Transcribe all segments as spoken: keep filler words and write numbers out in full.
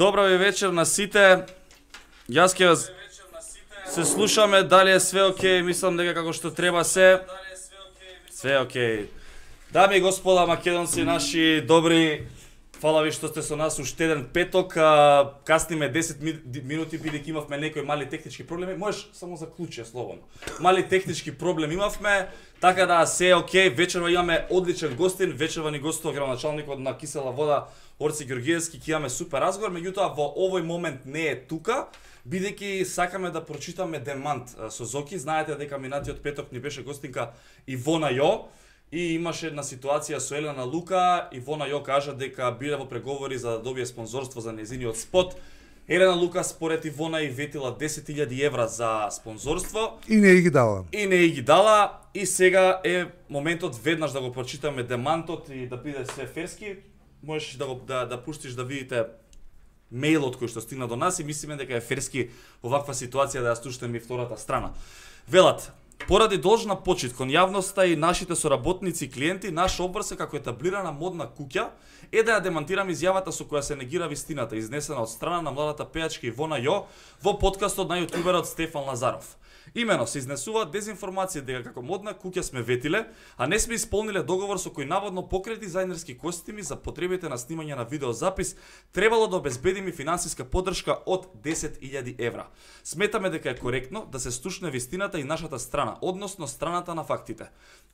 Добра ви вечер на сите. Јас ќе вас се слушаме, дали е све окей, мислам дека како што треба се. Све окей. Дами и господа македонци, наши добри, фала ви што сте со нас уште еден петок, а, касниме десет минути бидејќи имавме некои мали технички проблеми. Можеш само заклучи слободно. Мали технички проблем имавме, така да се е окей. Вечерва имаме одличен гостин, вечерва ни гостува градоначалникот на Кисела вода Орци Ѓорѓиевски, ќе имаме супер разговор, меѓутоа во овој момент не е тука, бидејќи сакаме да прочитаме демант со Зоки. Знаете дека минатиот петок ни беше гостинка Ивона Јо и имаше една ситуација со Елена Лука. Ивона Јо кажа дека биле во преговори за да добие спонзорство за нејзиниот спот. Елена Лука според Ивона и ветила десет илјади евра за спонзорство. И не ги дала. И не ги дала. И сега е моментот веднаш да го прочитаме демантот и да биде се ферски. Можеш да го да, да пуштиш да видите мејлот кој што стигна до нас и мислиме дека е ферски оваква ситуација да ја слушнеме и втората страна. Велат: поради должна почит кон јавноста и нашите соработници и клиенти, наш обврз како етаблирана модна куќа е да ја демантирам изјавата со која се негира вистината, изнесена од страна на младата пејачка Ивона Јо во подкастот на јутуберот Стефан Лазаров. Имено се изнесува дезинформација дека како модна куќа сме ветиле, а не сме исполниле договор со кој наводно покрај дизајнерски костими за потребите на снимање на видеозапис требало да обезбедиме финансиска поддршка од десет илјади евра. Сметаме дека е коректно да се слушне вистината и нашата страна, односно страната на фактите.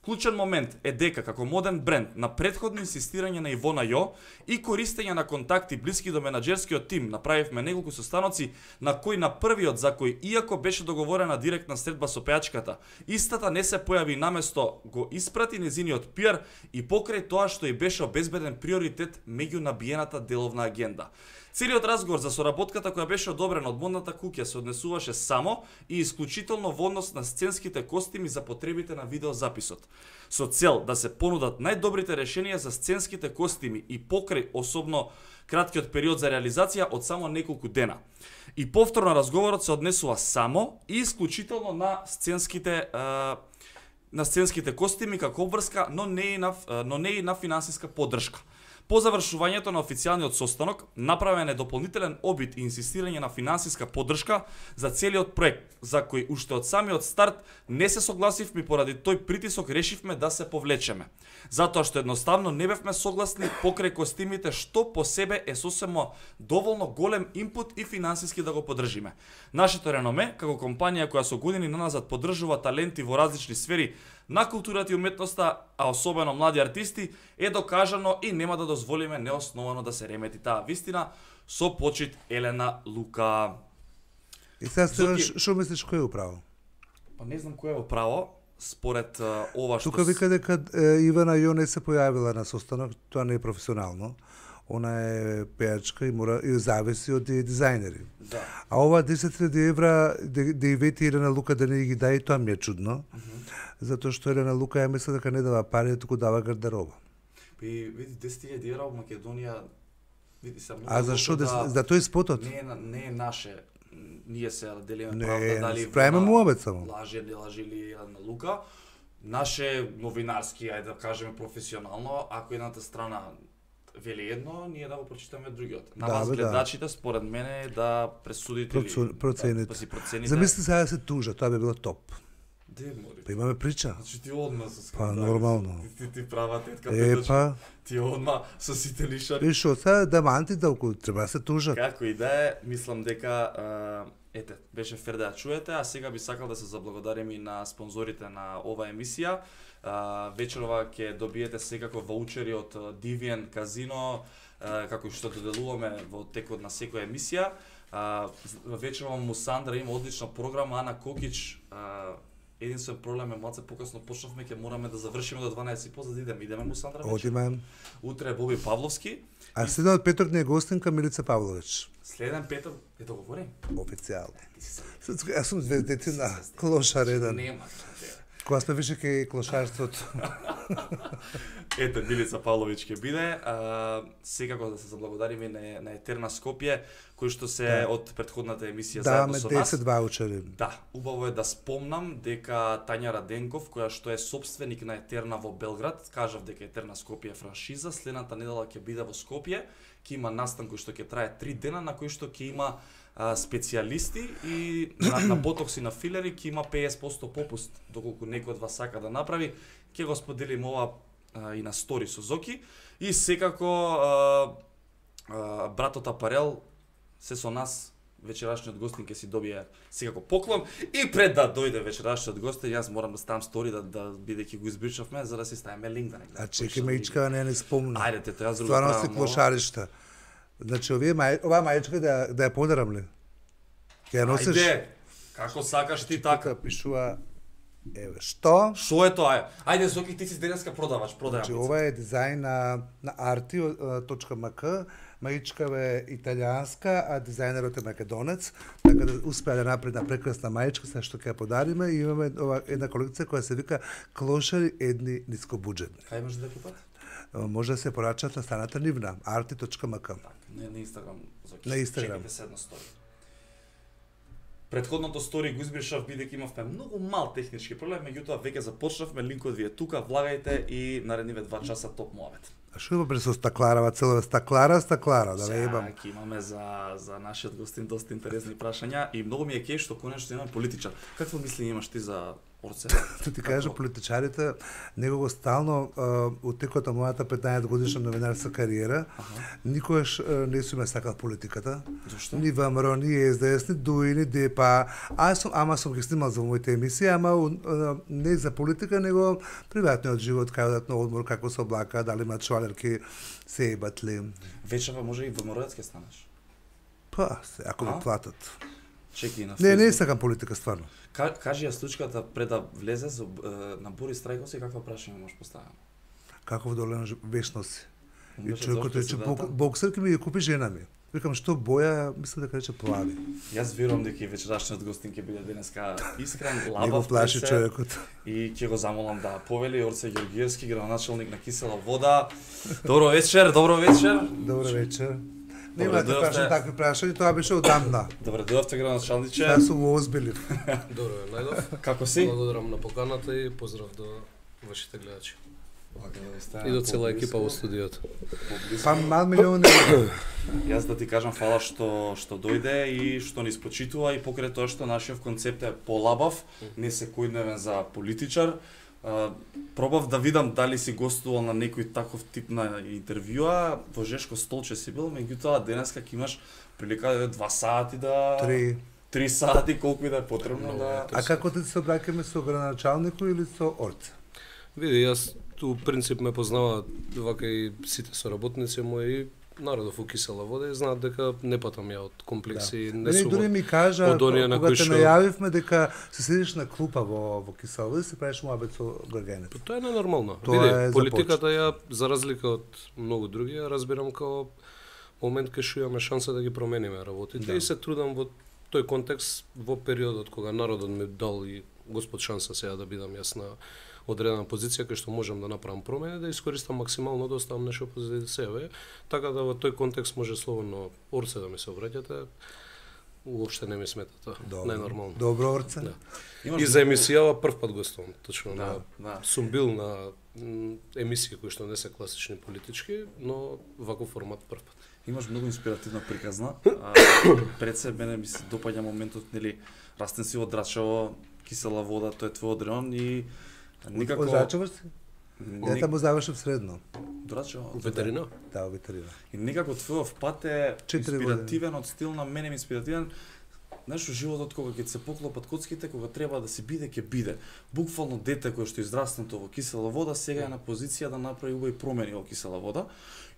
Клучен момент е дека како моден бренд на претходно инсистирање на Ивона Јо и користење на контакти блиски до менаџерскиот тим направивме неколку состаноци на кои на првиот за кој иако беше договорена директна средба со пејачката, истата не се појави наместо го испрати незиниот пиар и покрај тоа што и беше обезбеден приоритет меѓу набиената деловна агенда. Целиот разговор за соработката која беше одобрена од модната куќа се однесуваше само и исклучително во однос на сценските костими за потребите на видеозаписот, со цел да се понудат најдобрите решенија за сценските костими и покрај особено краткиот период за реализација од само неколку дена. И повторно разговорот се однесува само и исклучително на сценските а, на сценските костими како обврска, но не и на но не и на финансиска поддршка. По завршувањето на официјалниот состанок, направен е дополнителен обид и инсистирање на финансиска поддршка за целиот проект, за кој уште од самиот старт не се согласивме, поради тој притисок решивме да се повлечеме. Затоа што едноставно не бевме согласни покрај костимите, што по себе е сосемо доволно голем импут и финансиски да го поддржиме. Нашето реноме, како компанија која со години наназад поддржува таленти во различни сфери на културата и уметноста, а особено млади артисти, е докажано и нема да дозволиме неосновано да се ремети таа вистина. Со почит, Елена Лука. И сега Зоки... што мислиш кој е управо? Па не знам кој е управо, според uh, ова што... Тука вика дека е, Ивана Јо не се појавила на состанок, тоа не е професионално. Она е пејачка и мора и зависи од дизајнери. Да. А ова десет илјади евра да, да и вети Елена Лука да не ги даде, тоа ми е чудно. Uh -huh. Затоа што Елена Лука ја мисля дека не дава пари, туку дава гардероба. И види десет илјади евра во Македонија, види се многу. А зашо да, за тој спотот? Не е не е наше. Ние се делиме не, правда дали правиме муабет само. Лаже не лаже или Елена Лука. Наше новинарски, ајде да кажеме професионално, ако едната страна вели едно, ние да го прочитаме другиот. На да, вас бе, гледачите, да. според мене, да пресудите Процу, или процените. да, да си процените. Замисли сега да се тужа, тоа би било топ. Де мори? Па имаме прича. Значи ти одма со Па нормално. Ти, ти, ти права тетка, е, па. Ти одма со сите лишари. И шо, сега демантите околу треба да се тужат. Како и да е, мислам дека а, ете, беше фер да ја чуете, а сега би сакал да се заблагодарим и на спонзорите на оваа емисија. А, вечерова ќе добиете секако ваучери од Divian Казино, а, како што доделуваме во текот на секоја емисија. А, вечерова Мусандра има одлична програма, Ана Кокич. А, единствен проблем е малце покасно почнавме, ќе мораме да завршиме до дванаесет и по за да идеме. Идеме Мусандра вечер. Одиме. Утре е Боби Павловски. А и... следен петок не е гостинка Милица Павлович. Следен петок, е да говорим? Официјално. Јас сум звездетина, клоша реден. Нема. Кога сме више ке клошарството. Ете, Билица Павлович ќе биде. А, секако да се заблагодариме на, на Етерна Скопје, кој што се Да. од претходната емисија Даваме заедно со нас. десет ваучери. Да, убаво е да спомнам дека Тања Раденков, која што е собственик на Етерна во Белград, кажав дека Етерна Скопје е франшиза, следната недела ќе биде во Скопје, ќе има настан кој што ќе трае три дена, на кој што ќе има а, специјалисти и на, на ботокс и на филери ќе има песет проценти попуст, доколку некој од вас сака да направи, ќе го споделим ова а, и на стори со Зоки. И секако а, а, братот Апарел се со нас. Вечерашниот гостин ќе си добие секако поклон и пред да дојде вечерашниот гостин, јас морам да ставам стори да да бидејќи го избричавме за да си ставиме линк да не гледаме. А чеки маичка не не спомна. Ајде те тоа друго. Стварно се клошаришта. Значи овие мај, оваа маичка да да ја подарам ли? Ќе ја носиш? Ајде. Како сакаш ти така? Тука пишува еве што? Шо е тоа? Ајде Зоки, ти си денеска продавач, продајам. Значи ова е дизајн на на arti точка ем ка. Маичка е италијанска, а дизајнерот е македонец, така да успеа да направи една прекрасна маичка со што ќе ја подариме и имаме ова една колекција која се вика Клошари едни нискобуџетни. Кај може да купат? Може да се порачат на страната нивна arti точка ем ка. Не, на Инстаграм, Зоки. На Инстаграм. Чекайте се една стори. Предходното стори го избришав бидејќи имавме многу мал технички проблем, меѓутоа веќе започнавме, линкот ви е тука, влагајте и наредниве два часа топ муабет. А што има со стакларава, цело стаклара, стаклара, да ве ебам. Сега имаме за за нашиот гостин доста интересни прашања и многу ми е кеј што конечно имаме политичар. Какво мислење имаш ти за Орце? Тоа ти кажа, политичарите некого стално у текот на мојата петнаесет годишна новинарска кариера, никогаш не сум ја сакал политиката. Зошто? Ни ВМРО, ни ес де ес, ни ДУИ, ни ДЕПА. Аз сум, ама сум ги снимал за моите емисии, ама не за политика, него приватниот живот, кај одат на одмор, како се облака, дали имаат швалерки, се ебат ли. Вечерва може и ВМРО-ец ќе станеш. Па, се, ако ми платат. Чеки на Не, не сакам политика стварно. Ка, кажи ја случката пред да влезе за, на Борис Трајковски, каква прашање можеш поставам? Каков долен вечно си. И Беше човекот зошто рече, си бок, дата? боксер ке ми ја купи жена ми. Викам, што боја, мислам дека рече плави. Јас верувам дека и вечерашниот гостин ќе биде денеска искрен, Не го лабав, плаши пред се, човекот. и ќе го замолам да повели Орце Ѓорѓиевски, градоначалник на Кисела вода. Добро вечер, добро вечер. Добро вечер. Добре Немате дојавте. прашања такви прашања, тоа беше одамна. Добре дојавте, градоначалниче. Јас сум го озбилив. Добро е, најдов. Како си? Благодарам на поканата и поздрав до вашите гледачи. Вака, И до цела екипа во студиото. Па мал милион не. Јас да ти кажам фала што што дојде и што ни спочитува и покрај тоа што нашиот концепт е полабав, не секојдневен за политичар. Uh, пробав да видам дали си гостувал на некој таков тип на интервјуа, во Жешко столче си бил, меѓутоа денеска ќе имаш прилика да два сати да Три. три сати колку и да е потребно Много да е. А како ти се обраќаме со градоначалникот или со Орце? Види, јас ту принцип ме познаваат вака и сите соработници мои и народов у Кисела вода и знаат дека не патам ја од комплекси, Да. не Мене сум дури ми кажа, од оние на кога кои те што- најавивме дека се седиш на клупа во, во Кисела вода и се правиш муабет со Гргенец. Па тоа е ненормално. Тоа Види, е политиката ја за разлика од многу други ја разбирам како момент кај што имаме шанса да ги промениме работите Да. и се трудам во тој контекст во периодот кога народот ми дал и Господ шанса сега да бидам јас на одредена позиција кај што можам да направам промени, да искористам максимално да оставам нешто позади себе, така да во тој контекст може слободно Орце да ми се обраќате. Уопште не ми смета тоа. Најнормално. Добро, Орце. Да. имаш И за емисијава прв пат гостувам, точно Да, на да. сум бил на м, емисии кои што не се класични политички, но ваков формат прв пат. Имаш многу инспиративна приказна. А, пред се мене ми се допаѓа моментот, нели, растен си од Драчево, Кисела вода, тој е твојот район и никако Од Зачеваш си? Ја Ник- таму завршив средно. Драчево. Ветерина? Да, ветерина. И некако твојов пат е Четири инспиративен од стил на мене ми инспиративен. Знаеш, животот кога ќе се поклопат коцките, кога треба да се биде, ќе биде. Буквално дете кој што е израснато во Кисела вода, сега е на позиција да направи убави промени во Кисела вода.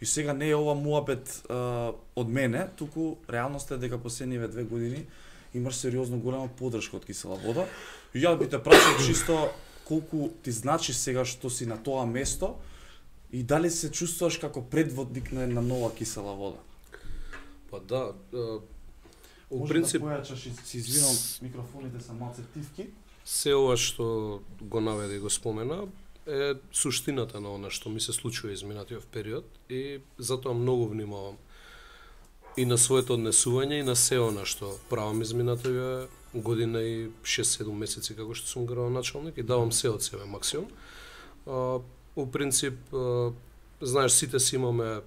И сега не е ова муабет а, од мене, туку реалноста е дека последниве две години имаш сериозно голема поддршка од Кисела вода. И ја би те прашал чисто колку ти значи сега што си на тоа место и дали се чувствуваш како предводник на една нова Кисела вода? Па да, е, у Може принцип да појачаш, и- си извинам, микрофоните се малце тивки. се ова што го наведе и го спомена е суштината на она што ми се случува изминатиот период и затоа многу внимавам и на своето однесување и на се она што правам изминативија година и шест-седум месеци како што сум градоначалник и давам се од себе максимум. А, у принцип, а, знаеш, сите си имаме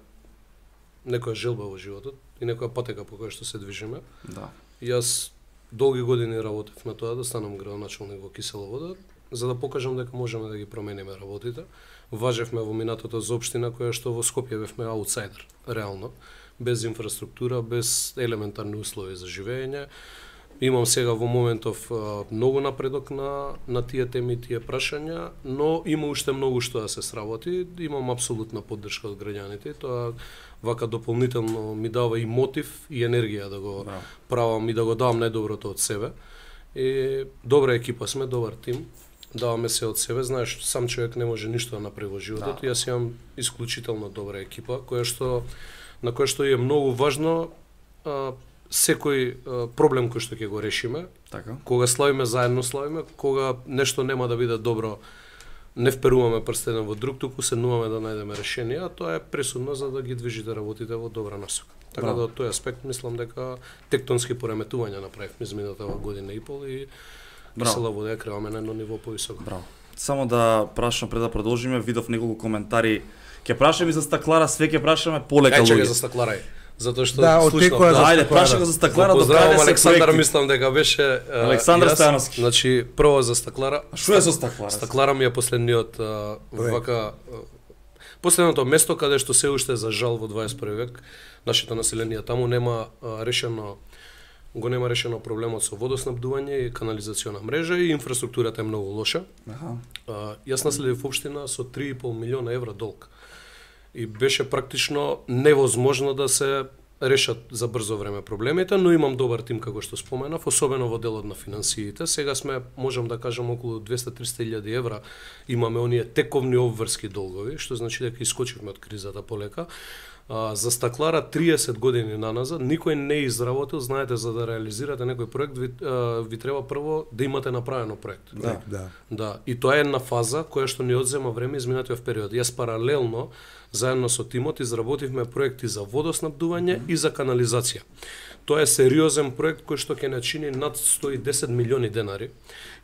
некоја желба во животот и некоја патека по која што се движиме. Да. Јас долги години работев на тоа да станам градоначалник во Кисела Вода, за да покажам дека можеме да ги промениме работите. Важевме во минатото за општина која што во Скопје бевме аутсайдер, реално, без инфраструктура, без елементарни услови за живење. Имам сега во моментов а, многу напредок на на тие теми, тие прашања, но има уште многу што да се сработи. Имам апсолутна поддршка од граѓаните. Тоа вака дополнително ми дава и мотив и енергија да го Браво. правам и да го давам најдоброто од себе. И добра екипа сме, добар тим. Даваме се од себе, знаеш, сам човек не може ништо да направи во животот. Да. Јас имам исклучително добра екипа, која што на која што е многу важно а, секој а, проблем кој што ќе го решиме. Така. Кога славиме заедно славиме, кога нешто нема да биде добро, не вперуваме прст еден во друг, туку седнуваме да најдеме решение, а тоа е пресудно за да ги движите работите во добра насока. Така Браво. да од тој аспект мислам дека тектонски пореметувања направивме измината година и пол и Кисела Вода ја креваме на едно ниво повисоко. Браво. Само да прашам пред да продолжиме, видов неколку коментари. Ќе прашаме и за стаклара, све ќе прашаме полека Ај чекај луѓе. за стакларај. Затоа што Да, слушнав, оттекува да. за Ајде, стаклара. прашај го за стаклара, Го до каде поздравувам се Александар, проекти? мислам дека беше а, Александар јас. Стојановски. Значи, прво за стаклара. А што е со стаклара? Стаклара ми е последниот а, Проект. вака а, последното место каде што се уште за жал во дваесет и први век нашето население таму нема а, решено го нема решено проблемот со водоснабдување и канализациона мрежа и инфраструктурата е многу лоша. Аха. А, јас наследив општина со три и пол милиона евра долг. И беше практично невозможно да се решат за брзо време проблемите, но имам добар тим како што споменав, особено во делот на финансиите. Сега сме, можам да кажам, околу двесте-триста илјади евра имаме оние тековни обврски долгови, што значи дека искочивме од кризата полека. А, за стаклара триесет години наназад никој не изработил, знаете, за да реализирате некој проект ви, а, ви треба прво да имате направено проект. Да. Да. Да, и тоа е една фаза која што ни одзема време изминатиот период. Јас паралелно заедно со тимот изработивме проекти за водоснабдување и за канализација. Тоа е сериозен проект кој што ќе начини над сто и десет милиони денари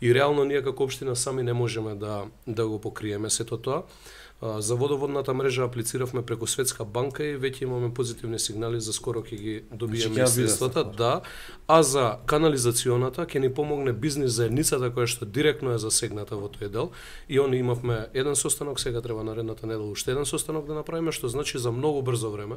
и реално ние како општина сами не можеме да да го покриеме сето тоа. А, за водоводната мрежа аплициравме преку Светска банка и веќе имаме позитивни сигнали за скоро ќе ги добиеме Значи, ќе ја биде средствата, стаклар. да. А за канализационата ќе ни помогне бизнис заедницата која што директно е засегната во тој дел и они имавме еден состанок, сега треба наредната недела уште еден состанок да направиме, што значи за многу брзо време.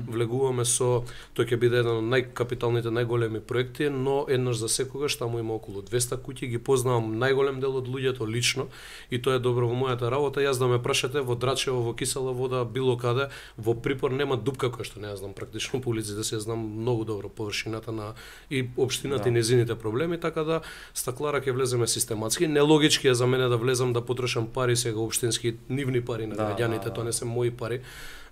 Влегуваме со, тој ќе биде еден од најкапиталните, најголеми проекти, но еднаш за секогаш таму има околу двесте куќи, ги познавам најголем дел од луѓето лично и тоа е добро во мојата работа. Јас да ме прашате во Драчево, во Кисела Вода, било каде, во Припор нема дупка која што не ја знам практично по улиците, се знам многу добро површината на и општината Да. и незините проблеми, така да стаклара ќе влеземе систематски. Нелогички е за мене да влезам да потрошам пари сега општински нивни пари на Да, граѓаните, да, да. тоа не се мои пари.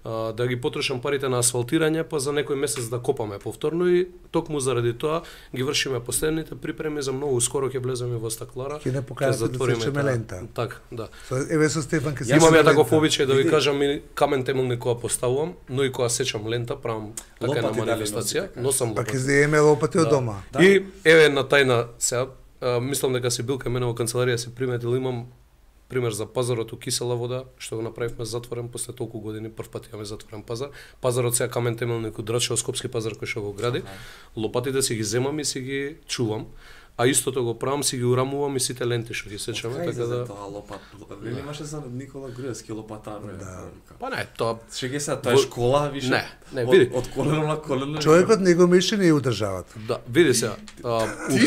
А, да ги потрошам парите на асфалтирање, па за некој месец да копаме повторно и токму заради тоа ги вршиме последните припреми за многу скоро ќе влеземе во стаклара. Ќе не покажете да сечеме таа- лента. Така, да. Со еве со Стефан ќе Имам ја сечеме таков лента. обичај да ви Види. кажам и камен темелник кога поставувам, но и кога сечам лента, правам така една Лопати дали манифестација, носи, така? носам Па лопати. ќе земеме лопати од Да. дома. Да. И еве една тајна сега, а, мислам дека си бил кај мене во канцеларија, си приметил, имам пример за пазарот у Кисела Вода, што го направивме затворен после толку години, прв пат имаме затворен пазар. Пазарот сега камен темелник у Драчево, Скопски пазар кој што го гради. Лопатите си ги земам и си ги чувам, а истото го правам, си ги урамувам и сите ленти што ги сечаме, Кај така за да. тоа лопат. Или имаше за Никола Груевски лопатар. Да. Па не, тоа Шеге се, тоа е Во- школа, више. Не, не, Од- види. Од колено на колено. Човекот не го мисли и у државата. да, види се. А, у,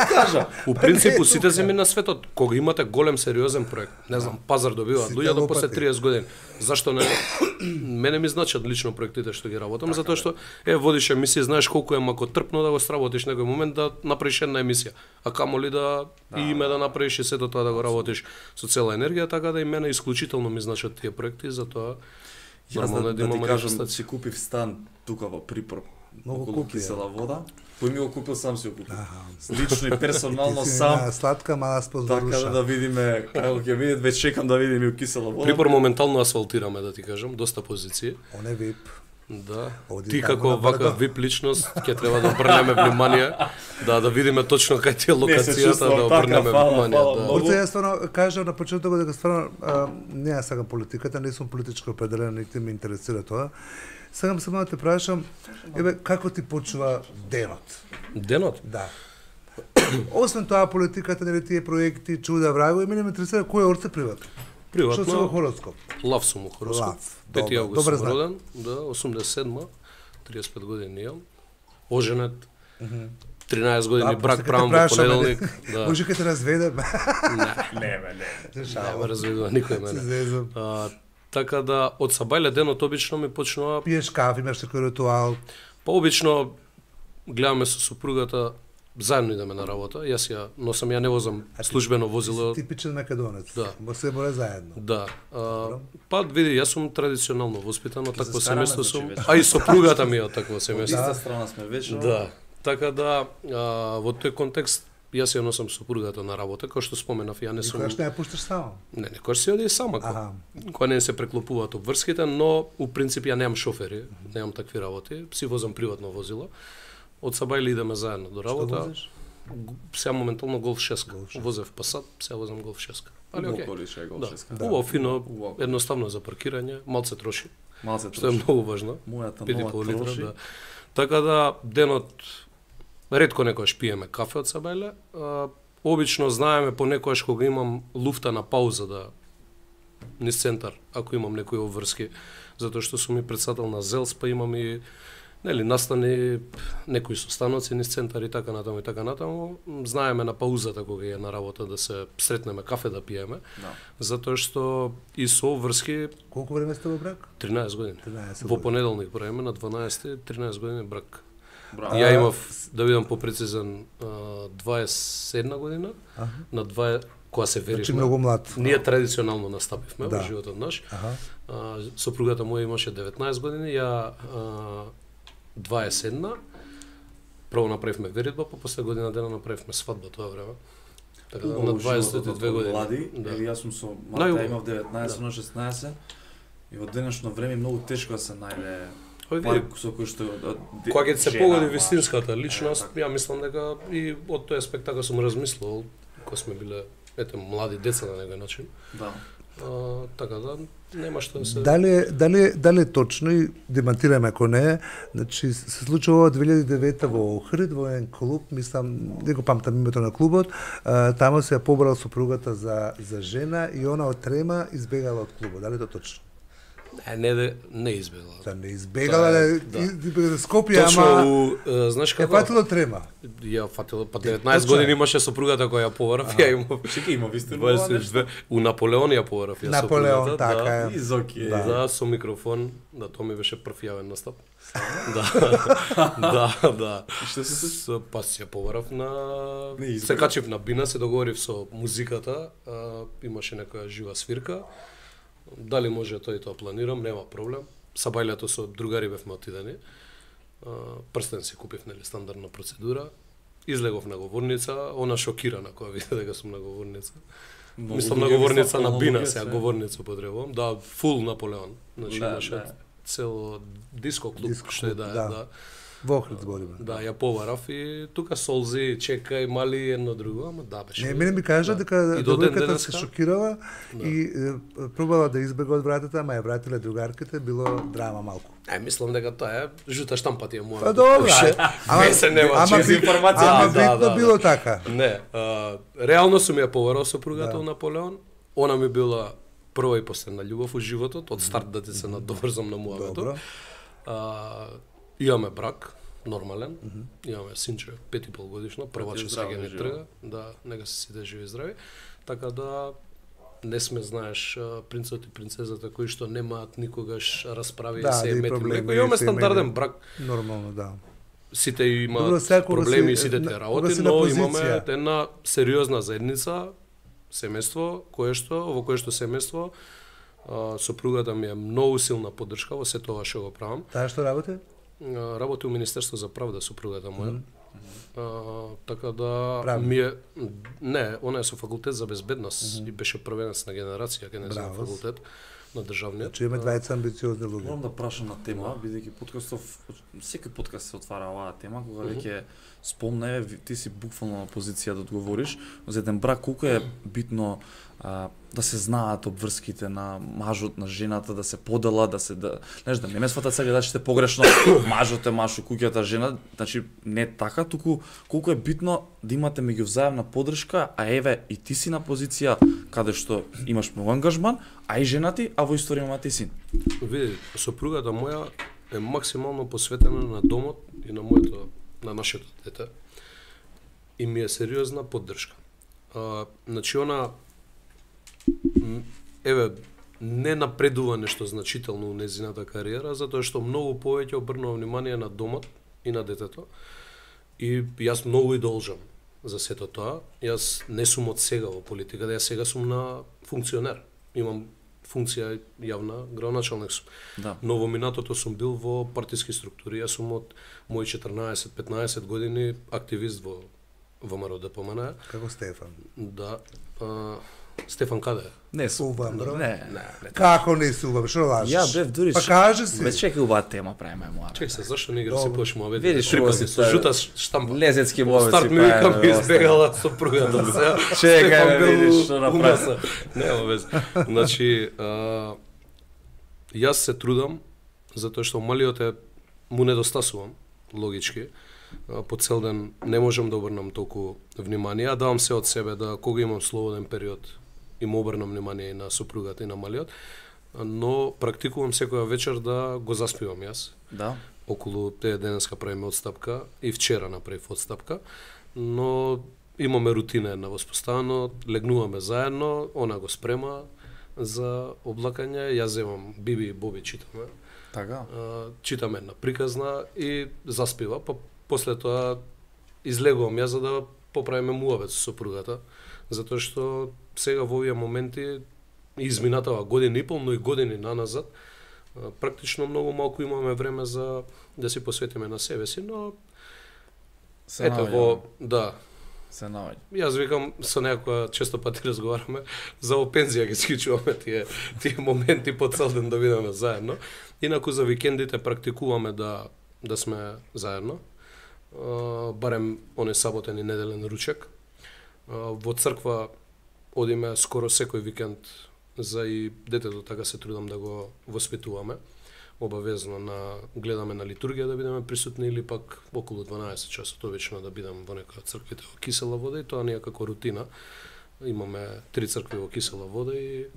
кажа. У принципу сите земји на светот, кога имате голем сериозен проект, не знам, пазар добиваат Сите луѓето после лопати. триесет години. Зашто не? Мене ми значат лично проектите што ги работам, затоа што е водиш емисија, знаеш колку е мако трпно да го сработиш некој момент да направиш една емисија, а камоли да и име да направиш и сето тоа да го работиш со цела енергија, така да и мене исклучително ми значат тие проекти, затоа Јас нормално да, е да ти имам кажам, манифестација. си купив стан тука во Припор. Многу околу купи, кисела вода. Кој ми го купил, сам си го купил. Аха. Лично и персонално Ти си сам. една сладка мала спозоруша. Така да видиме како ќе видат, веќе чекам да видим и у кисела вода. Припор моментално асфалтираме, да ти кажам, доста позиции. Он е вип. Да. Оди Ти таму како на вака брдо. вип личност ќе треба да обрнеме внимание, да да видиме точно кај ти е локацијата, чувствувам да така, обрнеме фала, внимание, фала да. многу. Урце, јас стварно кажав на почетокот дека стварно а, не ја сакам политиката, не сум политички определен, нити ме интересира тоа. Сакам само да те прашам, еве како ти почува денот? Денот? Да. Освен тоа политиката, нели тие проекти, чуда, врагови, мене ме интересира кој е Орце приватно. Што се во Приватно, хороскоп? лав сум у хороскоп. Лав, пети добро, август добар сум знак. роден, да, осумдесет и седма, триесет и пет години имам. Оженет, тринаесет години Да, брак после правам ќе во те прашаме, понеделник. Да. Може ќе те разведем. Не, Не, бе, не. Се не ме шалам. разведува никој Се мене. зезам. А, така да, од сабајле денот обично ми почнува. Пиеш кафе, имаш некој ритуал. Па обично гледаме со супругата, заедно идеме на работа. Јас ја носам, ја не возам службено возило. Типичен македонец. Да. Мо се море заедно. Да. А, па види, јас сум традиционално воспитан од Ќе се такво стараме, семејство значи, сум, вече. а и сопругата ми е од такво Од семејство. иста страна сме вечно. Да. Така да, а, во тој контекст јас ја носам супругата на работа, како што споменав, ја не сум Никогаш не ја пушташ само. не, некој се оди сама. Аха. Кога не се преклопуваат обврските, но у принцип ја немам шофери, немам такви работи, си возам приватно возило. Од Сабајле идеме заедно до Што работа. возиш? Г- Сега моментално Голф шест. Голф шест. Возев Пасат, сега возам Голф шест. Али окей. Околише е гол Да. шеска. Да. Убаво, фино, Убаво. едноставно за паркирање, малце троши, Малце што е троши. многу важно. Мојата пет и нова пол литра, троши. да. Така да денот ретко некојаш пиеме кафе од Сабајле. А, обично знаеме понекогаш кога имам луфта на пауза да низ центар, ако имам некои обврски, затоа што сум и председател на ЗЕЛС, па имам и нели настани некои состаноци низ центар и така натаму и така натаму. Знаеме на паузата кога е на работа да се сретнеме кафе да пиеме, Да. затоа што и со обврски Колку време сте во брак? тринаесет години. тринаесет Во години. понеделник правиме на дванаесети, тринаесет години брак. Браво. Ја имав, да бидам попрецизен, а, дваесет и една година, Аха. на дваесет кога се Значи веривме. многу млад. Ние традиционално настапивме Да. во животот наш. Аха. А, сопругата моја имаше деветнаесет години, ја а, дваесет и една. Прво направивме веридба, па после година дена направивме свадба тоа време. Така да, на Убаво дваесет и животот две од години. Млади, Да. еви јас сум со Најубаво. Марта, имав деветнаесет, на шеснаесет. И во денешно време многу тешко да се најде Ој, пар види, со кој што де- кога ќе се жена, погоди маж. вистинската личност, Е, така. ја мислам дека и од тој аспект така сум размислувал, кога сме биле ете млади деца на некој начин. Да. А, така да нема што да се Дали е- дали е- дали е точно и демантираме ако не е, значи се случува во две илјади и девета во Охрид, во еден клуб, мислам, не го памтам името на клубот, а, таму се ја побрала сопругата за за жена и она од трема избегала од клубот. Дали е тоа точно? Не, не, не, не избегла. Та не избегала, Тоа е, да, да. избегала да Скопје, Точно, ама у, е, знаеш е како? фатило трема. Ја фатило, па деветнаесет Точно е. години имаше сопругата која ја поварав, ја имав Чекај, има вистина дваесет и две. У Наполеон ја поварав ја Наполеон, сопругата, така да. е. И Зоки е. Да. Да, со микрофон, да, тоа ми беше прв јавен настап. Да, да, да. И што се случи? Со, па си ја поварав на... Не избега. Се качив на бина, се договорив со музиката, а, имаше некоја жива свирка. Дали може тоа и тоа планирам, нема проблем. Сабајлето со другари бевме отидени. А, прстен си купив, нели, стандардна процедура. Излегов на говорница, она шокирана кога виде дека сум на говорница. Многу Мислам на луѓе говорница мислат, на многу бина, луѓе сега се. говорница потребувам. Да, фул Наполеон. Значи Да, имаше да. цело диско клуб, Диско што е клуб, да, е, да. да. Во Охрид збориме. Да, ја поварав и тука солзи, чекај, мали едно друго, ама да беше. Не, мене ми кажа да. дека И до ден девојката денеска? се шокирала Да. и е, пробала да избега од вратата, ама ја вратиле другарките, било драма малку. Е, мислам дека тоа е жута штампа ти е моја. Па добро, ама се нема ама чист бит- информација. Ама Да, да, битно да, било да. така. Не, а, реално сум ја поварал сопругата Да. у Наполеон. Она ми била прва и последна љубов у животот, од старт да ти се надоврзам на муавето. Добро. А, имаме брак, нормален. Имаме синче, пет и пол годишно, прваче здраво, сега ни живо. трга. Да, нека се сите живи и здрави. Така да не сме, знаеш, а, принцот и принцезата кои што немаат никогаш расправи Да, и се да, и мети проблеми, млеко. Имаме се стандарден имајте. брак. Нормално, да. Сите имаат Добро, сега кога проблеми, си- сите на- те кога работи, си на но позиција. имаме една сериозна заедница, семејство, кое што, во кое што семејство, а, сопругата ми е многу силна поддршка во се тоа што го правам. Таа што работи? а, работи у Министерство за правда сопругата моја. Mm -hmm. а, така да Правда. ми е не, она е со факултет за безбедност mm -hmm. и беше првенец на генерација кај нејзиниот факултет на државниот. Значи има двајца амбициозни луѓе. Морам да прашам на тема, бидејќи подкастов, секој подкаст се отвара оваа тема, кога Mm -hmm. веќе спомне, ти си буквално на позиција да одговориш, за еден брак колку е битно а, да се знаат обврските на мажот, на жената, да се подела, да се да, знаеш, да не ме сватат сега гледачите погрешно, мажот е маж, куќата жена, значи не така, туку колку е битно да имате меѓувзаемна поддршка, а еве и ти си на позиција каде што имаш многу ангажман, а и жена ти, а во историја имате и син. Види, сопругата моја е максимално посветена на домот и на моето, на нашето дете. И ми е сериозна поддршка. А, значи она еве не напредува нешто значително у незината кариера, затоа што многу повеќе обрнува внимание на домот и на детето. И јас многу и должам за сето тоа. Јас не сум од сега во политиката, јас сега сум на функционер. Имам функција јавна, градоначалник сум. Да. Но во минатото сум бил во партиски структури. Јас сум од мои четрнаесет петнаесет години активист во ВМРО ДПМН. Како Стефан. Да. А, Стефан каде е? Не сум. УВМР? Не, не, не. Како не сувам, што лажеш? Ја бев дури. Па кажи си. Бе чекај убава тема правиме моја. Чекај се, зашто не игра се Добро. пош муабет? Видиш, Рекол убаво си си со тоа. жута штампа. Лезецки мовеци. Старт ми викам ми избегала сопругата. Сега Чекај, Стефан бе, бил видиш, што у направи. МС. Нема вез. Значи, а, јас се трудам затоа што малиот е му недостасувам логички. А, по цел ден не можам да обрнам толку внимание, а давам се од себе да кога имам слободен период и му обрнам внимание и на сопругата и на малиот, но практикувам секоја вечер да го заспивам јас. Да. Околу тие денеска правиме одстапка и вчера направив одстапка, но имаме рутина една воспоставено, легнуваме заедно, она го спрема за облакање, јас земам Биби и Боби читаме. Така. А, читаме една приказна и заспива, па после тоа излегувам јас за да поправиме муабет со сопругата, затоа што сега во овие моменти изминатава година и пол, но и години наназад, а, практично многу малку имаме време за да се посветиме на себе си, но Се ето наоѓа. во да, Се наоѓа. јас викам со некоја често пати разговараме за во пензија ги скичуваме тие тие моменти по цел ден да бидеме заедно. Инаку за викендите практикуваме да да сме заедно. А, барем оне саботен и неделен ручек. А, во црква одиме скоро секој викенд за и детето, така се трудам да го воспитуваме. Обавезно на гледаме на литургија да бидеме присутни или пак околу дванаесет часот обично да бидеме во некоја црквите во кисела вода, и тоа ние како рутина. Имаме три цркви во кисела вода и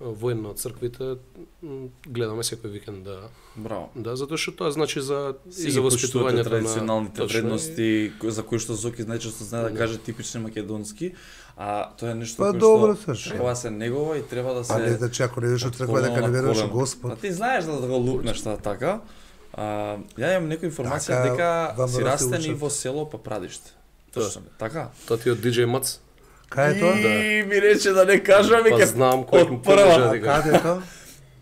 во една од црквите м, гледаме секој викенд да Браво. да затоа што тоа значи за Си и за воспитувањето на традиционалните точно, вредности кои- за кои што Зоки најчесто знае да Да. каже типични македонски, а тоа е нешто Па кое добро што се треба да се негова и треба да се А не значи ако не идеш од црква дека не веруваш во Господ. А ти знаеш да го лупнеш тоа така. А, ја имам некоја информација Така, дека вам си да се растен и учат. во село Папрадиште. Да. Точно, така. Тоа ти од диџеј Мац. Кај е тоа? И ми рече да не кажам и Па ке знам кој од му прва. поддржа А дека. каде е тоа?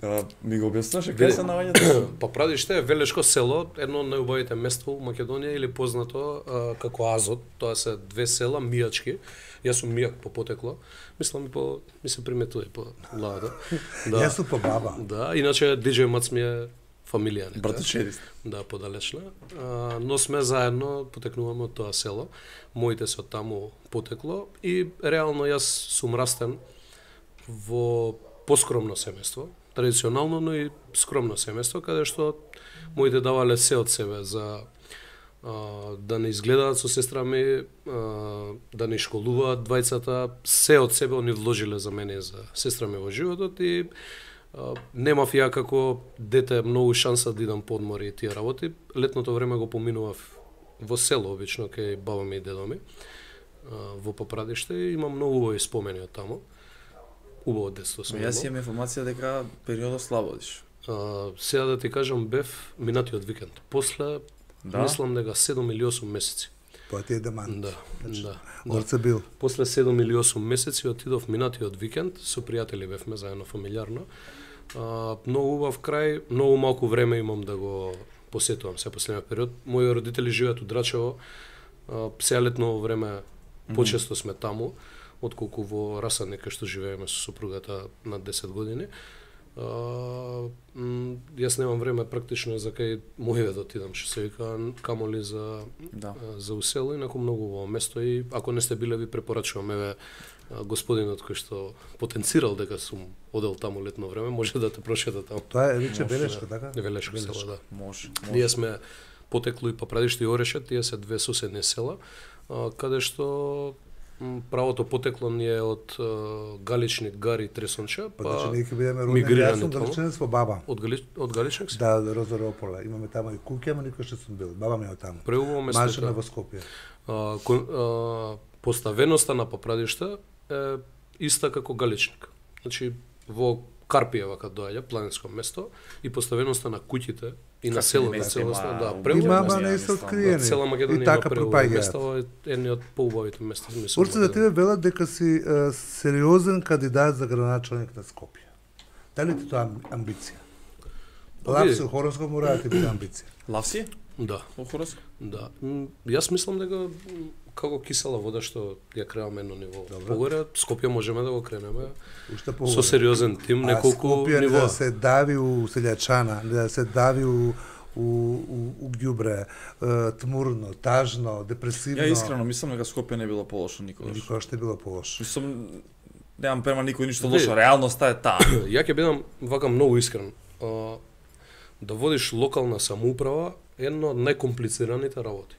А, ми го објаснуваше Види. кај се наоѓа тоа? Па Прадиште е велешко село, едно од најубавите места у Македонија или познато а, како Азот. Тоа се две села мијачки. Јас сум мијак по потекло. Мислам и по ми се приметува и по ладата. Јас сум по баба. Да, иначе диџеј Мац ми е фамилија нека. Братучедист. Да, подалечна. А, но сме заедно, потекнуваме од тоа село. Моите се од таму потекло и реално јас сум растен во поскромно семејство, традиционално, но и скромно семејство, каде што моите давале се од себе за а, да не изгледаат со сестра ми, а, да не школуваат двајцата, се од себе они вложиле за мене и за сестра ми во животот и а, немав ја како дете многу шанса да идам по одмори и тие работи. Летното време го поминував во село, обично, кај баба ми и дедо ми, а, во Папрадиште, и имам многу убави спомени од таму. Убаво детство сум Јас имал. имам информација дека периодот слабодиш. А, сега да ти кажам, бев минатиот викенд. После, Да? мислам дека седум или осум месеци. Тоа ти е демант. Да, да. да. Орце бил. После седум или осум месеци отидов минатиот викенд, со пријатели бевме заедно фамилиарно. А, многу убав крај, многу малку време имам да го посетувам се последниот период. Мои родители живеат у Драчево. Сега летно време почесто сме таму, отколку во Расадник кај што живееме со сопругата над десет години. Uh, м, јас немам време практично за кај моје да отидам, што се вика, камоли за Да. за усело, инаку многу во место и ако не сте биле ви препорачувам, еве господинот кој што потенцирал дека сум одел таму летно време, може да те прошета таму. Тоа е рече Може, белешка, така? Не Велешко села, да. Може. Ние сме Потекло и Папрадиште и Орешет, тие се две соседни села, а, каде што м, правото потекло ни е од а, Галичник, Гари, Тресонча, Па, па значи, ние ќе бидеме родени, мигрирани јас сум таму. далеченец во баба. од, Гали... од Галичник си? Да, Розоропола. Имаме таму и куќа, ама никој што сум бил. Баба ми е од таму. Преубаво место. Машина во Скопје. А, кон, а, поставеноста на Папрадиште е иста како Галичник. Значи, во Карпиева кога доаѓа, планинско место, и поставеноста на куќите и на селото, места целосно, има да, убави преубаво Има, места, ама не ја се мислам, откриени. Цела Македонија И има така преубави пропаѓаат. места, ова е едни од поубавите места, мислам. Урце да тебе велат дека си е, сериозен кандидат за градоначалник на Скопје. Дали ти тоа ам- амбиција? Па, види. Лапсо хороскоп мора да ти биде амбиција. Лав си? Да, Во хороскоп? да. М, Јас мислам дека м, како кисела вода што ја креаме едно ниво погоре, Скопје можеме да го кренеме Уште со погоре. сериозен тим, неколку А Скопје не нивоа. да се дави у селјачана, не да се дави у у, у, у ѓубре, е, тмурно, тажно, депресивно. Ја искрено мислам дека Скопје не било полошо никогаш. Никогаш не било полошо. Мислам, немам према никој ништо Види. лошо, реалноста е таа. Ја ќе бидам вака многу искрен. А, да водиш локална самоуправа е една од најкомплицираните работи.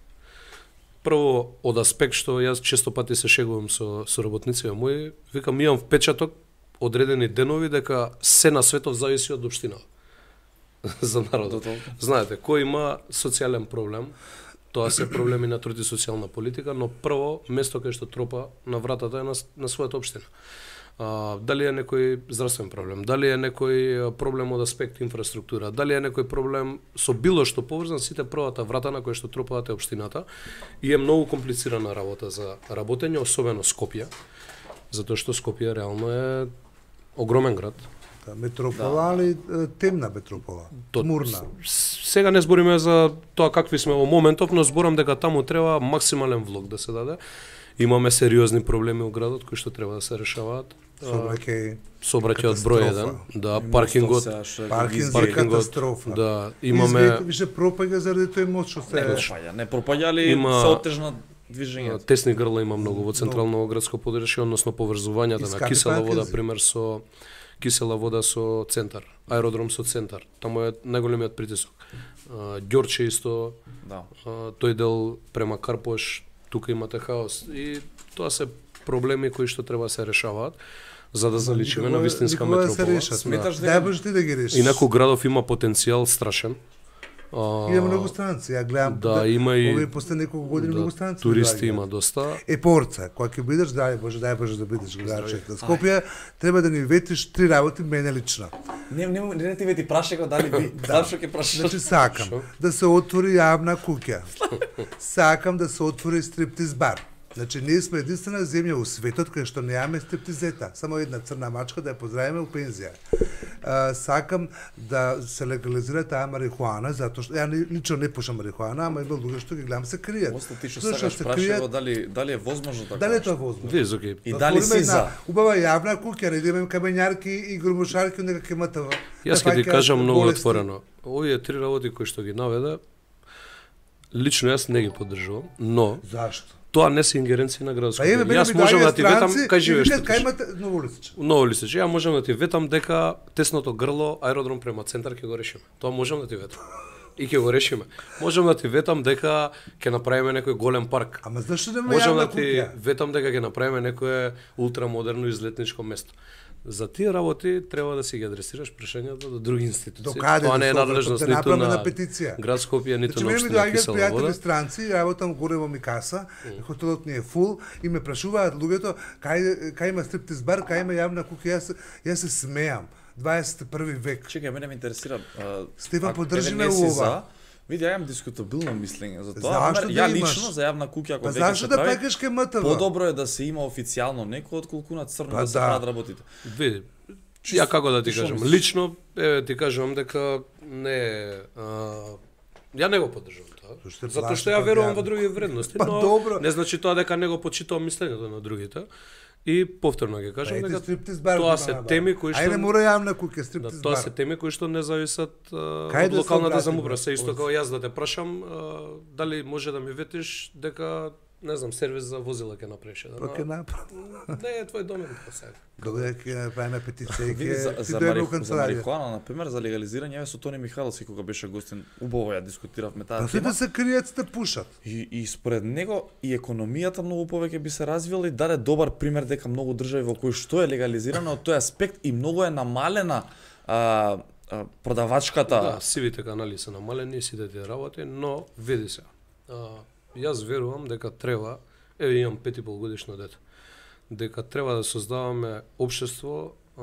Прво, од аспект што јас често пати се шегувам со, со работниците мои, викам, имам впечаток одредени денови дека се на светот зависи од општината за До народот. толку. Знаете, кој има социјален проблем, тоа се проблеми на труд и социјална политика, но прво место кај што тропа на вратата е на, на својата општина. А, дали е некој здравствен проблем, дали е некој а, проблем од аспект инфраструктура, дали е некој проблем со било што поврзан, сите првата врата на која што тропаат е општината и е многу комплицирана работа за работење, особено Скопје, затоа што Скопје реално е огромен град. Да, метропола, али е, темна метропола, То- тмурна. С- Сега не збориме за тоа какви сме во моментов, но зборам дека таму треба максимален влог да се даде. Имаме сериозни проблеми у градот кои што треба да се решаваат. Сообраќај, Сообраќајот број еден, да, паркингот, паркинг паркингот, катастрофа. да, Имаме имаме више пропаѓа заради тој мост што Не се пропаѓа, не пропаѓали, Има- се отежна движењето. тесни грла има многу во централно градско подрачје, односно поврзувањата на Искапи кисела вода, паркинзи. пример со кисела вода со центар, аеродром со центар. Таму е најголемиот притисок. А, Ѓорче исто, Да. а, тој дел према Карпош, тука имате хаос и тоа се проблеми кои што треба да се решаваат за да заличиме на Никога- вистинска никога да се метропола. решат. Сметаш Да. дека- Дај Боже ти да ги решиш. Инаку градов има потенцијал страшен. А, Има многу странци, ја гледам. Да, има и овие последни неколку години многу странци. туристи доаѓаат. има доста. Е порца, кога ќе бидеш, дај Боже, дај Боже да бидеш градчек на Скопје, треба да ни ветиш три работи мене лично. Не, не, не, не ти вети прашај го дали би, да. Зашо ќе прашаш? Значи сакам Шо? да се отвори јавна куќа. Сакам да се отвори стриптиз бар. Значи ние сме единствена земја у светот кај што немаме стриптизета, само една црна мачка да ја поздравиме у пензија. А, сакам да се легализира таа марихуана затоа што ја не- лично не пушам марихуана, ама има луѓе што ги гледам се кријат. После ти што Зашто сакаш се прашај кријат? го дали дали е возможно така. Дали е тоа возможно? Вие окей. И Да дали отвориме си една за? убава јавна куќа, не да имаме камењарки и грумушарки нека ќе МТВ. Јас ќе ти кажам многу отворено. Овие три работи кои што ги наведе, лично јас не ги поддржувам, но Зашто? тоа не се ингеренции на градското. Па еве мене Јас ми можам доаѓаат да ти ветам странци кај и живееш. викаат, ти Кај кажи. имате ново лисиче? Ново лисиче. Ја можам да ти ветам дека тесното грло аеродром према центар ќе го решиме. Тоа можам да ти ветам. И ќе го решиме. Можам да ти ветам дека ќе направиме некој голем парк. Ама зашто нема Можам јавна да ти куќа? ветам дека ќе направиме некое ултрамодерно излетничко место. За тие работи треба да си ги адресираш прашањата до други институции. До каде Тоа не е до надлежност да ниту направиме на на петиција? град Скопје, ниту Значи, на мене ми општина доаѓаат Кисела пријатели вода. странци, работам горе во Микаса, хотелот ни е фул и ме прашуваат луѓето кај кај има стриптиз бар, кај има јавна куќа, јас јас се смеам. дваесет и први век. Чекај, мене ме интересира. а, Стефан, ако поддржи еве ме не си ова. за, Види, ја имам дискутабилно мислење за тоа. Зашто Ама да ја имаш? лично за јавна куќа ако Па веќе зашто се да прави, пекаш кај МТВ? подобро е да се има официјално некој отколку на црно Па да се да. прават работите. Види, Чисто, ја како да ти што кажам, мислиш? лично еве ти кажувам дека не е а, Ја не го поддржувам тоа. Зашто е Затоа што плаши ја од верувам јавно. во други вредности, Па но добро. не значи тоа дека не го почитувам мислењето на другите. И повторно ќе кажам Ете, дека стриптиз бар тоа има се на бар. теми кои што Ајде мора јавна куќа да, стриптиз тоа бар. се теми кои што не зависат а, Кај од да се локалната обратиме? самоуправа. Се исто Од- како јас да те прашам а, дали може да ми ветиш дека не знам сервис за возила ќе направиш да. Па ќе направи. Не е твој домен па сега. Добре, ќе правиме петиција и Види, за, ќе ти за, дојдеме у мари, за канцеларија. марихуана, например, за легализирање, со Тони Михайловски кога беше гостин, убаво ја дискутиравме таа Па тема. сите се кријат, сте пушат. И, и според него и економијата многу повеќе би се развила и даде добар пример дека многу држави во кои што е легализирано од тој аспект и многу е намалена а, а, продавачката. Да, сивите канали се намалени, сите тие работи, но види се. А, јас верувам дека треба, еве имам пет и пол годишно дете, дека треба да создаваме општество а,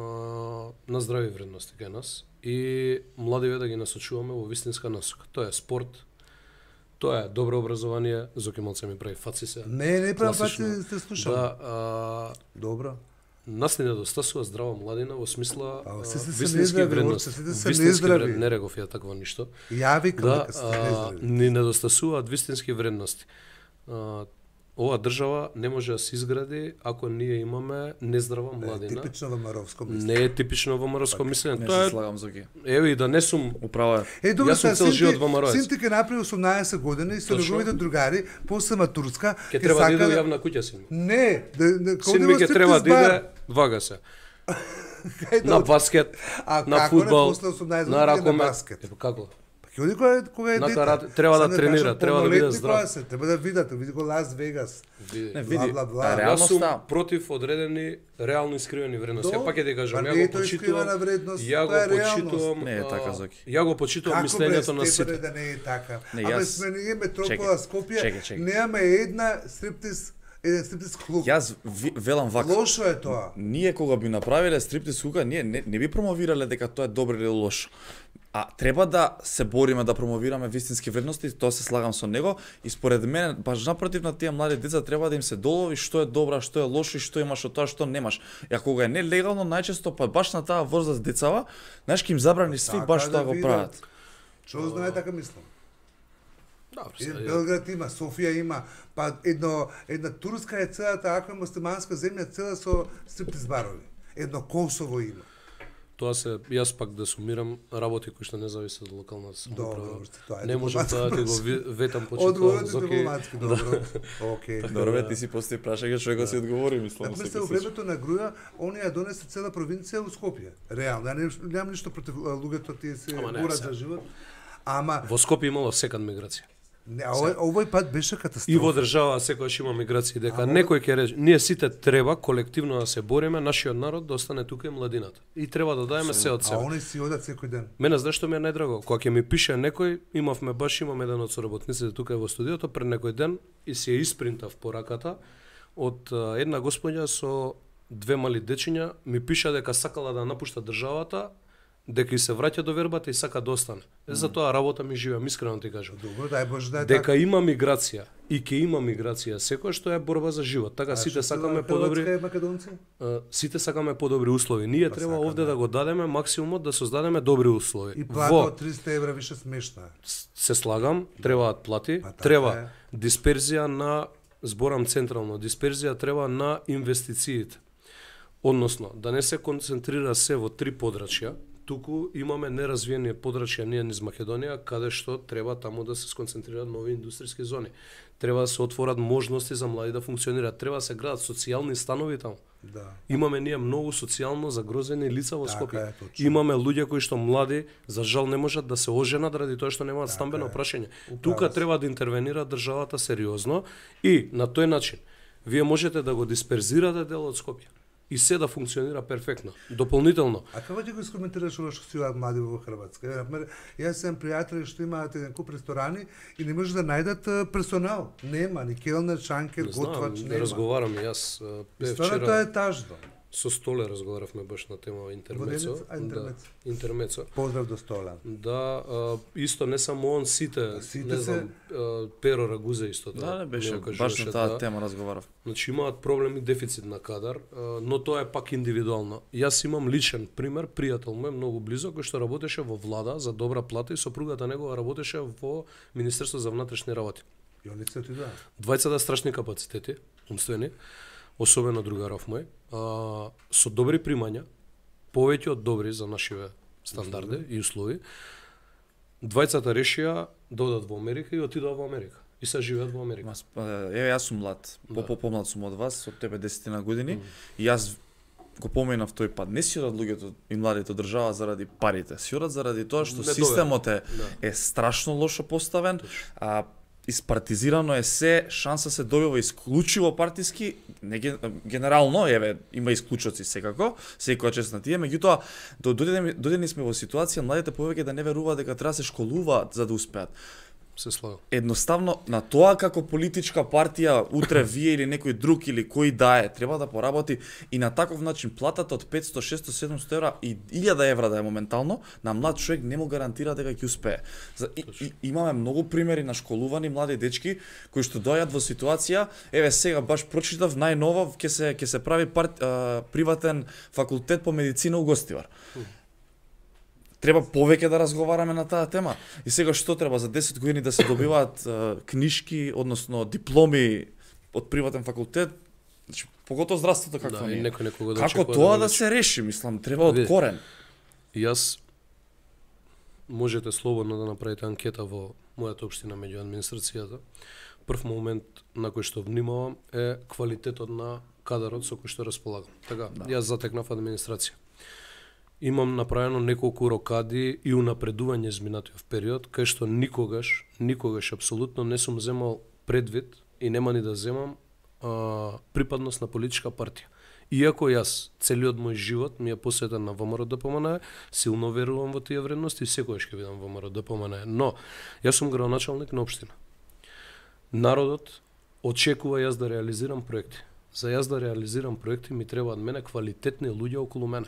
на здрави вредности кај нас и младиве да ги насочуваме во вистинска насока. Тоа е спорт, тоа е добро образование, Зоки малце ми прави фаци се. Не, не правам Класично. пати сте слушам. Да, а, Добро. нас не недостасува здрава младина во смисла А, а, сите се вистински нездрави, вредности. орце, сите се Вистински нездрави. вред- Не реков ја такво ништо. Ја викам Да, дека сте а, нездрави. ни недостасуваат вистински вредности. А, ова држава не може да се изгради ако ние имаме нездрава младина. Типично ВМРО-вско мислење. Не е типично ВМРО-ско мислење. Не Тоа се е, слагам за ги. еве и да не сум Управа е. Е, добро, Јас сум сега цел син живот ти- ВМРО-ец. Син ти ке направи осумнаесет години и со Точно. неговите другари, после матурска, ќе треба да иде во јавна куќа син. Не, да, да, Син ми ќе треба да иде, вага се. На баскет, А на како не фудбал, после осумнаесет на години на ракомет. баскет? Епа како? Па ќе оди кога, кога е На дете. карате, треба да Сега не тренира, кажам треба да биде полнолетни здрав. кога се, треба да видат, види го Лас Вегас. Види. Не, види, бла, бла. а, Јас реалноста- сум против одредени реално искривени вредности. До, Ја пак ќе ти кажам, па ја не е го тоа искривена почитувам. вредност, Ја тоа е го реалност. почитувам. Не е а, така, Зоки. Ја го почитувам Како бре, мислењето на Стефане, сите. да не е така? Не, Абе, јас- сме ние метропола Чекај, Скопје, чекај, чекај. немаме една стриптиз, еден стриптиз клуб. Јас ви, велам вака. Лошо е тоа. Ние кога би направиле стриптиз кука, ние не, не би промовирале дека тоа е добро или лошо. А треба да се бориме да промовираме вистински вредности, тоа се слагам со него и според мене баш напротив на тие млади деца треба да им се долови што е добро, што е лошо и што имаш од тоа, што немаш. И ако кога е нелегално, најчесто па баш на таа возраст децава, знаеш ки им забрани сви Така баш да тоа го видат. прават. Што знае така мислам? Добро, Е, сега, ја- Белград има, Софија има, па едно една турска е целата ако е муслиманска земја цела со стриптиз барови. Едно Косово има. Тоа се јас пак да сумирам работи кои што не зависат од локалната самоуправа. Добро, тоа е Не можам дипломатски тоа да ти го въпрос. ви- ветам почитувам Одговорот е Зоки. дипломатски, добро. Окей. Добро, бе, ти си постои прашање, човекот си одговори, мислам. Например, се во времето на Груја, они ја донесе цела провинција у Скопје. Реално, ја не- немам ништо против а, луѓето, тие се Ама не, борат се. за живот. Ама Во Скопје имало секад миграција. не, а овој, овој пат беше катастрофа. И во држава секогаш има миграции, дека Ама- некој ќе рече, ние сите треба колективно да се бориме, нашиот народ да остане тука и младината. И треба да дадеме се од А себе. они си одат секој ден. Мене знаеш што ми е најдраго? Кога ќе ми пише некој, имавме баш имам еден од соработниците тука во студиото пред некој ден и си ја испринтав пораката од а, една господја со две мали дечиња, ми пиша дека сакала да напушта државата, дека и се враќа до вербата и сака да остане. Е, за тоа работа ми живеам, искрено ти кажам. Добро, дај Боже да е Дека така. има миграција и ќе има миграција, секој што е борба за живот. Така А сите што сакаме Хрватска подобри, и македонци? а, сите сакаме подобри услови. Ние Па треба сакаме. овде да го дадеме максимумот да создадеме добри услови. И плата Во од триста евра више смешна. се слагам, требаат плати, Па така треба е. дисперзија на, зборам централно, дисперзија треба на инвестициите. Односно, да не се концентрира се во три подрачја, туку имаме неразвиени подрачја ние низ Македонија, каде што треба таму да се сконцентрираат нови индустријски зони. Треба да се отворат можности за млади да функционираат, треба да се градат социјални станови таму. Да. Имаме ние многу социјално загрозени лица во Така Скопје. е, точно. Имаме луѓе кои што млади, за жал не можат да се оженат ради тоа што немаат Така стамбено е. прашање. Управо Тука си. треба да интервенира државата сериозно и на тој начин вие можете да го дисперзирате дел од Скопје и се да функционира перфектно. Дополнително, А како ќе го искоментираш ова што си одат млади во Хрватска? Еве, например, јас сум пријатели што имаат еден куп ресторани и не може да најдат а, персонал. Нема ни келнер, шанкер, не знам, готвач, да нема. разговарам и јас. И Бе, стварно вчера тоа е тажно. Со Столе разговаравме баш на тема интермецо. Воденец, а, интермецо. Да, интермецо. Поздрав до Стола. Да, а, исто не само он, сите, Сите не се- знам, а, Перо Рагузе исто тоа. Да, не беше, ми го баш кажуваше, на таа да. тема разговарав. Значи имаат проблем и дефицит на кадар, а, но тоа е пак индивидуално. Јас имам личен пример, пријател мој многу близо кој што работеше во влада за добра плата и сопругата негова работеше во Министерство за внатрешни работи. И они се отидоа. Двајцата страшни капацитети, умствени, особено другаров мој, а, со добри примања, повеќе од добри за нашиве стандарди и услови. Двајцата решија да одат во Америка и отидоа во Америка. И се живеат во Америка. Мас, еве јас сум млад, Да. по попомлад сум од вас, од тебе десетина години, и јас го поменав тој пат. Не си одат луѓето и младите од држава заради парите, си одат заради тоа што Не системот е, Да. е страшно лошо поставен, а испартизирано е се, шанса се добива исклучиво партиски, не ген- генерално, еве, има исклучоци секако, секоја чест на тие, меѓутоа, до- додедени, додедени сме во ситуација младите повеќе да не веруваат дека треба да се школуваат за да успеат. Се слагам. Едноставно на тоа како политичка партија утре вие или некој друг или кој да е треба да поработи и на таков начин платата од петсто, шесто, седумсто евра и илјада евра да е моментално на млад човек не му гарантира дека ќе успее. За, и, и, имаме многу примери на школувани млади дечки кои што доаѓаат во ситуација, еве сега баш прочитав најново ќе се ќе се прави парт, а, приватен факултет по медицина у Гостивар. Треба повеќе да разговараме на таа тема. И сега што треба за десет години да се добиваат е, книжки, односно дипломи од приватен факултет, значи поготово здравството какво Да, ни и е. некој некога да Како очекува тоа го да научи. се реши, мислам, треба од Види. корен. Јас можете слободно да направите анкета во мојата општина меѓу администрацијата. Прв момент на кој што внимавам е квалитетот на кадарот со кој што располагам. Така, да. Јас затекнав администрација. Имам направено неколку рокади и унапредување изминатиот период, кај што никогаш, никогаш апсолутно не сум земал предвид и нема ни да земам а, припадност на политичка партија. Иако јас целиот мој живот ми е посветен на ВМРО ДПМН, силно верувам во тие вредности и секогаш ќе бидам ВМРО ДПМН. Но јас сум градоначалник на општина. Народот очекува јас да реализирам проекти. За јас да реализирам проекти ми требаат мене квалитетни луѓе околу мене.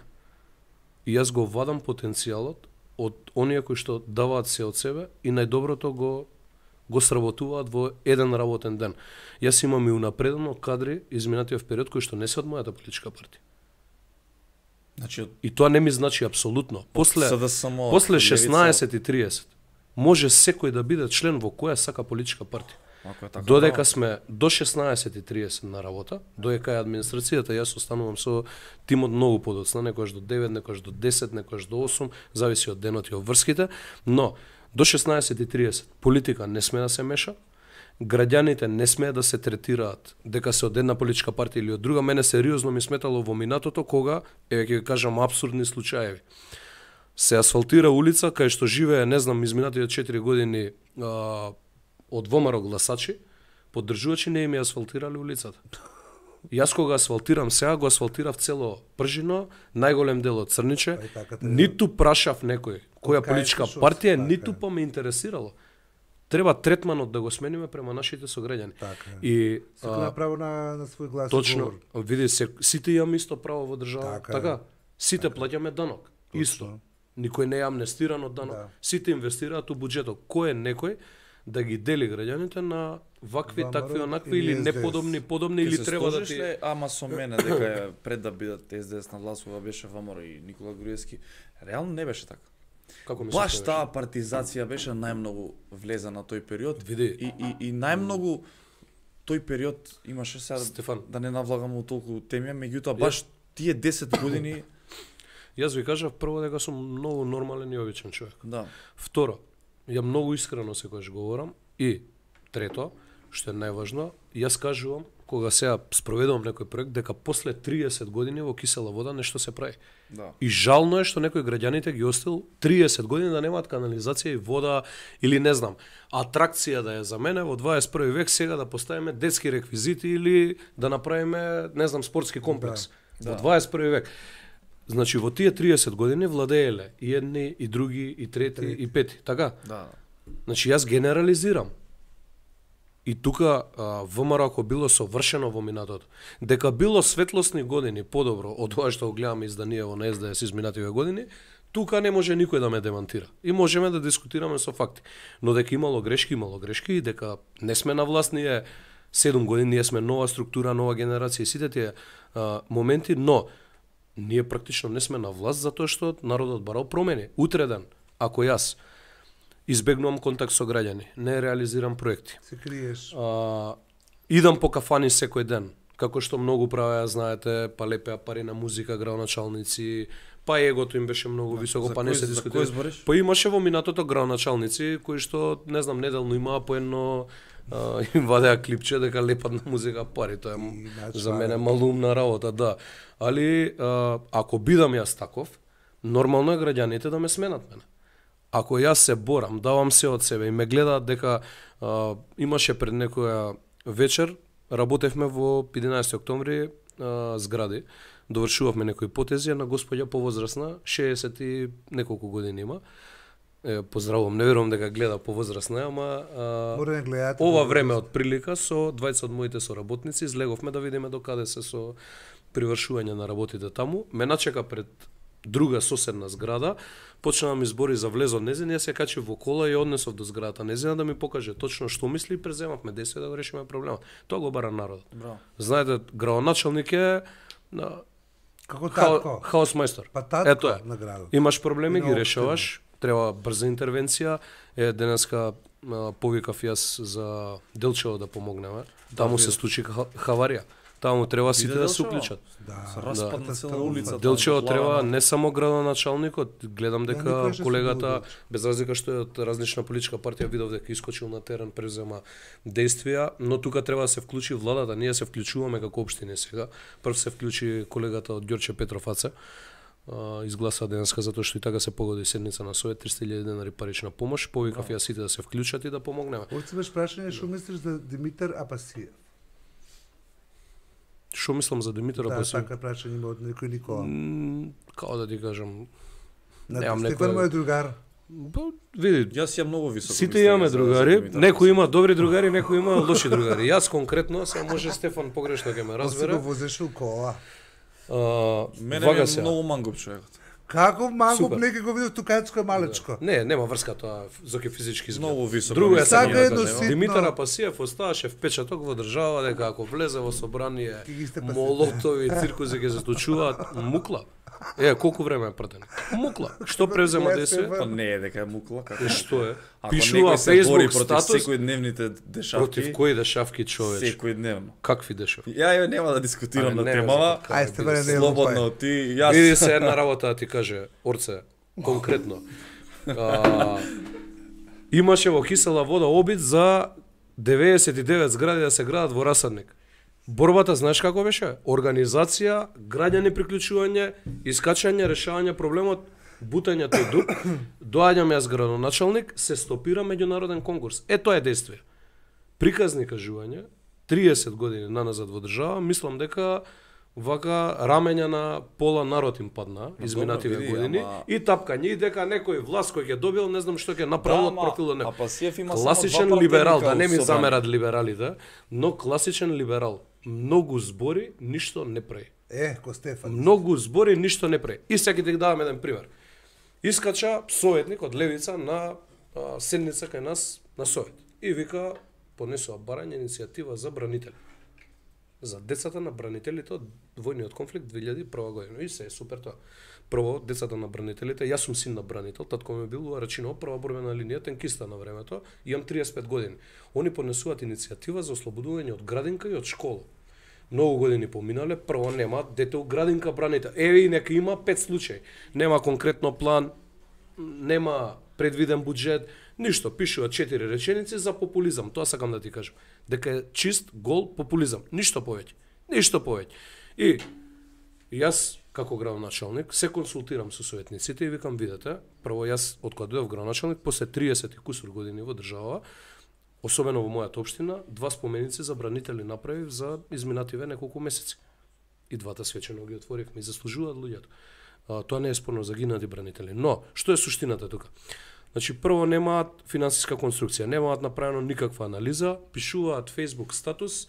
И јас го вадам потенцијалот од оние кои што даваат се од себе и најдоброто го го сработуваат во еден работен ден. Јас имам и унапредено кадри изминатиот период кои што не се од мојата политичка партија. Значи од И тоа не ми значи апсолутно. После СДСМ, после Левица, шеснаесет и триесет може секој да биде член во која сака политичка партија. ако е така. Додека сме до шеснаесет и триесет на работа, додека е администрацијата, јас останувам со тимот многу подоцна, некојаш до девет, некојаш до десет, некојаш до осум, зависи од денот и од врските, но до шеснаесет и триесет политика не сме да се меша, граѓаните не смеат да се третираат дека се од една политичка партија или од друга. Мене сериозно ми сметало во минатото кога, еве ќе ви кажам апсурдни случаеви. Се асфалтира улица кај што живее, не знам, изминатите четири години а, од ВМРО гласачи, поддржувачи не им ја асфалтирале улицата. Јас кога асфалтирам сега, го асфалтирав цело Пржино, најголем дел од Црниче, Па и така те- ниту прашав некој која кај политичка слушаш, партија, така ниту е. па ме интересирало. Треба третманот да го смениме према нашите сограѓани. Така е. И Секој а, има право на, на свој глас и точно, говор. види се, сите имаме исто право во држава, Така така, е. сите плаќаме данок, исто. Никој не е амнестиран од данок, Да. сите инвестираат у буџетот. Кој е некој да ги дели граѓаните на вакви, ВМРО такви, онакви или или ес де ес. неподобни, подобни Ќе или се треба да сложиш ти... ли, ама со мене дека е пред да бидат СДС на власт кога беше ВМРО и Никола Груевски, реално не беше така. Како ми Баш се таа партизација беше најмногу влеза на тој период. Види. И, и, и најмногу тој период имаше сега Стефан. да не навлагам у толку теми, меѓутоа баш тие десет години Јас ви кажав прво дека сум многу нормален и обичен човек. да. Второ, ја многу искрено секогаш говорам. И трето, што е најважно, јас кажувам кога сега спроведувам некој проект дека после триесет години во кисела вода нешто се прави. Да. И жално е што некои граѓаните ги остил триесет години да немаат канализација и вода или не знам, атракција да е за мене во дваесет и први век сега да поставиме детски реквизити или да направиме, не знам, спортски комплекс. Да. Во Да. дваесет и први век. Значи во тие триесет години владееле и едни, и други, и трети, Трети. и пети, така? Да. Значи јас генерализирам. И тука а, ВМРО ако било совршено во минатото, дека било светлосни години подобро од тоа што го гледаме изданиево на Ес Де Ес изминативе години, тука не може никој да ме демантира. И можеме да дискутираме со факти. Но дека имало грешки, имало грешки и дека не сме на власт ние седум години, ние сме нова структура, нова генерација и сите тие а, моменти, но ние практично не сме на власт затоа што народот барал промени. Утреден, ако јас избегнувам контакт со граѓани, не реализирам проекти, Се криеш. а, идам по кафани секој ден, како што многу правеа, знаете, па лепеа пари на музика, градоначалници, па егото им беше многу високо, па не се дискутира. Па имаше во минатото градоначалници кои што, не знам, неделно имаа по едно а, им вадеа клипче дека лепат на музика пари, тоа е за мене малумна работа, да. Али а, ако бидам јас таков, нормално е граѓаните да ме сменат мене. Ако јас се борам, давам се од себе и ме гледаат дека а, имаше пред некоја вечер, работевме во единаесети октомври а, згради, довршувавме некои потези на господја повозрасна, шеесет и неколку години има. Е, поздравувам, не верувам дека гледа повозрасна, ама а, Мора да гледате. ова време од прилика со двајца од моите соработници излеговме да видиме докаде се со привршување на работите таму. Ме начека пред друга соседна зграда, почна да ми збори за влезот незин, јас се качив во кола и однесов до зградата незина да ми покаже точно што мисли и преземавме действие да го решиме проблемот. Тоа го бара народот. Браво. Знаете, градоначалник е на Како хао, татко. хаос мајстор. Па татко Ето е. на градот. Имаш проблеми, И ги на решаваш, треба брза интервенција. Е, денеска а, повикав јас за Делчево да помогнеме. Таму се случи ха- хаварија. Таму треба сите да се уклучат. Да. Се распадна цела улица. Делчево треба не само градоначалникот, гледам дека никој што колегата, се без разлика што е од различна политичка партија, видов дека искочил на терен, презема действија, но тука треба да се вклучи владата, ние се вклучуваме како општини сега. Прв се вклучи колегата од Ѓорче Петров Аце, а, изгласа денеска затоа што и така се погоди седница на Совет, триста илјади денари парична помош, повикав ја сите да се вклучат и да помогнеме. Орце беше прашање што мислиш за Димитар Апасиев? Што мислам за Димитар Да, Апасиев? така прашање има од некој Никола. М, Како да ти кажам, На немам Стефан некој- мој другар. па, види, Јас јам многу високо. сите мислење имаме за- за другари, Димитар некој има добри другари, некој има лоши другари. Јас конкретно, се може Стефан погрешно ќе ме Он си го разбере. возеше у кола. А, Мене вага ми е се. многу мангоп човекот. Како мангоп Супер. неке го видов тукачко малечко. Не, нема врска тоа зоке физички изглед. Многу високо. Друго е мислење само Сака да едно кажем. ситно- Димитар Апасиев оставаше впечаток во држава дека ако влезе во собрание, Ќе ги степа молотови, циркузи ќе се случуваат, мукла. Е, колку време е пратен? Мукла. Што превзема действие? Па не е дека е мукла, како. Е, што е? Ако Пишува некој се бори Facebook против статус секојдневните дешавки, против кои дешавки човече? секојдневно. Какви дешавки? Ја ја нема да дискутирам на темава. Ај, Стефане, не Слободно ти, јас. Види се една работа да ти каже, Орце, конкретно. А, имаше во кисела вода обид за деветдесет и девет згради да се градат во расадник. Борбата, знаеш како беше? Организација, граѓани приклучување, искачање, решавање проблемот, бутање тој дуп, доаѓам јас градоначалник, се стопира меѓународен конкурс. Е, тоа е действие. Приказни кажување, триесет години наназад во држава, мислам дека вака рамења на пола народ им падна изминативе види, години ама- и тапкање и дека некој власт кој ќе добил, не знам што ќе направил од профилот А некој. Апасиев има само Класичен два либерал, пратеника да не у ми собрание. замерат либералите, но класичен либерал. Многу збори, ништо не прави. Е, ко Стефан. Многу збори, ништо не прави. И сега ќе ти давам еден пример. Искача советник од левица на а, седница кај нас на совет. И вика, понесува барање иницијатива за бранители. За децата на бранителите од војниот конфликт две илјади и прва година. И се е супер тоа. Прво, децата на бранителите, јас сум син на бранител, татко ми бил во Рачиново, прва борбена линија, тенкиста на времето, имам триесет и пет години. Они понесуваат иницијатива за ослободување од градинка и од школа. Многу години поминале, прво нема дете у градинка браните. Еве и нека има пет случаи. Нема конкретно план, нема предвиден буџет, ништо. Пишува четири реченици за популизам. Тоа сакам да ти кажам. Дека е чист гол популизам. Ништо повеќе. Ништо повеќе. И јас како градоначалник се консултирам со советниците и викам, видете, прво јас од кога дојдов градоначалник после триесет и кусур години во држава, особено во мојата општина, два споменици за бранители направив за изминативе неколку месеци. И двата свечено ги отворивме и заслужуваат луѓето. А, тоа не е спорно, загинати бранители. Но, што е суштината тука? Значи, прво немаат финансиска конструкција, немаат направено никаква анализа, пишуваат Facebook статус,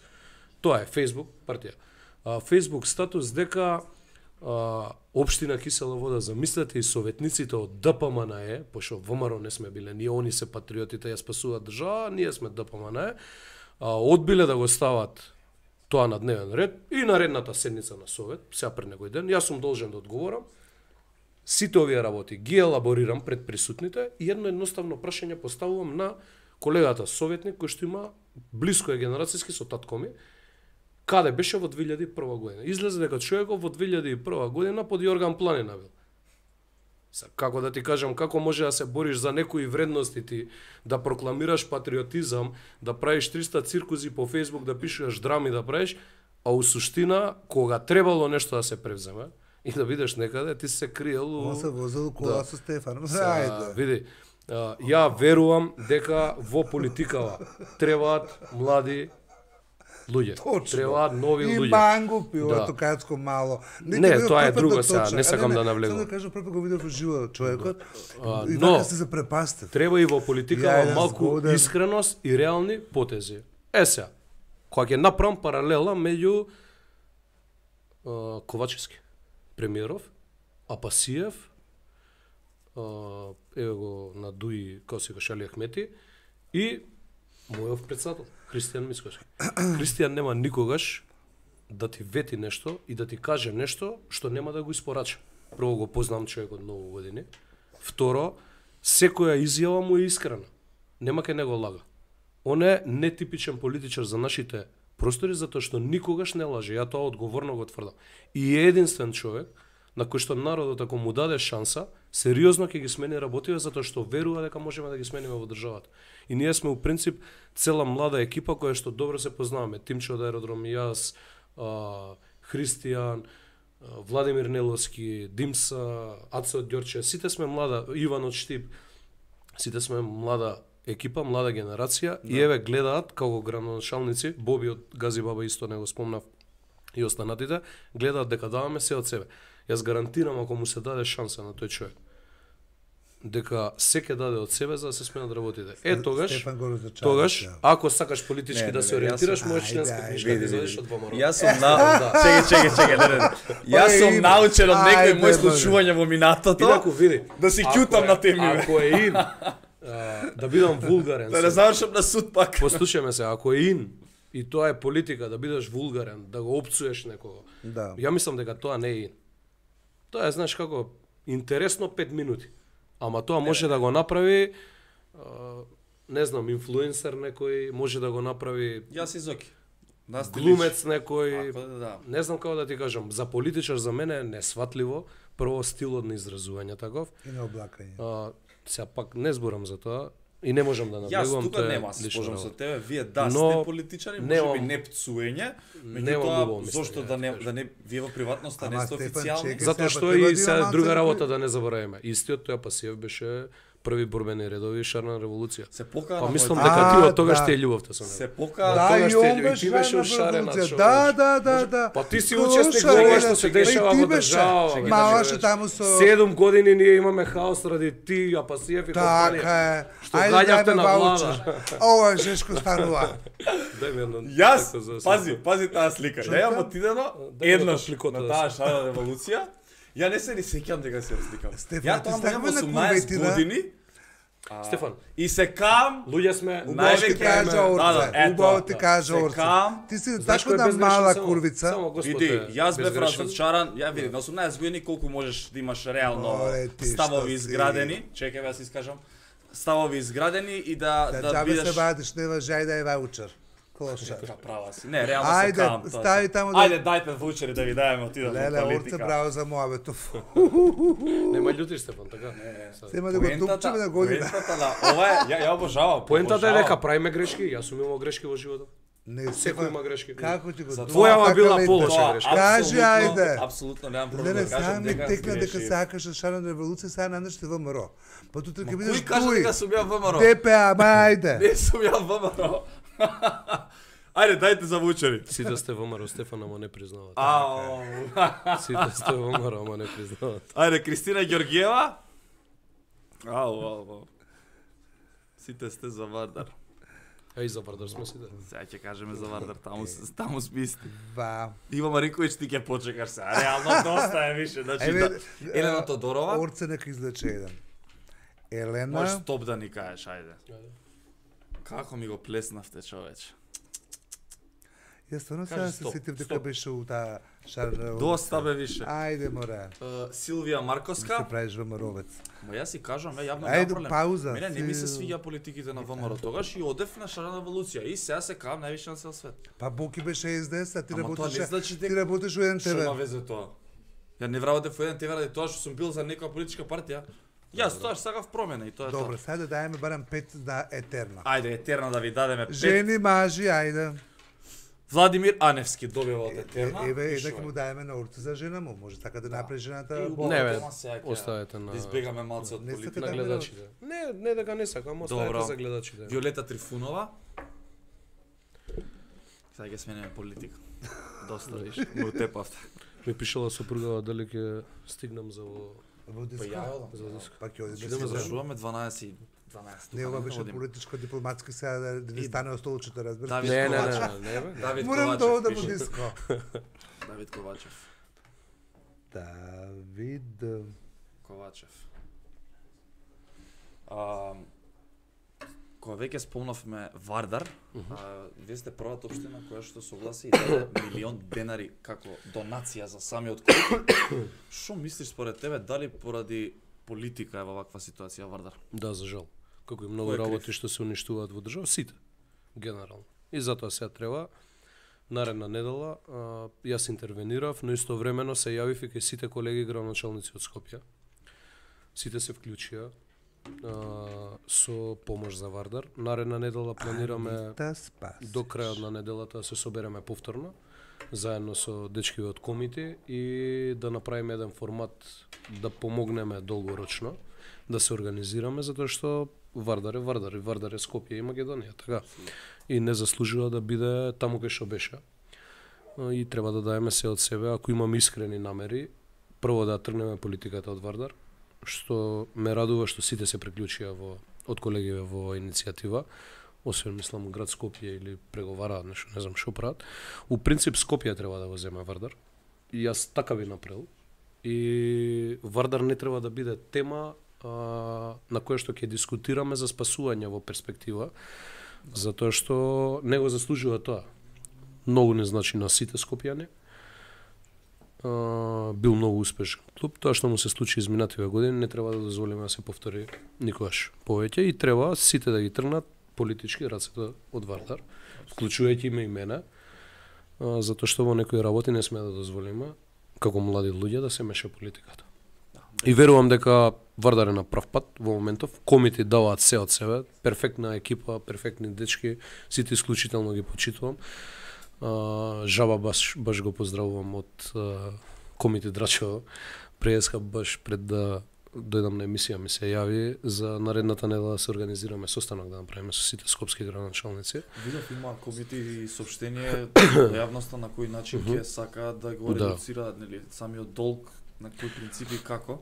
тоа е Facebook партија. А, Facebook статус дека а, општина Кисела вода, замислете и советниците од Д П М Н Е, пошто ВМРО не сме биле, ние они се патриотите, ја спасуваат држава, ние сме Д П М Н Е, а, одбиле да го стават тоа на дневен ред и наредната седница на совет, сега пред некој ден, јас сум должен да одговорам. Сите овие работи ги елаборирам пред присутните и едно едноставно прашање поставувам на колегата советник кој што има блиско е генерацијски со татко ми. Каде беше во две илјади и прва година? Излезе дека човекот во две илјади и прва година под Јорган Планина бил. Са, како да ти кажам, како може да се бориш за некои вредности ти, да прокламираш патриотизам, да правиш триста циркузи по Facebook, да пишеш драми да правиш, а у суштина, кога требало нешто да се превземе, и да видиш некаде, ти се криел... Он се возил кола Да. со Стефан. Са, Ајде. види, а, ја верувам дека во политикава требаат млади луѓе. Точно. Требаат нови И луѓе. мангу пио, Да. ето кацко мало. Не, видов тоа е прв пат друго да сега, точно. не сакам А, да навлегувам. Само да кажам, прв пат го видов во живо човекот А, и но- вака се запрепастив. Треба и во политикава Ја, малку згоден. искреност и реални потези. Е сега, кога ќе направам паралела меѓу а, Ковачевски, Премиеров, Апасиев, а, еве го на Дуи Косико Шали Ахмети и мојов председател, Христијан Мискошки. Христијан нема никогаш да ти вети нешто и да ти каже нешто што нема да го испорача. Прво го познам човекот многу години. Второ, секоја изјава му е искрена. Нема ке него лага. Он е нетипичен политичар за нашите простори затоа што никогаш не лаже. Ја тоа одговорно го тврдам. И е единствен човек на кој што народот ако му даде шанса, сериозно ќе ги смени работиве затоа што верува дека можеме да ги смениме во државата. И ние сме у принцип цела млада екипа која што добро се познаваме. Тимче од аеродром, јас, а, Христијан, а, Владимир Неловски, Димса, Аце од Ѓорче, сите сме млада, Иван од Штип, сите сме млада екипа, млада генерација и еве гледаат како градоначалници, Боби од Гази Баба исто не го спомнав и останатите, гледаат дека даваме се од себе. Јас гарантирам ако му се даде шанса на тој човек дека се ќе даде од себе за да се сменат работите. Е тогаш, Стефан го разочара, тогаш да. ако сакаш политички Не, да не, се не, ориентираш, јас- можеш Ајде, членска ајде, книжка види, да види. извадиш од ВМРО. Јас сум на... Чекај, чекај, чекај, не, не. Јас сум Ин. научен од некој Ајде, мој бе. случување во минатото. Инаку види, Да си ако ќутам е- на теми, бе. Ако е ин, а, да бидам вулгарен. Да не се. завршам на суд пак. Послушаме се, ако е ин и тоа е политика да бидеш вулгарен, да го опцуеш некого. Да. Ја мислам дека тоа не е ин. Тоа е, знаеш како, интересно пет минути. Ама тоа може да го направи, а, не знам, инфлуенсер некој, може да го направи Јас изоки. Нас ти глумец личи. некој, Ако да, да. не знам како да ти кажам, за политичар за мене е несватливо, прво стилот на изразување таков, И на облакање. а, сега пак не зборам за тоа и не можам да Јас навлегувам, тука тоа е нема се лична спожам со работа. тебе, вие да Но сте политичари, немам- можеби не пцуење, немам меѓутоа убаво мислење, зошто да да не кажам. да не вие во приватноста Ама, не сте Стефан, официјални? чекај. Затоа Сега, што па треба и да се има друга малце работа кој- да не забораваме. Истиот тој Апасиев беше први борбени редови шарна револуција. Се покана Па на мислам мојот- дека А, ти од тогаш да. ти е љубовта со него. се покана Да, тогаш и те- он и беше ти беше на ушарена, револуција. човече. Да, да, да, да. Па ти си Кој учесник во ушарена? ова што се И дешава ти во беше. држава. Малаше таму со... Седум години ние имаме хаос ради ти, Апасиев и компанија. Така е. Што Ајде гаѓавте дајме на ваучер. влада. Ова е жешко станува. Дај ми едно. Јас, тако за- пази, пази таа слика. Ја јам отидено Дај ми еднаш топликота на да таа се- шарена револуција. Ја не се ни сеќам дека се разликам. Стефан, Ја ти тоа ставаме имам на осумнаесет куветина. години Стефан, и се кам луѓе сме, Убаво ти Највеќе кажа ме- Орце. Да, да, ето, Убаво ти да. кажа Се Орце. кам, Ти си знаеш така кој е да безгрешен? мала Само- курвица. Само Господ Види, е јас бев безгрешен. разочаран, ја види, на осумнаесет години колку можеш да имаш реално Море ти, ставови што си. изградени, чекај да се искажам, ставови изградени и да Да да џабе се бидеш вадиш, не важај да е ваучер. Клоша. Така права си. Не, реално Ајде, се кам. тоа. стави таму да- Ајде, дајте ваучери да ви дајме, отидам во Леле, Орце, политика. браво за моабето. Нема љутиш Стефан, така? Сема да го тупчеме на година. Поентата на ова е, ја ја обожавам. Поентата е обожавам. дека правиме грешки, јас сум имал грешки во животот. Не, Секој Стефан, има грешки. Како ти го За дума, твојава така била летна. полоша Тоа, грешка. Кажи, апсолутно- ајде. Апсолутно немам Не, проблем не, да кажам сам ми дека текна дека сгрешив. сакаш да шарена револуција, сега надаш те ВМРО. Па тут ќе бидеш Кој кажа туј. дека сум ја ВМРО? ДПА, ма ајде. Не сум ја ВМРО. Ајде, дајте за вучери. Сите сте во Маро Стефан, ама не признават. Ау. Сите сте во Маро, ама не признават. Ајде, Кристина Ѓоргиева. Ау, ау, ау. Сите сте за Вардар. А и за Вардар сме сите. Сега ќе кажеме за Вардар, таму таму сме исти. Ва. Иво Маринковиќ, ти ќе почекаш сега. Реално доста е више, значи Еве, да. Елена Тодорова. Орце нека излече еден. Елена. Можеш стоп да ни кажеш, ајде. Како ми го плеснавте, човече. Ја стварно Кажи сега се стоп, сетив дека стоп. беше у таа шар. Доста бе више. Ајде море. Uh, Силвија Марковска. Се правиш ВМРО-вец. Ма јас си кажам, е јавно Ајде, нема проблем. пауза, Мене не ми се си- свиѓа политиките на ВМРО тогаш и одев на шарена еволуција и сега се кам највише на цел свет. Па Боки беше ес де ес, а ти Ама тоа работиш. не значи дека- Ти работиш у еден Што има тебе. везе тоа? Ја не вработев во еден те ради тоа што сум бил за некоја политичка партија. Јас тоа сакав промена и тоа е Добро, тоа. сега да даеме барем пет на етерна. Ајде, етерна да ви дадеме пет. Жени, мажи, ајде. Владимир Аневски добива од етерна. Еве, И еднак шо е? му даеме на орце за жена му. Може така да направи жената. И бо- Не, бе, Тема сега ќе- оставете на- Да избегаме малце од Не сакате политика. На да гледачите. Не, не дека не сакам, оставете Добро. за гледачите. Виолета Трифунова. Сега ќе сменеме политика. Доста, виш, му утепавте. Ми пишала сопругава дали ќе стигнам за во Во диско. Па ја, за диско. Пак ќе оди Идеме да се зашуваме дванаесет дванаесет. Не, ова беше политичко-дипломатски сега да да не И- стане остолчето, разбираш. Давид Не, не, не, Ковачев. не, не, бе. Давид Морам да Ковачев одам во пише. диско. Давид Ковачев. Давид. Ковачев. А, кога веќе спомнавме Вардар, а, вие сте првата општина која што согласи и даде милион денари како донација за самиот клуб. Што мислиш според тебе, дали поради политика е во ваква ситуација Вардар? Да, за жал. Како и Кој многу е крив? работи што се уништуваат во држава, сите, генерално. И затоа сега треба наредна недела а, јас интервенирав, но истовремено се јавив и кај сите колеги градоначалници од Скопје. Сите се вклучија а, со помош за Вардар. Наредна недела планираме Та спас. до крајот на неделата да се собереме повторно заедно со дечкиве од комите и да направиме еден формат да помогнеме долгорочно да се организираме затоа што Вардар е Вардар и Вардар е Скопје и Македонија, така. И не заслужува да биде таму кај што беше. А, И треба да даеме се од себе, ако имаме искрени намери, прво да тргнеме политиката од Вардар, што ме радува што сите се приклучија во од колегиве во иницијатива, освен мислам град Скопје или преговараат нешто, не знам што прават. У принцип Скопје треба да го земе Вардар. И јас така би направил. И Вардар не треба да биде тема а, на која што ќе дискутираме за спасување во перспектива, затоа што не го заслужува тоа. Многу не значи на сите скопјани. А, бил многу успешен клуб. Тоа што му се случи изминативе години не треба да дозволиме да се повтори никогаш повеќе и треба сите да ги тргнат политички рацете од Вардар, вклучувајќи ме и мене, а, затоа што во некои работи не сме да дозволиме како млади луѓе да се меша политиката. И верувам дека Вардар е на прав пат во моментов. Комити даваат се од себе, перфектна екипа, перфектни дечки, сите исклучително ги почитувам. А, Жаба баш, баш го поздравувам од а, комити Драчево. Преска баш пред да дојдам на емисија ми се јави за наредната недела да се организираме состанок да направиме со сите скопски градоначалници. Видов има комити и соопштение на јавноста на кој начин ќе сакаат да го Да. редуцираат, нели, самиот долг, на кои принципи и како.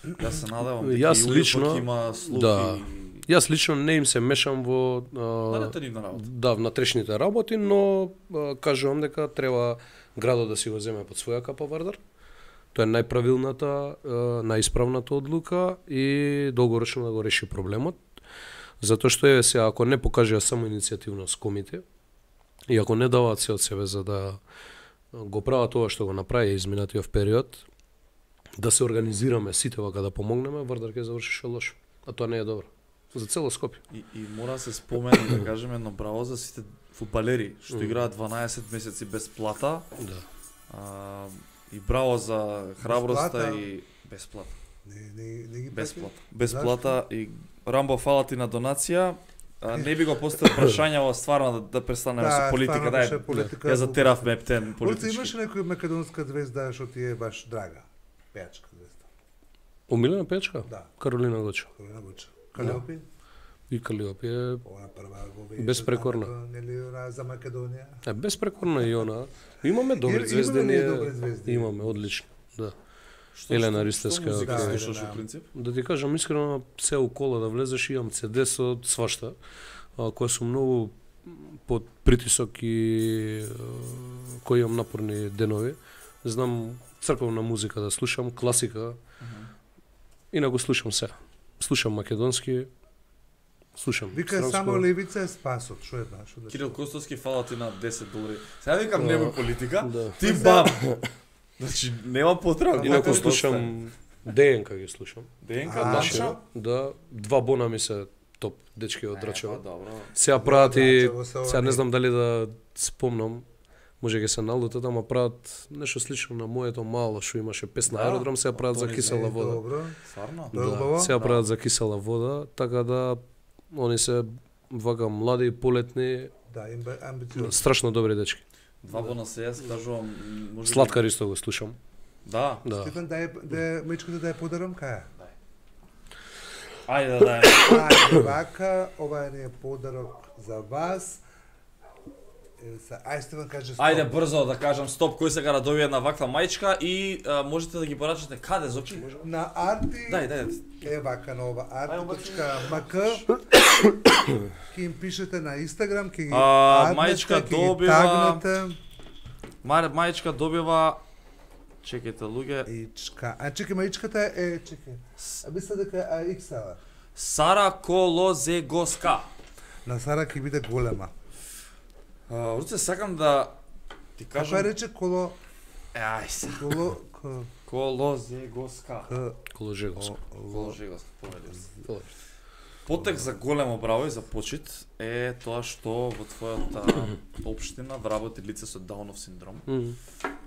Јас се надевам Јас дека и лично- УИП има слухи. Да. и- Јас лично не им се мешам во а, Дадете нивна работа. да, внатрешните работи, но а, кажувам дека треба градот да си го земе под своја капа Вардар. Тоа е најправилната, а, најисправната одлука и долгорочно да го реши проблемот. Затоа што е се ако не покажува само иницијативност комите и ако не даваат се од себе за да го прават тоа што го направи изминатиот период, да се организираме сите вака да помогнеме, Вардар ќе завршише лошо. А тоа не е добро. За цело Скопје. И, и мора да се спомене, да кажеме, едно браво за сите фудбалери што Мм. играат дванаесет месеци без плата. Да. А, и браво за храброста плата. и бесплата. Не, не, не ги Бесплата. плати. Бесплата и Рамбо, фала ти на донација. А, не би го поставил прашања стварно да, да престанеме Да, со политика, стварно дај. беше политика. Ја затеравме ептен Орце, политички. имаше некоја македонска звезда што ти е баш драга? Пејачка звезда. Омилена печка? Да, Каролина Гочо. Каролина Гуча. Калиопи? И Калиопи е, Она прва го веќе Безпрекорна. знаменето, Нели ра- за Македонија. е безпрекорна и она. Имаме добри Има- звезди, имаме ние добри звезди. имаме одлично, да. Што- Елена што- Ристевска, Што музика да, слушаш да. во принцип? Да ти кажам искрено, се у кола да влезеш, имам Си Ди со свашта, а, која сум многу под притисок и а, кој имам напорни денови. Знам црковна музика да слушам, класика, инаку слушам се. Слушам македонски, слушам Вика српско. само левица е спасот, што е знаеш? Кирил Костовски, фала ти на десет долари. Сега викам Да. немој политика, Да. ти бам. Значи нема потреба. Инаку Моето слушам ДНК ги слушам. ДНК А, Значи, Данча. да, два бона ми се топ дечки од Е, Драчево. па, добро. Сега прават и Драчево се сега не они. знам дали да спомнам, може ќе се налутат, ама прават нешто слично на моето мало што имаше песна Да, аеродром, сега прават за Антони кисела Е, вода. Добро. Стварно? Да. убаво? сега Да. прават за кисела вода, така да они се вака млади и полетни, Да, им бе амбициозно. страшно добри дечки. Два бона се јас кажувам, може би- Сладкар исто го слушам. Да. Да. Стефан, дај да мечката да ја подарам кај. Ајде да. Ајде вака, ова е подарок за вас. Е, са- Ај Стефан каже стоп. Ајде брзо да кажам стоп, кој сега да добие една ваква мајчка и а, можете да ги порачате каде, Зоки? На Арти Дај, дај. е вака на ова Ај, арти.мк ќе им пишете на Инстаграм, ќе ги А, аднете, мајчка ќе ги добива- тагнете. Мај, мајчка добива. Чекайте луѓе. Ичка. А чекай, мајчката е, чекай. А мисля дека е икс ел. Сара Колозегоска. На Сара ќе биде голема. А, Руце, сакам да ти Како ја кажам. рече коло Е, ај се. коло к Колозегоска. к Коложеговско. Колозегоска, повелив се. Потек за големо браво и за почит е тоа што во твојата општина вработи лице со Даунов синдром. Мгм.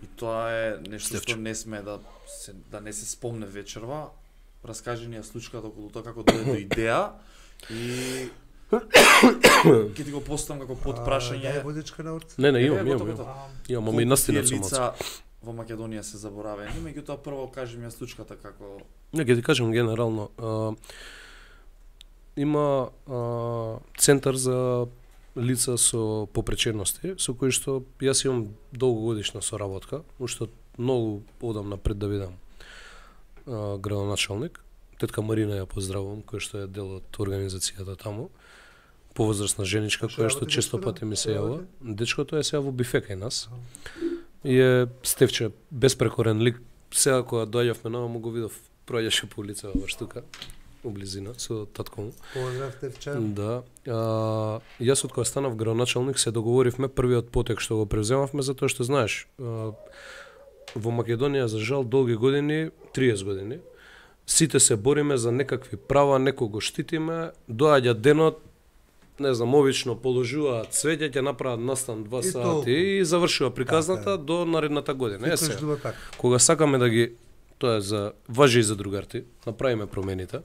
И тоа е нешто Стефче. што не сме да се, да не се спомне вечерва. Раскажи ни ја случката околу тоа како дојде до идеја и ќе ти го поставам како Дај подпрашање. водичка на урц. Не, не, Е, имам, готово, имам, имам. готово. Имам, ама и Колку настина тие сум лица во Македонија се заборавени, меѓутоа прво кажи ми ја случката како Не, ќе ти кажам генерално. А, има а, центар за лица со попречености, со кои што јас имам долгогодишна соработка, уште многу одам напред да бидам а, градоначалник. Тетка Марина ја поздравувам, која што е дел од организацијата таму. Повозрасна женичка, Што која што работи често дечкото? пати ми се Што јава. работи? Дечкото е сега во бифе кај нас. И е Стефче, безпрекорен лик. Сега кога доаѓавме нова му го видов, проаѓаше по улица во штука, у близина, со татко му. Поздрав Тевче. Да. А, јас од кога станав градоначалник се договоривме првиот потек што го превземавме, затоа што знаеш, а, во Македонија за жал долги години, триесет години, сите се бориме за некакви права, некој го штитиме, доаѓа денот, не знам, обично положуваат цвеќе, ќе направат настан два И толку. сати и завршува приказната Така е. до наредната година. Е, Секој се, жива така. кога сакаме да ги, тоа е за важи и за другарти, направиме промените,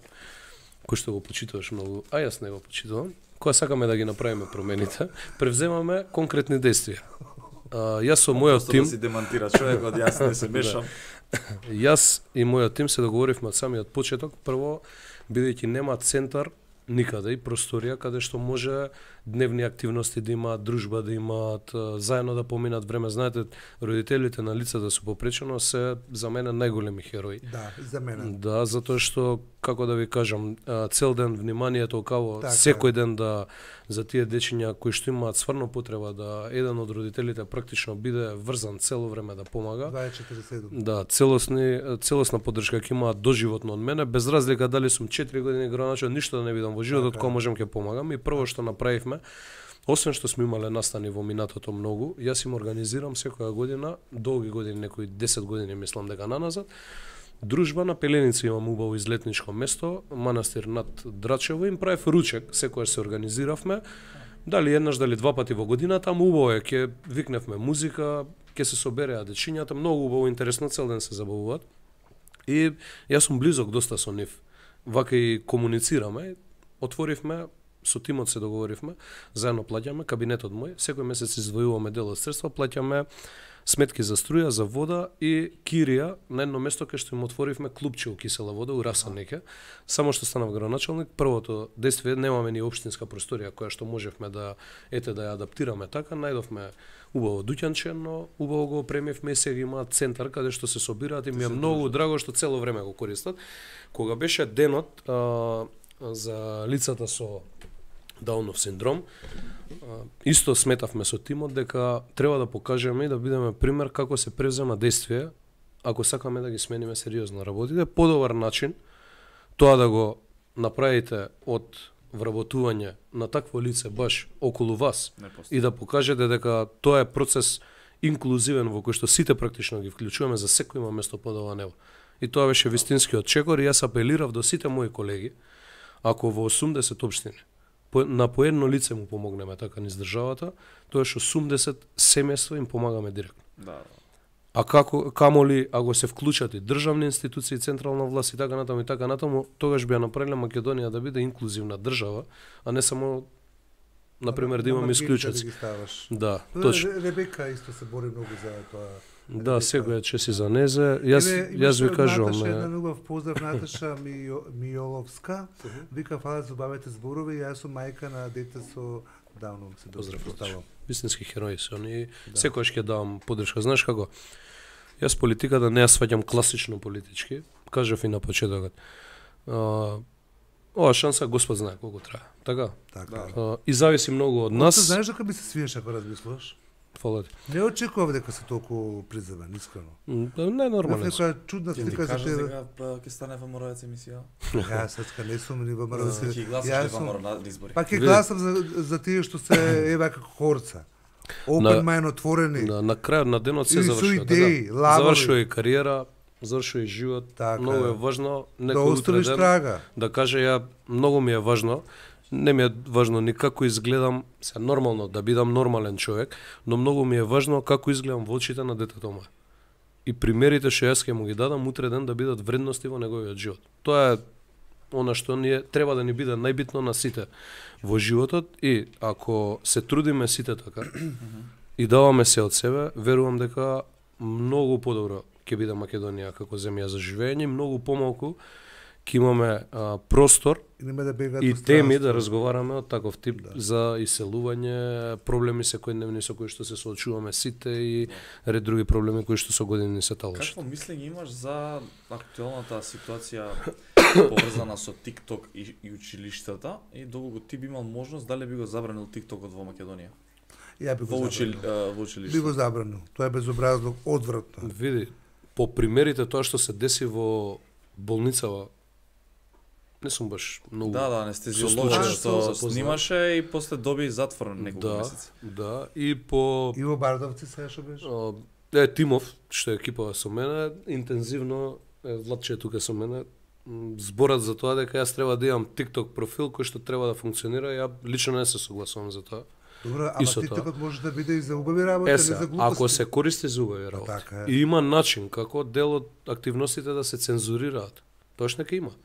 кои што го почитуваш многу, а јас не го почитувам, кога сакаме да ги направиме промените, превземаме конкретни действија. А, јас со мојот Просто тим, да си демантира човекот, јас не се мешам. јас и мојот тим се договоривме од самиот почеток, прво, бидејќи нема центар никаде и просторија каде што може дневни активности да имаат, дружба да имаат, а, заедно да поминат време. Знаете, родителите на лицата со попречено се за мене најголеми херои. Да, и за мене. Да, затоа што, како да ви кажам, а, цел ден вниманието каво Така е. секој ден да за тие дечиња кои што имаат стварно потреба да еден од родителите практично биде врзан цело време да помага. дваесет и четири седум. Да, целосни целосна поддршка ќе имаат доживотно од мене, без разлика дали сум четири години граначо, ништо да не видам во животот, Така е. кога можам ќе помагам. И прво што направивме, освен што сме имале настани во минатото многу, јас им организирам секоја година, долги години, некои десет години мислам дека наназад, дружба на Пеленица, имам убаво излетничко место, манастир над Драчево, им правев ручек, секојаш се организиравме, дали еднаш, дали два пати во годината, ама убаво е, ќе викневме музика, ќе се собереа дечињата, многу убаво, интересно, цел ден се забавуваат. И јас сум близок доста со нив. Вака и комуницираме, отворивме, со тимот се договоривме, заедно плаќаме, кабинетот мој, секој месец издвојуваме дел од средства, плаќаме сметки за струја, за вода и кирија на едно место кај што им отворивме клубче у кисела вода у Расанеке. Само што станав градоначалник, првото действие, немаме ни општинска просторија која што можевме да ете да ја адаптираме така, најдовме убаво дуќанче, но убаво го опремивме и сега има центар каде што се собираат и ми е многу драго што цело време го користат. Кога беше денот а, за лицата со Даунов синдром, исто сметавме со тимот дека треба да покажеме и да бидеме пример како се превзема действие ако сакаме да ги смениме сериозно работите. Подобар начин тоа да го направите од вработување на такво лице баш околу вас и да покажете дека тоа е процес инклузивен во кој што сите практично ги вклучуваме, за секој има место под ова небо. И тоа беше вистинскиот чекор и јас апелирав до сите мои колеги, ако во осумдесет општини По, на по едно лице му помогнеме така низ државата, тоа што осумдесет семејства им помагаме директно. Да. А како камоли ако се вклучат и државни институции, централна власт и така натаму и така натаму, тогаш би ја направиле Македонија да биде инклузивна држава, а не само на пример да имаме исклучоци. Да, точно. Ребека исто се бори многу за тоа. Да, секој чеси за незе. Јас јас ви кажувам, Наташа, една љубов поздрав Наташа Мијоловска. Вика фала за убавите зборови, јас сум мајка на дете со Даунов се доставам. Вистински херои се они. Да. Секогаш ќе давам поддршка. Знаеш како? Јас политиката не ја сваќам класично политички. Кажав и на почетокот. А, ова шанса Господ знае колку трае. Така? Така. А, и зависи многу од нас. Ти знаеш дека би се свиеш ако размислуваш? Фала ти. Не очекував дека се толку приземен, искрено. Не е нормално. Некоја чудна слика за тебе. Дека ќе стане ВМРО емисија. Јас сега не сум ни ВМРО. Ќе гласаш ВМРО на избори. Па ќе гласам за за тие што се ева како хорца. Open mind, отворени. На, на крајот на денот се завршува. Така. Завршува и кариера, завршува и живот. Така. Многу е важно некој да оставиш трага. Да каже ја многу ми е важно. Не ми е важно ни како изгледам, се нормално да бидам нормален човек, но многу ми е важно како изгледам во очите на детето мое. И примерите што јас ќе му ги дадам утре ден да бидат вредности во неговиот живот. Тоа е она што ние треба да ни биде најбитно на сите во животот и ако се трудиме сите така и даваме се од себе, верувам дека многу подобро ќе биде Македонија како земја за живење, многу помалку ќе имаме а, простор и, да и теми да разговараме од таков тип да. За иселување, проблеми секојдневни со кои што се соочуваме сите и ред други проблеми кои што со години се талашат. Какво мислење имаш за актуелната ситуација поврзана со TikTok и, и училиштата и доколку ти би имал можност, дали би го забранил TikTokот во Македонија? Ја би го во, учил, забранил. во училиштето. Би го забранил. Тоа е безобразно, одвратно. Види, по примерите тоа што се деси во болницава, не сум баш многу. Да, да, анестезиолог што снимаше и после доби затвор неколку да, месеци. Да, и по Иво Бардовци сега што беше? Е Тимов, што е екипа со мене, интензивно е Владче тука со мене. Зборат за тоа дека јас треба да имам TikTok профил кој што треба да функционира, ја лично не се согласувам за тоа. Добро, ама TikTokот може да биде и за убави работи, е, не за глупости. Ако се користи за убави работи. Така и има начин како дел од активностите да се цензурираат. Тоа што нека има.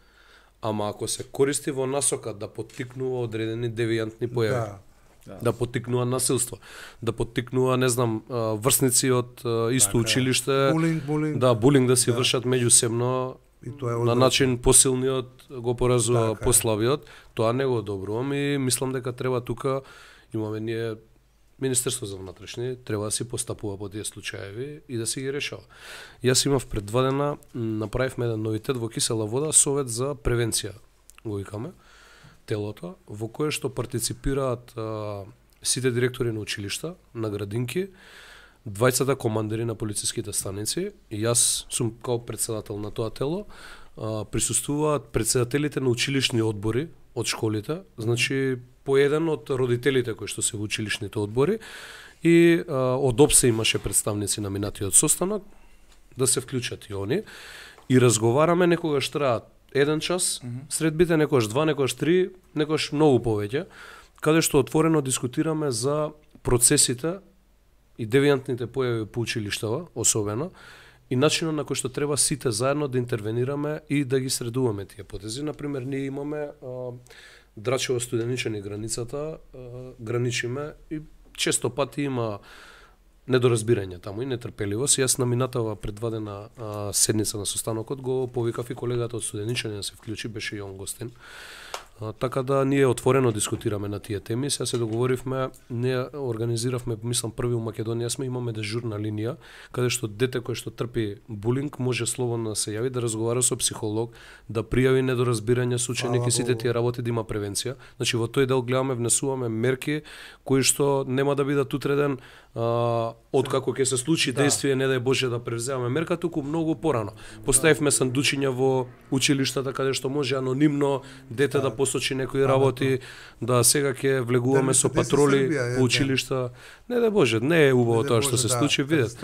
Ама ако се користи во насока да поттикнува одредени девијантни појави, да, да поттикнува насилство, да поттикнува, не знам, врсници од исто така, училиште, булинг, булинг. Да, булинг да си да. Вршат меѓусебно, и тоа е на начин посилниот го поразува така, послабиот, тоа не го одобрувам и мислам дека треба тука имаме ние Министерство за внатрешни треба да си постапува по тие случаеви и да си ги решава. Јас имав пред два дена, направивме еден новитет во Кисела вода, совет за превенција, го викаме, телото, во кое што партиципираат а, сите директори на училишта, на градинки, двајцата командири на полициските станици, и јас сум као председател на тоа тело, а, присуствуваат председателите на училишни одбори од школите, значи по еден од родителите кои што се во училишните одбори и а, од ОПСЕ имаше представници на минатиот состанок да се вклучат и они и разговараме, некогаш траат еден час, mm -hmm. средбите некогаш два, некогаш три, некогаш многу повеќе, каде што отворено дискутираме за процесите и девијантните појави по училиштава, особено, и начинот на кој што треба сите заедно да интервенираме и да ги средуваме тие потези. Например, ние имаме а, Драчево Студеничани границата, а, граничиме и често пати има недоразбирање таму и нетрпеливост. Јас на минатава предвадена а, седница на состанокот го повикав и колегата од Студеничани да се вклучи, беше и он гостин. А, така да ние отворено дискутираме на тие теми. Сега се договоривме, ние организиравме, мислам први во Македонија сме, имаме дежурна линија каде што дете кое што трпи булинг може слободно да се јави, да разговара со психолог, да пријави недоразбирање со ученик и сите тие работи да има превенција. Значи во тој дел гледаме, внесуваме мерки кои што нема да бидат утреден а, откако ќе се случи да. Действие, не дај Боже да превземаме мерка, туку многу порано. Поставивме сандучиња во училиштата каде што може анонимно дете да, да посочи некои работи, да сега ќе влегуваме да, со патроли во училишта. Не дај Боже, не е убаво тоа што се да, случи, видете.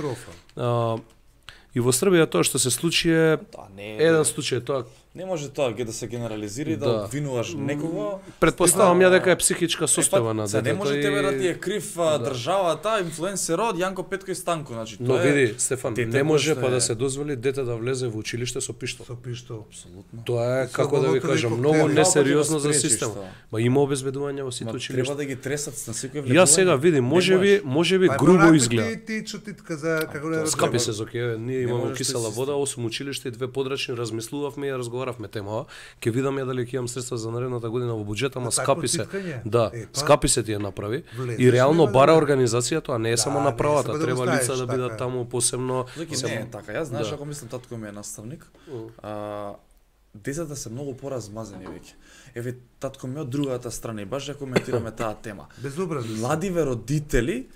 И во Србија тоа што се случи е да, не, еден случај, тоа не може тоа да се генерализира и да, да обвинуваш некого. Предпоставам ја дека е психичка состојба на детето. Не може тебе да ти е крив да. Државата, инфлуенсерот Јанко Петко и Станко, значи тоа. Но види, Стефан, не може па да се дозволи дете да влезе во училиште со пиштол. Со пиштол, апсолутно. Тоа е како да ви кажам, многу несериозно за системот. Ма има обезбедување во сите училишта. Треба да ги тресат на секој влегување. Ја сега види, можеби, можеби грубо изгледа. Ти чутитка за како да скапи се зоке, ние имаме кисела вода, осум училишта и две подрачни, размислувавме и разговаравме темава. Ќе видам ја дали ќе имам средства за наредната година во буџетот, ама скапи се. Да, е, скапи се ти ја направи. Влезеш, и реално бара да организација, тоа не е да, само направата, да треба ставиш, лица да бидат така. таму посебно. Зоки не е така. Јас знаеш, да. Ако мислам татко ми е наставник, uh. а, децата се многу поразмазени веќе. Еве татко ми од другата страна и баш ја коментираме таа тема. Безобразно. Младиве родители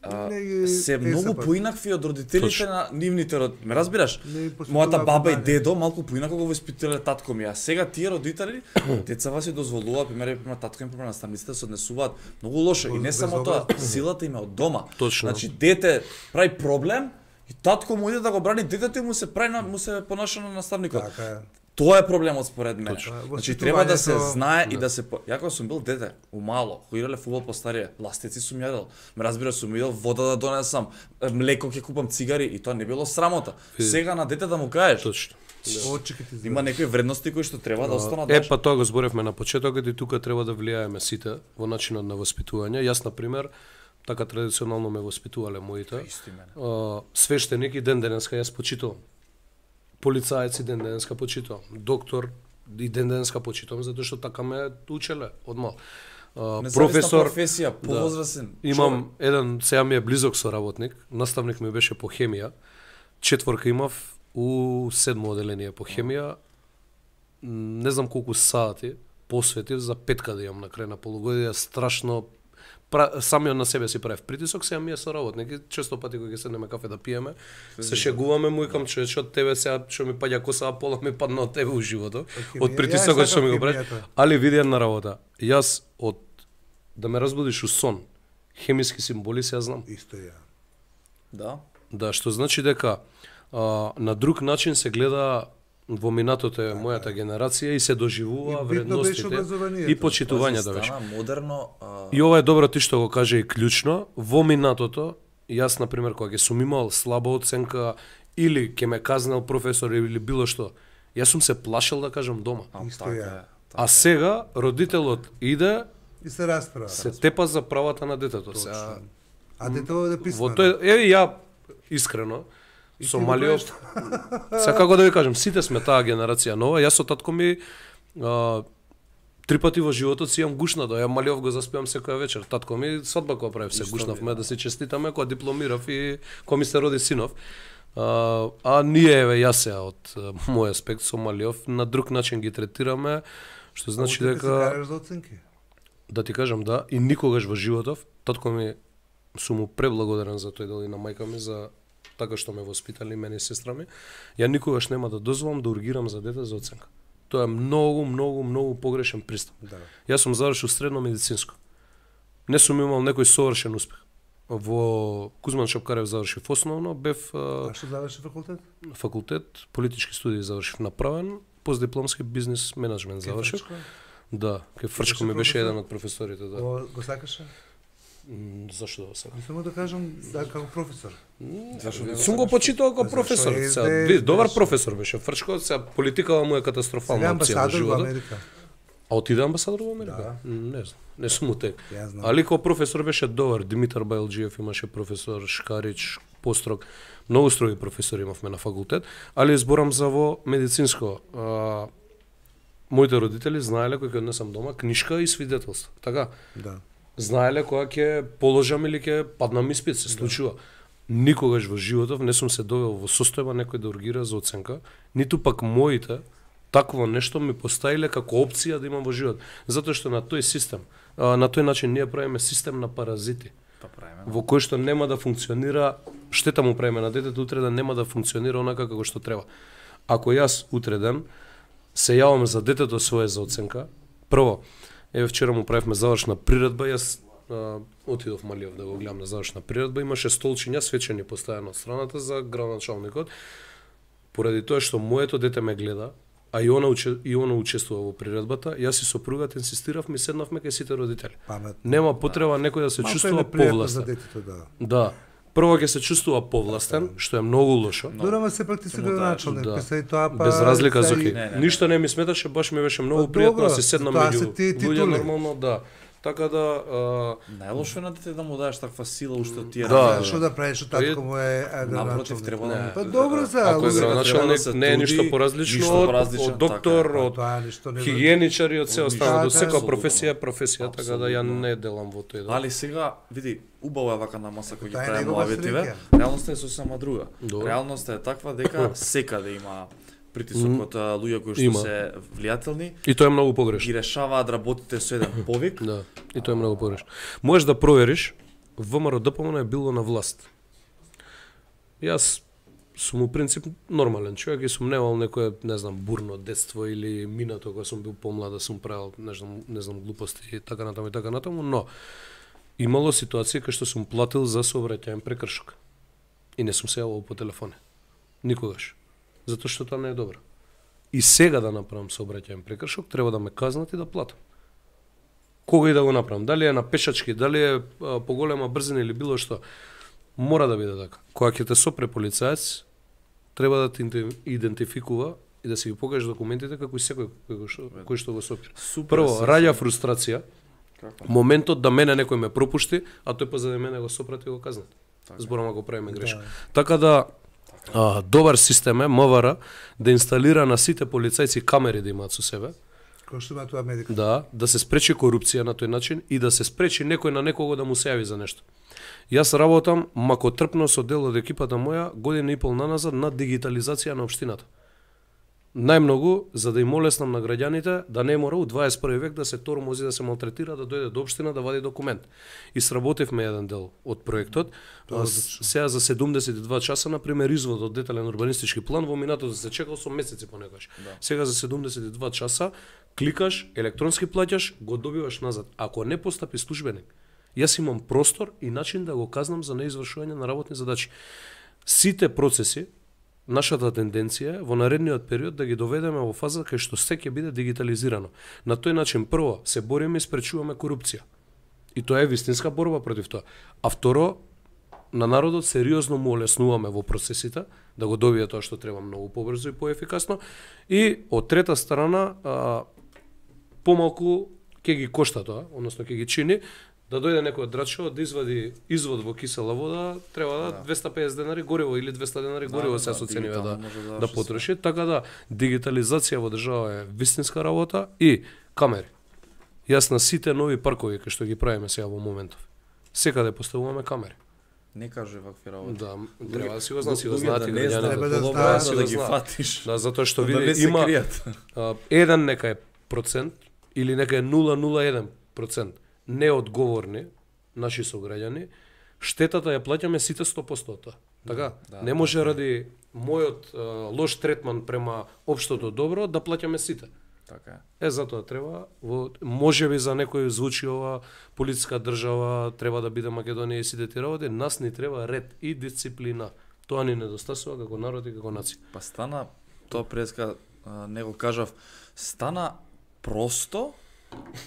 А, не, се многу поинакви од родителите Точно. На нивните род... Ме разбираш? Мојата баба и дедо малку поинако го воспитале татко ми, а сега тие родители децава си дозволуваат, пример, пример татко им пример наставниците се однесуваат многу лошо и не само тоа, силата им е од дома. Точно. Значи дете прави проблем и татко му иде да го брани детето и му се прави на, му се понаша на наставникот. Така. Тоа е проблемот според мене. Значи треба да се то... знае да. И да се ја кога сум бил дете, умало, кој играле фудбал по старија, ластици сум јадел. Ме разбира, сум идел вода да донесам, млеко ќе купам, цигари и тоа не било срамота. Сега на дете да му кажеш. Точно. Да. Има некои вредности кои што треба да останат. Е, па тоа го зборевме на почетокот и тука треба да влијаеме сите во начинот на воспитување. Јас на пример така традиционално ме воспитувале моите. Свештеник и ден денеска јас почитувам. Полицаец и ден денеска почитувам, доктор и ден денеска почитувам, затоа што така ме учеле од мал. Професор, професија, повозрасен. Да, имам еден, сега ми е близок соработник, наставник ми беше по хемија. Четворка имав у седмо оделение по хемија. Не знам колку сати посветив за петка да имам на крај на полугодие, страшно самиот на себе си правев притисок, сега ми е соработник и често пати кога ќе седнеме кафе да пиеме, се шегуваме, му викам човече од тебе сега што ми паѓа коса, пола ми падна од тебе у животот, од притисокот што ми го правиш. Али види една работа. Јас од да ме разбудиш у сон, хемиски символи се ја знам. Исто ја. Да. Да, што значи дека а, на друг начин се гледа во минатото е мојата генерација и се доживува вредностите и почитувањето беше. Модерно. А... И ова е добро ти што го каже и клучно. Во минатото, јас на пример кога ќе сум имал слаба оценка или ќе ме казнал професор или било што, јас сум се плашел да кажам дома. А, Исто така, ја. Така. А сега родителот иде и се расправа. Се тепа за правата на детето. Сега, а детето е писмено. Во тој, еве ја искрено со Малиов. Сега како да ви кажам, сите сме таа генерација нова. Јас со татко ми а, три пати во животот си имам гушна, да ја Малиов го заспевам секоја вечер. Татко ми свадба кога правев се гушнавме да се честитаме кога дипломирав и кога ми се роди синов. А, а ние еве јас сега од мој аспект со Малиов на друг начин ги третираме, што значи дека да ти кажам да, и никогаш во животов татко ми сум му преблагодарен за тој дел и на мајка ми за така што ме воспитали мене и сестра ми. Ја никогаш нема да дозволам да ургирам за дете за оценка. Тоа е многу, многу, многу погрешен пристап. Да. Јас сум завршил средно медицинско. Не сум имал некој совршен успех. Во Кузман Шапкарев завршив основно, бев... А што заврши факултет? Факултет, политички студии завршив направен, постдипломски бизнес менеджмент завршив. Да, кај Фрчко ми беше еден од професорите, да. О, го сакаше? Зашто да сакам? Само да кажам да како професор. Зашто сум го почитувал како професор. Сега, добар професор беше Фрчко, сега политикава му е катастрофална опција во животот. А отиде амбасадор во Америка? Да. Не знам, не сум утек. Ја знам. Али кој професор беше добар, Димитар Бајлджиев имаше професор, Шкарич, Построг, многу строги професори имавме на факултет, али зборам за во медицинско. А, моите родители знаеле кој ќе однесам дома книшка и свидетелство. Така? Да. Знаеле кога ќе положам или ќе паднам испит, се случува. Никогаш во животов не сум се довел во состојба некој да ургира за оценка, ниту пак моите такво нешто ми поставиле како опција да имам во живот. Затоа што на тој систем, на тој начин ние правиме систем на паразити. Па правиме. Во кој што нема да функционира, штета му правиме на детето, утре да нема да функционира онака како што треба. Ако јас утре ден се јавам за детето свое за оценка, прво, еве вчера му правевме завршна приредба, јас а, отидов Малиев да го гледам на завршна приредба, имаше столчиња свечени поставено од страната за градоначалникот, поради тоа што моето дете ме гледа, а и она уче, и она учествува во приредбата, јас и сопругата инсистиравме и седнавме кај сите родители. Паметно. Нема потреба некој да се Малко чувствува е непријатно повластен. за детето, да. Да. Прво ќе се чувствува повластен, што е многу лошо. Дорама се пак ти си градоначалник, да. писа и тоа па... Без разлика за и- ки. Не, не. Ништо не ми сметаше, баш ми беше многу Па, пријатно добро, да се седнам тоа меѓу се тие луѓе титули. нормално, да. Така да а, Најлошо е на дете да му даеш таква сила уште од тие. Да, ради- Што да правиш, што татко му е а, Напротив, градоначалник? треба да... Па добро за... ако е луѓе, градоначалник, треба да се не е труди, ништо поразлично ништо од, поразличен, од доктор, така е. од Тоа ништо не... хигиеничар и од се останато. Да, Од секоја да. професија е професија, така да ја Апсолутно. не делам во тој дел. Али сега, види, убава е вака на маса кој ги Тоа е правиме негова лаветиве. среќа. Реалноста е сосема друга. Добро. Реалноста е таква дека секаде има притисок Мм. од а, луѓе кои што Има. се влијателни, И тоа е многу погрешно. ги решаваат работите со еден повик. Да, и тоа е многу погрешно. Можеш да провериш, ВМРО-ДПМН е било на власт. Јас сум у принцип нормален човек и сум немал некое, не знам, бурно детство или минато кога сум бил помлад да сум правил, не знам, не знам глупости и така натаму и така натаму, но имало ситуации кај што сум платил за сообраќајен прекршок. И не сум се јавувал по телефоне. Никогаш. Затоа што тоа не е добро. И сега да направам сообраќајен прекршок, треба да ме казнат и да платам. Кога и да го направам, дали е на пешачки, дали е а, поголема брзина или било што, мора да биде така. Кога ќе те сопре полицаец, треба да те инте- идентификува и да си ги покажеш документите како и секој кој што, кој што го сопира. Супер. Прво, се- раѓа фрустрација, Како? моментот да мене некој ме пропушти, а тој позади мене го сопрати и го казнат. Зборам ако правиме грешка. Така да, а, добар систем е МВР да инсталира на сите полицајци камери да имаат со себе, Кој што има тоа Америка? да, да се спречи корупција на тој начин и да се спречи некој на некого да му се јави за нешто. Јас работам макотрпно со дел од екипата моја година и пол наназад на дигитализација на општината. Најмногу за да им олеснам на граѓаните да не мора у дваесет и први век да се тормози, да се малтретира, да дојде до општина да вади документ. И сработевме еден дел од проектот. А, с- Сега за седумдесет и два часа на пример извод од детален урбанистички план во минатото се чекал со месеци понекогаш. Да. Сега за седумдесет и два часа кликаш, електронски плаќаш, го добиваш назад. Ако не постапи службеник, јас имам простор и начин да го казнам за неизвршување на работни задачи. Сите процеси, нашата тенденција е во наредниот период да ги доведеме во фаза кај што се ќе биде дигитализирано. На тој начин прво се бориме и спречуваме корупција. И тоа е вистинска борба против тоа. А второ, на народот сериозно му олеснуваме во процесите да го добие тоа што треба многу побрзо и поефикасно. И од трета страна, а, помалку ќе ги кошта тоа, односно ќе ги чини, да дојде некој од Драчево да извади извод во кисела вода, треба да, Да. двесте и песет денари гориво или двесте денари Да, гориво да, се да, соценива да, дигитално може да да заврши потроши, така да дигитализација во држава е вистинска работа и камери. Јас на сите нови паркови кои што ги правиме сега во моментов, секаде поставуваме камери. Не кажи вакви работи. Да, треба да си го знаат, си го Луѓе знаат да и не граѓаните. знаат, Треба да подобро знаат, е си за го да ги знаат. фатиш. Да, затоа што Да види не се има кријат. а, еден нека е процент или нека е нула целу нула еден процент неодговорни наши сограѓани, штетата ја плаќаме сите сто проценти од тоа. Така? Да, Не може ради мојот а, лош третман према општото добро да плаќаме сите. Така е. Е, затоа треба, во, можеби за некој звучи ова полициска држава, треба да биде Македонија и сите тие работи, нас ни треба ред и дисциплина. Тоа ни недостасува како народ и како нација. Па стана, тоа преска а, не го кажав, стана просто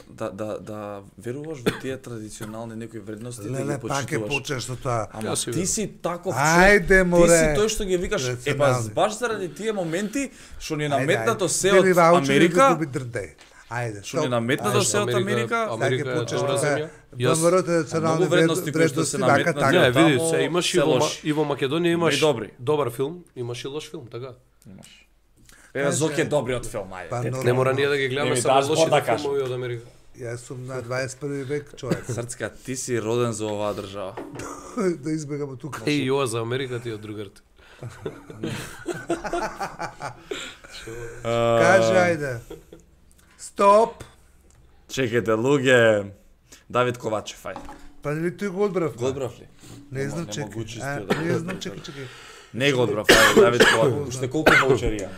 да, да, да веруваш во тие традиционални некои вредности, да Леле, ги пак е почитуваш. почнеш со тоа. Ама Јас си ти верувам. си таков Ајде, човек, море, ти си тој што ги викаш, е па рационални. баш заради тие моменти што ни е Ајде, наметнато ајде. се Дели од ваучери, Америка, губи дрде. Ајде, Што ни наметна да се од Америка? Америка е почнеш добра да земја. Јас ВМРО е национални Многу вредности кои што се наметнати. не, Таму види, се имаш и се во Ма- лоши. и во Македонија имаш добри. добар филм, имаш и лош филм, така. Имаш. Еве Зоки е добриот филм, ајде. Па, Те- но- Не мора ние да ги гледаме Не ми само даш лошите да кажам. филмови од Америка. Јас сум на дваесет и први век човек. Срцка, ти си роден за оваа држава. Да избегам од тука. Еј, ова за Америка ти од другарите. Кажи, ајде. Стоп. Чекайте, луѓе. Давид Ковачев, ајде. Па нели тој го одбрав? Го одбрав ли? Не Нема- знам, нема чекај. го чистил А, да го Не знам, одбрав. чекај, чекај. Не го одбрав, ајде, Давид Ковачев. Уште колку ваучери имаме?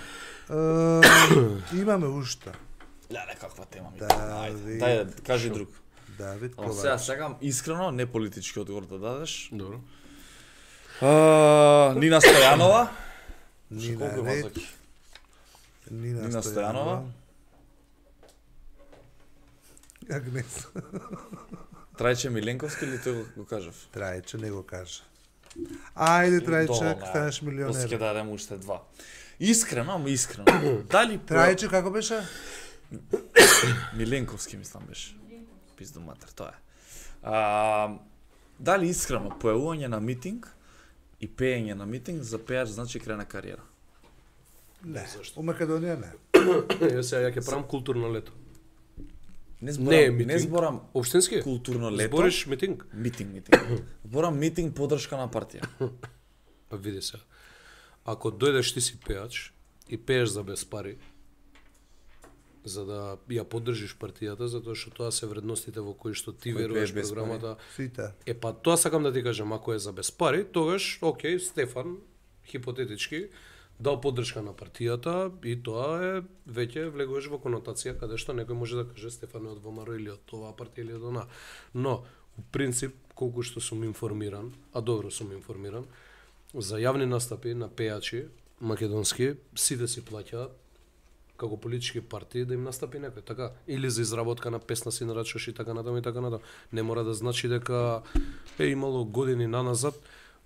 Е, Имаме уште. Леле, каква тема ми. Да, Ајде, ви- дај, кажи друг. Давид Ама сега Ковач. сакам искрено, не политички одговор да дадеш. Добро. А, Нина Стојанова. Нина Колку има Ред, Зоки? Нина Нина Стојанова. Стојанова. Агнес. Трајче Миленковски или тој го- го кажав? Трајче, не го кажа. Ајде, Трајче, Доволно, станеш После ќе милионер. дадем уште два. Искрено, ама искрено. Дали по- Трајче, како беше? Миленковски мислам беше. Пизду матер, тоа е. А, дали искрено појавување на митинг и пеење на митинг за пеач значи крај на кариера? Не. У Македонија не. Јас сега ја ќе правам културно лето. Не Не, зборам, митинг. не зборам Општински? културно лето. Збориш митинг? Митинг, митинг. Зборам митинг поддршка на партија. Па види се. Ако дојдеш ти си пеач и пееш за без пари, за да ја поддржиш партијата, затоа што тоа се вредностите во кои што ти Кој веруваш пееш без програмата. Сите. Е па тоа сакам да ти кажам, ако е за без пари, тогаш окей, Стефан хипотетички дал поддршка на партијата и тоа е веќе влегуваш во конотација каде што некој може да каже Стефан е од ВМРО или од оваа партија или од она. Но у принцип колку што сум информиран, а добро сум информиран, за јавни настапи на пејачи македонски сите си плаќаат како политички партии да им настапи некој, така, или за изработка на песна си нарачуваш и така натаму и така натаму. Не мора да значи дека е имало години наназад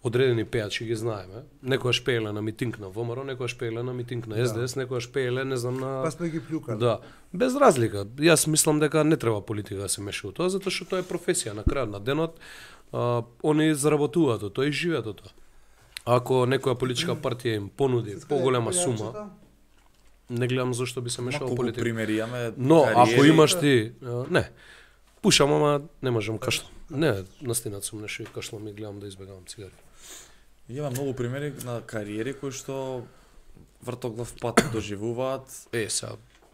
одредени пејачи ги знаеме. Некојаш пееле на митинг на ВМРО, некојаш пееле на митинг на С Д С, некојаш пееле, не знам, на Па сме ги плюкали. Да, без разлика. Јас мислам дека не треба политика да се меша во тоа, затоа што тоа е професија. На крајот на денот, а, они заработуваат од тоа и живеат од тоа. Ако некоја политичка партија им понуди поголема сума, не гледам зошто би се мешало Колку политика. примери имаме. Но ако кариери. имаш ти, а, не. Пушам, ама не можам кашлам. Не, настинат сум нешто и кашлам и гледам да избегавам цигари. Има многу примери на кариери кои што вртоглав пат доживуваат. Е, сега,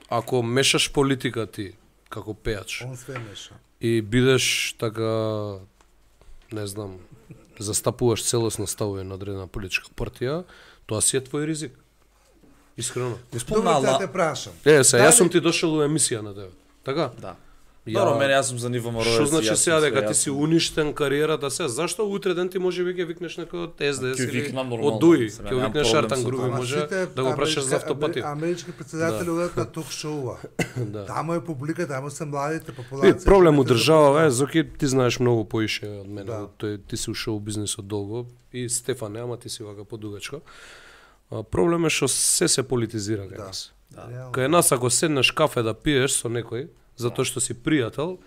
ако мешаш политика ти како пеач Он све меша. и бидеш така, не знам, застапуваш целосно ставови на одредена политичка партија, тоа си е твој ризик. Искрено. Го Добро, спомна да Ала... те прашам. Е, сега, Дали- јас сум ти дошол у емисија на тебе. Така? Да. Ја- Добро, мене јас сум за ниво мороец. Што значи јас сега сум дека све, ти јас си сум- уништен кариерата се? Зашто утре ден ти може би ќе викнеш некој од С Д С Ќе или викнам нормално, од Дуи, сега ќе немам викнеш проблем Артан со Груби, тоа. Ама може сите да го прашаш за амерички- автопати. Амерички председатели одат на ток шоува. Да. Таму е публика, таму се младите Ви, популација. проблем у што не се држава е, Зоки, ти знаеш многу поише од мене. Да. Тој ти си ушол бизнисот долго и Стефан не, ама ти си вака подугачко. А, проблем е што се се политизира кај Да. нас. Реално. Кај нас ако седнеш кафе да пиеш со некој, затоа што си пријател,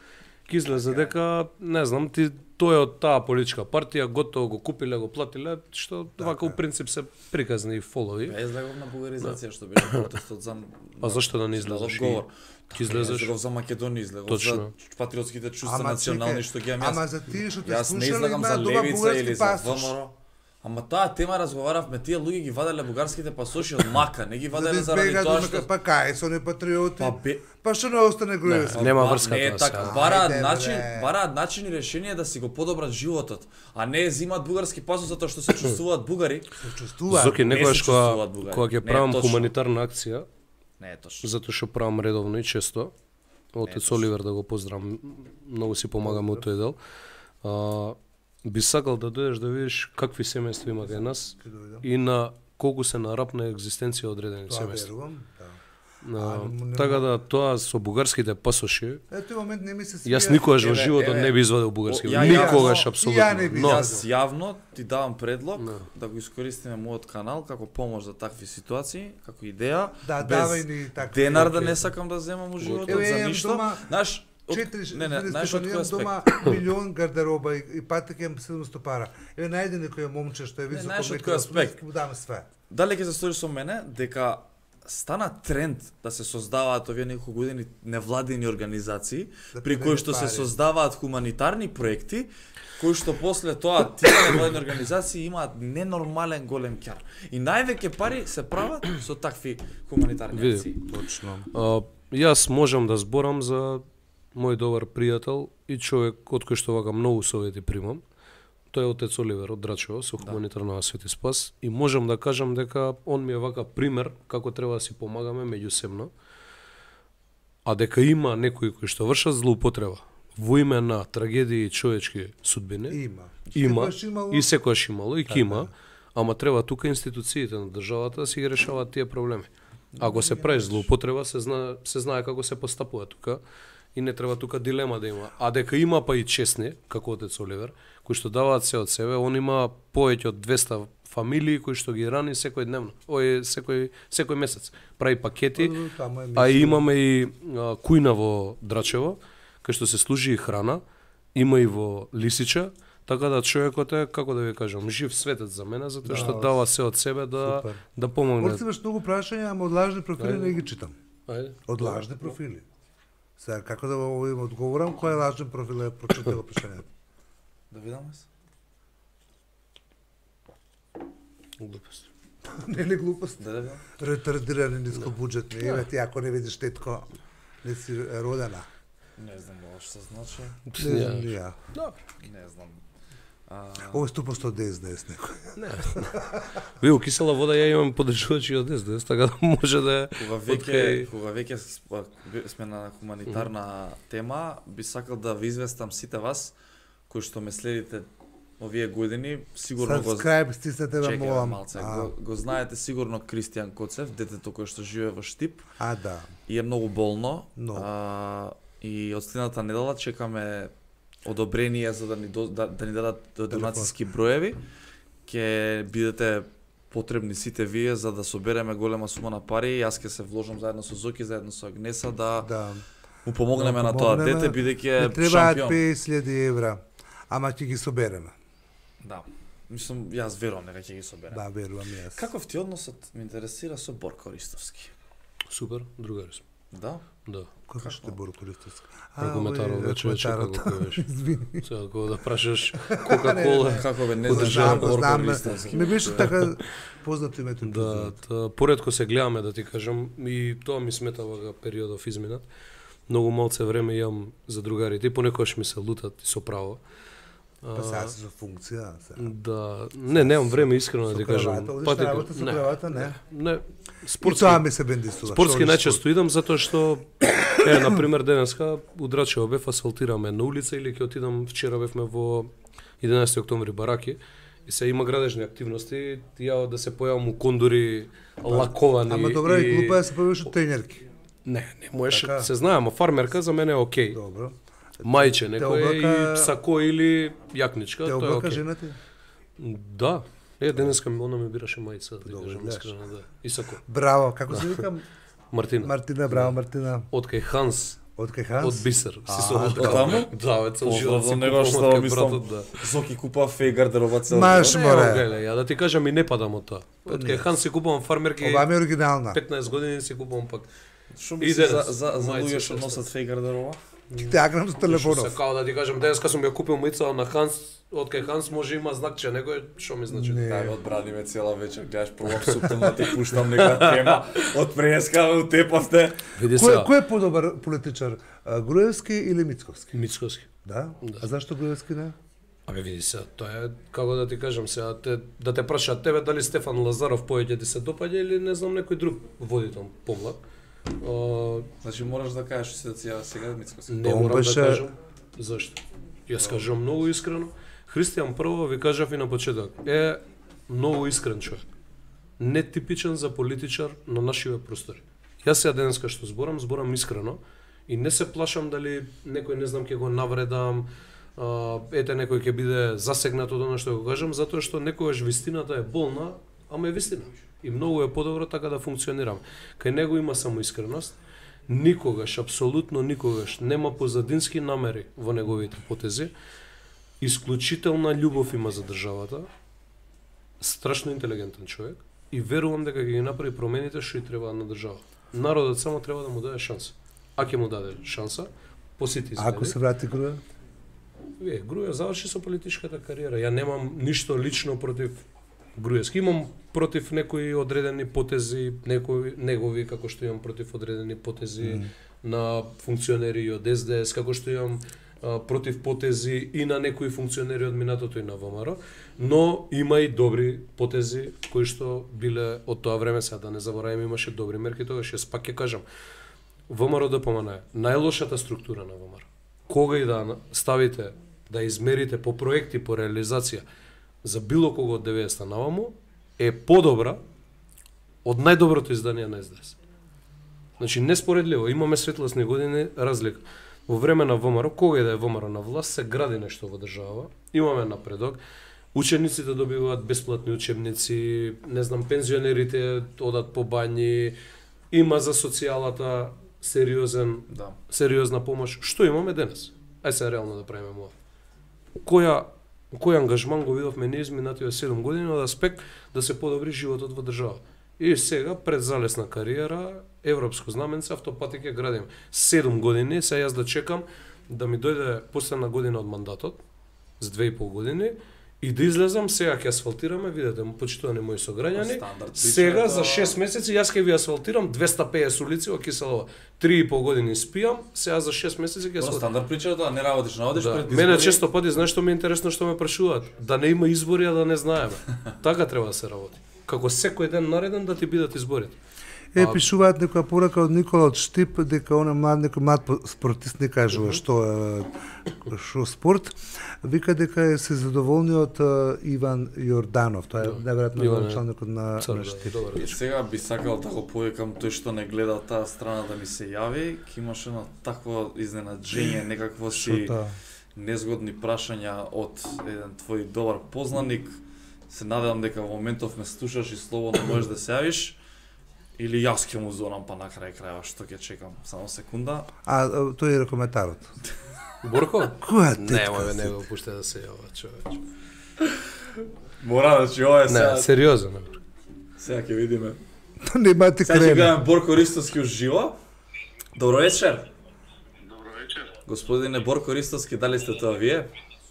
ќе излезе дека, не знам, ти тој е од таа политичка партија, готово го купиле, го платиле, што вака у принцип се приказни и фолови. Ја излегов на бугаризација што беше протестот за. А зашто да не Излегов излезеш? говор. Ќе излезеш? Излегов за Македонија, излегов Точно. за патриотските чувства Ама национални чекај, што ги имам Ама јас. за тие што те Јас не слушале излагам за имаат дома левица бугарски или за пасош. ВМРО. Ама таа тема разговаравме, тие луѓе ги ваделе бугарските пасоши од мака, не ги За да ваделе заради избегаат тоа да што па кај се они патриоти. Па бе- Па што не остане груевски? Па, Нема ба- врска не е тоа така. сега. Бараат Ајде, начин, бре. бараат начин и решение да си го подобрат животот, а не зимаат бугарски пасош затоа што се чувствуваат бугари. Се чувствува. Зоки, не некојаш се кога, чувствуваат бугари. кога ќе Не е правам точно. хуманитарна акција, Не е точно. затоа што правам редовно и често, отец точно. Оливер да го поздравам, многу си помагаме од тој дел. А, би сакал да дојдеш да видиш какви семејства има кај нас Ќе дојдам. и на колку се нарапна екзистенција одредени Тоа семејства. верувам, да. А, не- така да тоа со бугарските пасоши, Ето момент не ми се свија. јас никогаш во Еве, животот еве, не би извадил бугарски. О, ја- Никогаш јас- апсолутно. ја не би Но Јас јавно ти давам предлог Да. да го искористиме мојот канал како помош за такви ситуации, како идеја. Да, без давај ни такви. денар да Окей. не сакам да земам у животот Еве, за имам ништо. дома Знаеш, од- Четири, не, не, знаеш од кој имам аспект? дома милион гардероба и, и патек имам седумсто пара. Еве најде некој момче што е високо знаеш од метар кој аспект? му дам све. Дали ќе се стори со мене дека стана тренд да се создаваат овие неколку години невладини организации Да при кои што се пари. создаваат хуманитарни проекти кои што после тоа тие невладини организации имаат ненормален голем ќар. И највеќе пари се прават со такви хуманитарни Види. акции. Точно. а, јас можам да зборам за мој добар пријател и човек од кој што вака многу совети примам. Тој е отец Оливер од Драчево со хуманитарна Свети Спас и можам да кажам дека он ми е вака пример како треба да си помагаме меѓусебно. А дека има некои кои што вршат злоупотреба во име на трагедии и човечки судбини, Има. има Секогаш имало. и секојаш имало и ќе има, ама треба тука институциите на државата да си ги решаваат тие проблеми. Ако се прави злоупотреба, се знае се знае како се постапува тука и не треба тука дилема да има. А дека има па и честни, како отец Оливер, кои што даваат се од себе, он има повеќе од двесте фамилии кои што ги рани секој дневно. Ој секој секој месец прави пакети. Таму е А и мисија. имаме и а, кујна во Драчево, кај што се служи и храна, има и во Лисича, така да човекот е, како да ви кажам, жив светец за мене, затоа што Да, дава се од себе да супер. да помогне. Орце имаш многу прашања, ама од лажни профили Ајде. не ги читам. Ајде. Од лажни профили. Сега како да во им одговорам, кој е лажен профил е прочитало прашањето? Да видам се. Глупост. Не ли глупост? Да да видам. Ретардирани нискобуџетни. Еве ти ако не видиш тетко, не си родена. Не знам ова што значи. Не знам ни ја. Добро. Не знам. А, Ово е ступа сто десет десет некој. Не. Ви у кисела вода ја имам подржувачи од десет, така да може да е Кога од веќе кај- кога веќе с- па, бе- сме на хуманитарна тема, би сакал да ви известам сите вас кои што ме следите овие години, сигурно го Subscribe, стиснете ме, чекај молам. малце, А, го, го знаете сигурно Кристијан Коцев, детето кое што живее во Штип а, да. и е многу болно. Но. А, и од следната недела чекаме одобрение за да ни до, да, да ни дадат донацијски броеви. Ќе бидете потребни сите вие за да собереме голема сума на пари. Јас ќе се вложам заедно со Зоки, заедно со Агнеса да Да. му помогнеме Да, на тоа помогнеме. дете бидејќи Не е требаат шампион. петдесет илјади евра, ама ќе ги собереме. Да. Мислам, јас верувам дека ќе ги собереме. Да, верувам и јас. Каков ти односот ме интересира со Борко Ристовски? Супер, другари сме. Да? Да. Кој ще Боро Користовски? Прокоментарот вече вече како кој беше. Извини. Сега кога да прашаш Кока-кола. Како бе, не Подржавам, знам Знам, Борко знам, Ристовски. не беше така познато името. и Да, презимето. та, поредко се гледаме да ти кажам и тоа ми смета вага периодов изминат. Многу малце време имам за другарите и понекогаш ми се лутат и со право. Па сега си со функција. сега. Да, не, немам време искрено да Со ти кажам. кравата, одиш Па ти на ка- работа со не, кравата, не? Не, И спортски. тоа ми се бендисува. Спортски што одиш најчесто идам затоа што е на пример денеска удрачево бев асфалтираме на улица или ќе отидам вчера бевме во единаесети октомври бараки и се има градежни активности и ја да се појавам у кондори лаковани. Ама добро, и глупа е да се појавиш од тенерки. Не, не можеш, Така. се знае, ама фармерка за мене е окей. Добро. Мајче Те некој облака- и сако или јакничка, Те тоа е облака окей. жената? Да. Е, денеска ми она ми бираше мајца, да ти Добро, кажам гледаш. искрено, да. И сако. Браво, како се викам? Мартина. Мартина, браво Мартина. Од кај Ханс, Од кај Ханс? од Бисер. Си А, се од облакал. таму? Да, бе, цел Поздрав живот за си него, купувам што од кај мислам. братот, да. Зоки купува феј гардероба цел. Маш, Не, море. гледа, ја да ти кажам и не падам од тоа. Од кај Ханс си купувам фармерки, Ова ми е оригинална. петнаесет години си купувам пак. Што И мислиш за денес, за за мајци, луѓе што што носат феј гардероба? Ти агнам со телефонов. Сакао да ти кажам, денеска сум ја купил мајца на Ханс, од кај Ханс може има знакче, некој што ми значи? Не. Да, одбрани ме цела вечер, гледаш пробам суптом да ти пуштам нека тема. Од преска утепавте. Види Кој, сега, кој е подобар политичар? а, Груевски или Мицковски? Мицковски. Да? А зашто Груевски не? Абе види се, тоа е како да ти кажам сега, те, да те прашаат тебе дали Стефан Лазаров повеќе ти се допаѓа или не знам некој друг водител помлад. А, Значи мораш да кажеш се сега сега Мицкоски. не Он морам беше- да кажам. Зашто? Јас кажам многу искрено. Христијан прво ви кажав и на почеток. Е многу искрен човек. Нетипичен за политичар на нашиве простори. Јас сега денеска што зборам, зборам искрено и не се плашам дали некој не знам ќе го навредам, а, ете некој ќе биде засегнат од она што го кажам, затоа што некогаш вистината е болна, ама е вистина. И многу е подобро така да функционирам. Кај него има само искреност. Никогаш, апсолутно никогаш нема позадински намери во неговите потези. Исклучителна љубов има за државата. Страшно интелигентен човек и верувам дека ќе ги направи промените што и треба на држава. Народот само треба да му даде шанса. А ќе му даде шанса, посети изгледи. Ако се врати Груја? Е, Груја заврши со политичката кариера. Ја немам ништо лично против Груевски. Имам против некои одредени потези, некои негови, како што имам против одредени потези mm. на функционери од Ес Де Ес, како што имам а, против потези и на некои функционери од минатото и на ВМРО, но има и добри потези кои што биле од тоа време, сега да не забораваме, имаше добри мерки тогаш. Јас пак ќе кажам, ВМРО Д П М Н е најлошата структура на ВМРО. Кога и да ставите, да измерите по проекти, по реализација, за било кого од деветдесетта наваму, е подобра од најдоброто издание на Ес Де Ес. Значи, неспоредливо, имаме светлосни години разлика. Во време на ВМРО, кога и да е ВМРО на власт, се гради нешто во држава, имаме напредок, учениците добиваат бесплатни учебници, не знам, пензионерите одат по бањи, има за социјалата сериозен, Да. сериозна помош. Што имаме денес? Ај се реално да правиме ова. Која кој ангажман го видовме ние изминативе седум години од аспект да се подобри животот во држава. И сега пред залесна кариера, европско знаменце, автопати ќе градиме. седум години, сега јас да чекам да ми дојде последна година од мандатот, за две и пол години, и да излезам, сега ќе асфалтираме, видете, почитувани мои сограѓани, Стандард, сега прича, за шест месеци јас ќе ви асфалтирам двеста и педесет улици во Киселова. три и пол години спијам, сега за шест месеци ќе Тоа асфалтирам. стандард прича тоа, не работиш, наводиш Да. пред Мене избори. често пати, знаеш што ми е интересно што ме прашуваат? Да не има избори, а да не знаеме. Така треба да се работи. Како секој ден нареден да ти бидат изборите. Е, А- пишуваат некоја порака од Никола од Штип, дека он е млад, некој млад по- спортист, не кажува што е што спорт, вика дека е се задоволни од е, Иван Јорданов, тоа е Да. најверојатно Иван е началникот на, Цар, на да, Штип. добар И вечер. сега би сакал да го повикам тој што не гледа таа страна да ми се јави, ќе имаш едно такво изненаджење, некакво Што си тоа? незгодни прашања од еден твој добар познаник. Се надевам дека во моментов ме слушаш и слободно можеш да се јавиш. Или јас ќе му зонам па на крај крајава, што ќе чекам. Само секунда. А, а, тој е коментарот. Борко? Која Не, тетка ме си? не го пуште да се јава, човече. Мора, значи ова е сега. Не, сериозно. Сега ќе видиме. Нема ти Сега ќе крена. гледаме Борко Ристовски уживо. Добро вечер. Добро вечер. Господине Борко Ристовски, дали сте тоа вие?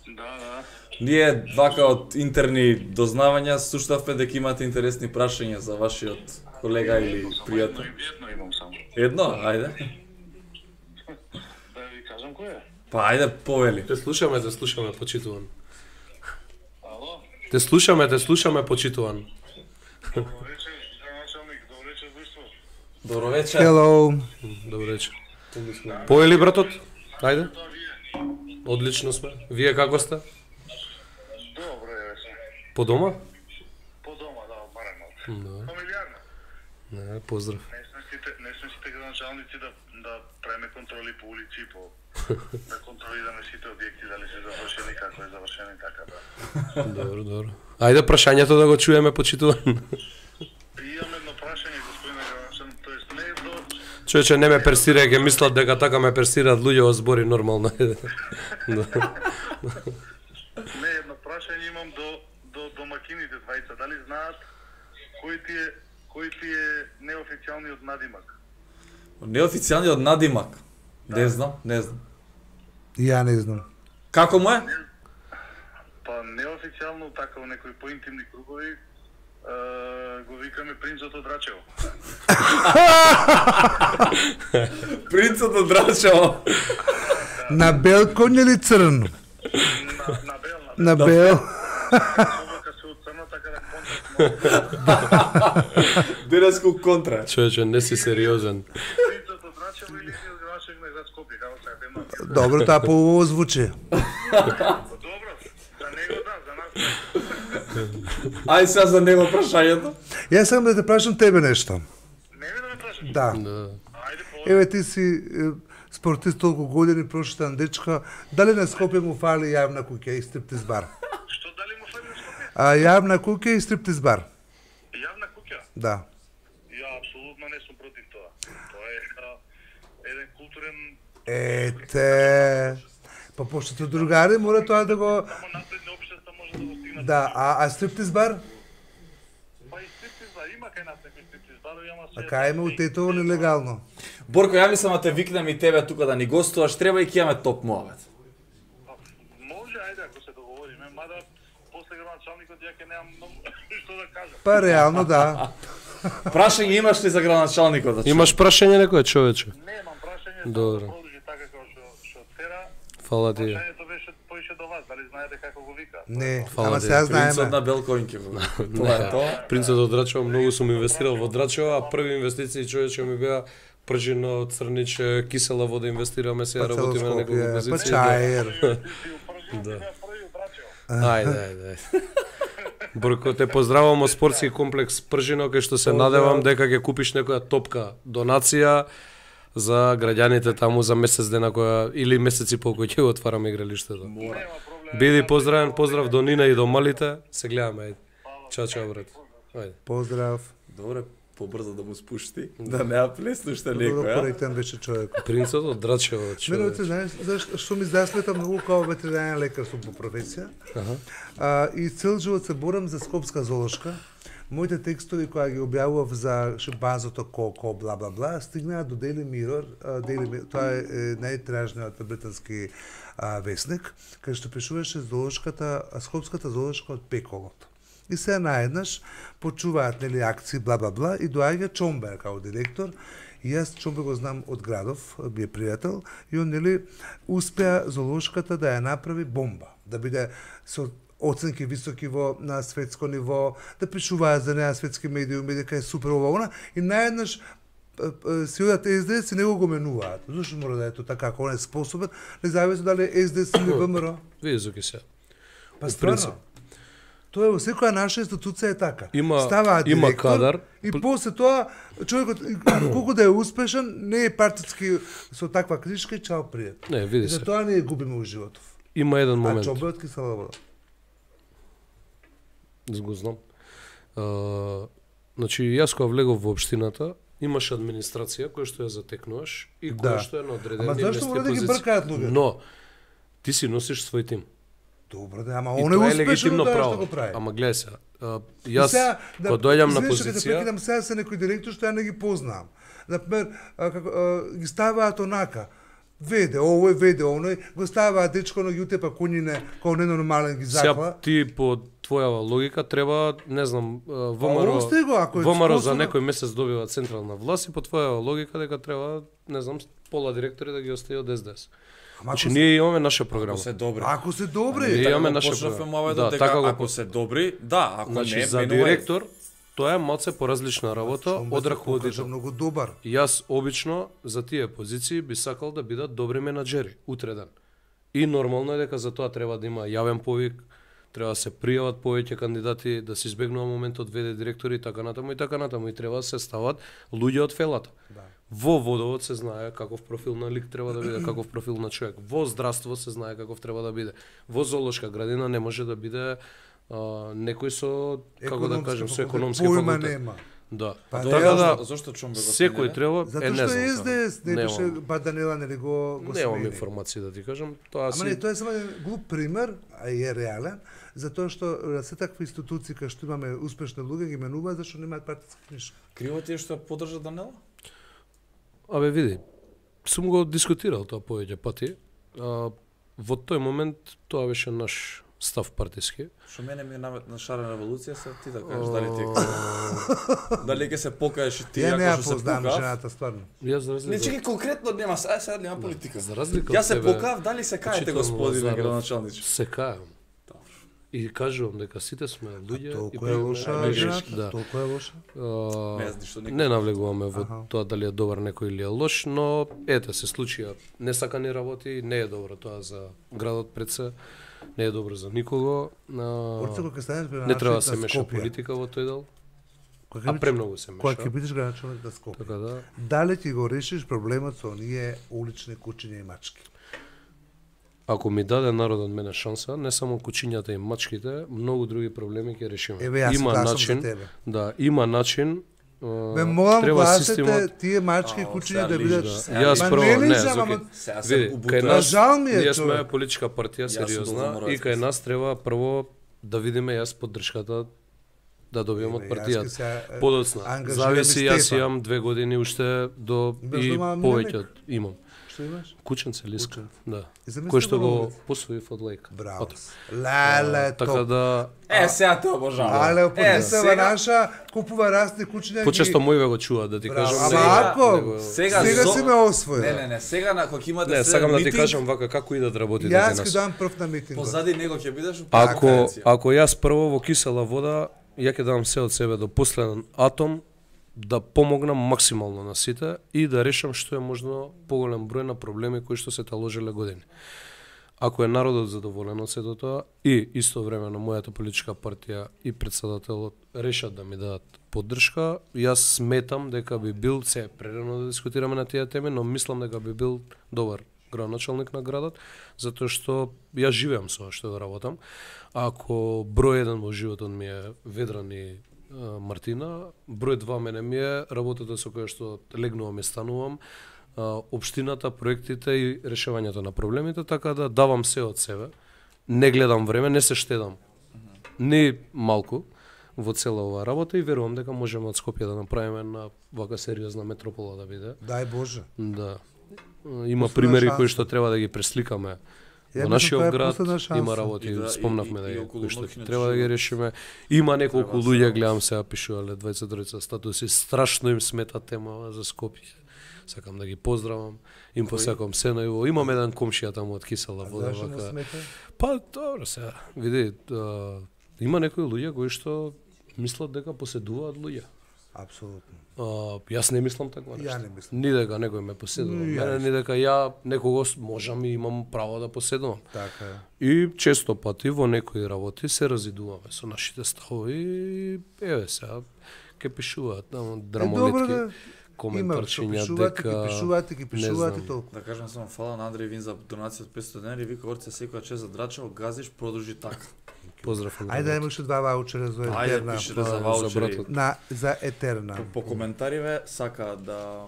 Да, да. Ние вака од интерни дознавања слушнавме дека имате интересни прашања за вашиот колега или Само едно, пријател. едно имам само. Едно, ајде. Да ви кажам кој е? Па ајде повели. Те слушаме, те слушаме, почитуван. Ало? Те слушаме, те слушаме, почитуван. Добро вечер, началник. Добро вечер, друштво. Добро вечер. Hello. Добро вечер. Поели братот? Ајде. Тоа вие? Одлично сме. Вие како сте? Добро е, се. По дома? По дома, да, барем малку. Да. Фамилиарно. Не, поздрав. Не сме сите, не сме сите градоначалници да да правиме контроли по улици, по да контролираме сите објекти дали се завршени, како е завршени, така да. Добро, добро. Ајде прашањето да го чуеме, почитуван. Имам едно прашање, господине градоначалник, тоест не е до Човече, не ме персира, ќе мислат дека така ме персираат луѓе во збори нормално. Да. не едно прашање имам до до домакините двајца, дали знаат кој ти е кој ти е неофицијалниот надимак? Неофицијалниот надимак. Не знам, не знам. Ја не знам. Како му е? Па неофицијално така во некои поинтимни кругови е, го викаме принцот од Рачево. Принцот од Рачево. На бел коњ или црн? На, на бел, на На бел. собака се од црна, така да контракт Денеску контра. Човече, не си сериозен. принцот од Рачево или од градоначалник на град Скопје, како сега тема. Добро, таа по звучи. Добро, за него да, за нас. Ај сега за него прашањето. Јас сакам да те прашам тебе нешто. Не ми да ме прашаш, кажеш? Да. Да. Ајде, по... Еве ти си е, спортист толку години, прошетан дечка, дали на Скопје му фали јавна куќа и стриптиз бар? Што дали му фали на Скопје? А јавна куќа и стриптиз бар. Јавна куќа? Да. Ја апсолутно не сум против тоа. Тоа е а, еден културен... Ете, па пошто ти другари мора тоа да го... Само напредни општества може да го стигнат. Да, а, а стриптиз бар? Па и стриптиз бар, има кај нас некои стриптиз барови, ама се... А кај има у Тетово нелегално? Борко, ја мислам да те викнем и тебе тука да ни гостуваш, треба и ќе имаме топ муавет. Па, може, ајде, ако се договориме, мада после градоначалникот ја ќе немам многу што да кажам. Па реално да. Прашање имаш ли за градоначалникот? Да чуем? Имаш прашање некој човече? Немам прашање, Добро. само да продолжи така како што што тера. Фала ти. Прашањето беше поише до вас, дали знаете како го вика? Не, Фала ама ти. сега Принцот знаеме. на Белкоинке. Тоа е тоа. Принцот од Драчево, многу сум инвестирал во Драчево, а први инвестиции човече ми беа пржино, црниче, кисела вода инвестираме, сега Па работиме на неколку Скопје, па позиции. чаер. Да. Први од Драчево. Ајде, ајде. Борко, те поздравам од спортски комплекс Пржино, кај што се Поздрав. надевам дека ќе купиш некоја топка донација за граѓаните таму за месец дена која или месеци по кој ќе го отвараме игралиштето. Нема проблем. Биди поздравен, поздрав до Нина и до малите. Се гледаме, ајде. Чао, чао, брат. Ајде. Поздрав. Добре, побрзо да му спушти, да не ја плесне уште Добро некој, а? коректен беше човек. Принцот од Драчево, Мене, човек. ти знаеш, зашто што ми засмета многу као ветеринарен лекар сум по професија. Аха. А, и цел живот се борам за скопска зоолошка. Моите текстови кои ги објавував за шимпанзото Коко, бла бла бла, стигнаа до Daily Mirror. А, Daily Mirror, тоа е, е најтражниот британски а, весник, кај што пишуваше зоолошката, а, скопската зоолошка од Пеколот. И се наеднаш почуваат нели акции бла бла бла и доаѓа Чомбер као директор. И јас Чомбер го знам од градов, би е пријател, и он нели успеа зоолошката да ја направи бомба, да биде со оценки високи во на светско ниво, да пишуваат за неа светски медиуми дека е супер ова она и наеднаш си одат Ес Де Ес и него го менуваат. Зошто мора да е тоа така, ако он е способен, независно дали е Ес Де Ес или ВМРО. Види зоки се. Па У стварно. принцип. Тоа е во секоја наша институција е така. Има- Ставаат има директор кадар. и после тоа човекот колку да е успешен, не е партиски со таква книжка и чао пријат. Не, И види се. за тоа ние губиме у животов. Има еден А момент. Чомбер од кисела вода. Го знам. А, значи, јас кога влегов во општината, имаш администрација која што ја затекнуваш и која Да. што е на одредени Ама зашто места и мора да ги позиции. бркаат луѓето? Но, ти си носиш свој тим. Добро, да, ама И он е тоа е успешен легитимно тоа што право. го прави. Ама гледај се, а, И јас сега, да, кога доаѓам на извини што ќе те позиција, прекинам, сега се некои директори што ја не ги познавам. Например, а, како, а, ги ставаат онака, веде, овој, веде, оној, го ставаат дечко на јутепа конјине, кој ненормален ги сега закла. ти по твојава логика треба, не знам, а, ВМРО, остай го, ако е ВМРО за способен. некој месец добива централна власт и по твојава логика дека треба, не знам, пола директори да ги остави од Ес Де Ес. Ама Значи ако, ние имаме наша програма. Ако се добри. ако се Ние добри, имаме Така наша го почнавме програма. моведот Да, дека така го ако почна. се добри, да, ако Значи не, за менувај. директор тоа е малце поразлична работа Чомбер од се покажа раководител. многу добар. Јас обично за тие позиции би сакал да бидат добри менаџери утре ден. И нормално е дека за тоа треба да има јавен повик, треба да се пријават повеќе кандидати, да се избегнува моментот веде директори и така натаму и така натаму и треба да се стават луѓе од фелата. Да. Во водовод се знае каков профил на лик треба да биде, каков профил на човек. Во здравство се знае каков треба да биде. Во зоолошка градина не може да биде а, некој со, како да Економски кажем, со факултет, економски појма факултет. нема. Да. Па Тоа да, зашто, зашто Чомбер го Секој смениле? треба, Затоа е не што знам. Ес Де Ес не Немам. беше, ба Данела нели го го Немам смени. информации да ти кажам. Тоа Ама не, си тоа е само еден глуп пример, а и е реален, затоа што а, се такви институции кај што имаме успешни луѓе ги менуваат зашто немаат партиска книжка. Криво ти е што ја поддржа Данела? Абе види, сум го дискутирал тоа повеќе пати. А, во тој момент тоа беше наш став партиски. Што мене ми е намет на шарена револуција, се ти да кажеш дали ти е дали ќе се покажеш и ти Ја не ја ако што се познавам покав? жената стварно. Јас за Не разлика чеки конкретно нема, сега сега нема политика. за разлика Јас од се тебе, покав, дали се каете Читам господине Лазаров, градоначалниче? се кајам. И кажувам дека сите сме луѓе и Толку е лоша најмногу жената, да. толку е лоша. А, Не знам што не навлегуваме во Аха. тоа дали е добар некој или е лош, но ете се случија несакани работи, не е добро тоа за градот пред се, не е добро за никого. А, Орце кога станеш не треба да се на меша Скопје. политика во тој дел. А премногу се меша. Кога ќе бидеш градоначалник на Скопје, Така да. дали ќе го решиш проблемот со оние улични кучиња и мачки? Ако ми даде народот мене шанса, не само кучињата и мачките, многу други проблеми ќе решиме. Еве јас Има гласам начин, за тебе. да, има начин. Бе, молам треба гласете системот. тие мачки и А, кучиња сега да лиш, бидат... да. Јас Ма прво не не, лижам, Зоки, ама... Сега се види, кај убутува. нас, Жал ми е, ние сме човек. политичка партија сум сериозна долго и кај моралист. нас треба прво да видиме јас поддршката да добијам од Еве, јас ќе партијата. се, е, Подоцна, ангажирам зависи, и јас Стефан. имам две години уште до Имаш и дома повеќе милек? од имам. Што имаш? Кученце лиска, да. И замисли Кој што го го на улица. посвоив од лејка. Браво. Ото. Леле, Така топ. да Е, сега те обожавам. Але Е, опозицијава сега, наша купува расни кучиња. почесто мојве го чуваат да ти Браво. кажам. Ама сега- ако него- сега, сега зо- си ме освоил. Не, не, не, сега на кога имате Не, се сакам да ти митинг, кажам вака како идат работите Јас кај ќе нас. дам прв на митинг. позади него ќе бидеш у Ако конференција. ако јас прво во кисела вода, ја ќе дам се од себе до последен атом да помогнам максимално на сите и да решам што е можно поголем број на проблеми кои што се таложеле години. Ако е народот задоволен од сето тоа и истовремено мојата политичка партија и претседателот решат да ми дадат поддршка, јас сметам дека би бил, се е прерано да дискутираме на тие теми, но мислам дека би бил добар градоначалник на градот, затоа што јас живеам со ова што го работам. Ако број еден во животот ми е Ведран и а, Мартина, број два мене ми е работата со која што легнувам и станувам, а, општината, проектите и решавањето на проблемите, така да давам се од себе. Не гледам време, не се штедам. Ни малку во цела оваа работа и верувам дека можеме од Скопје да направиме на вака сериозна метропола да биде. Дај Боже. Да. Има Последна примери шанса. кои што треба да ги пресликаме Ја во мислам, тоа нашиот е град, последна шанса. има работи, И да, спомнавме и- да и ги околу кои што ноќниот треба да ги живот. решиме. Има неколку Треба луѓе, се гледам сега пишувале двајцет тројца статуси, страшно им смета темава за Скопје. Сакам да ги поздравам, им посакам се најубаво. Имам еден комшија таму од Кисела вода Зашо не вака. смета? Па добро сега, види, а, има некои луѓе кои што мислат дека поседуваат луѓе. Апсолутно. А, јас не мислам таква Ја нешто. не мислам. Ни дека некој ме поседува. Ни ја Мене, ни дека ја некогаш можам и имам право да поседувам. Така е. И често пати во некои работи се разидуваме со нашите ставови и еве сега ке пишуваат таму Е, добро драмолетки, да има што коментарчиња пишувате, дека ги пишувате, ги не пишувате знам. толку. Да кажам само фала на Андреј Вин за донација од петстотини денари, вика орце секоја чест за драчао, газиш, продолжи така. поздрав Андреј. Ајде да имаш два ваучера за Ајде етерна. пишете за за ваучери. братот. На за етерна. По коментариве сака да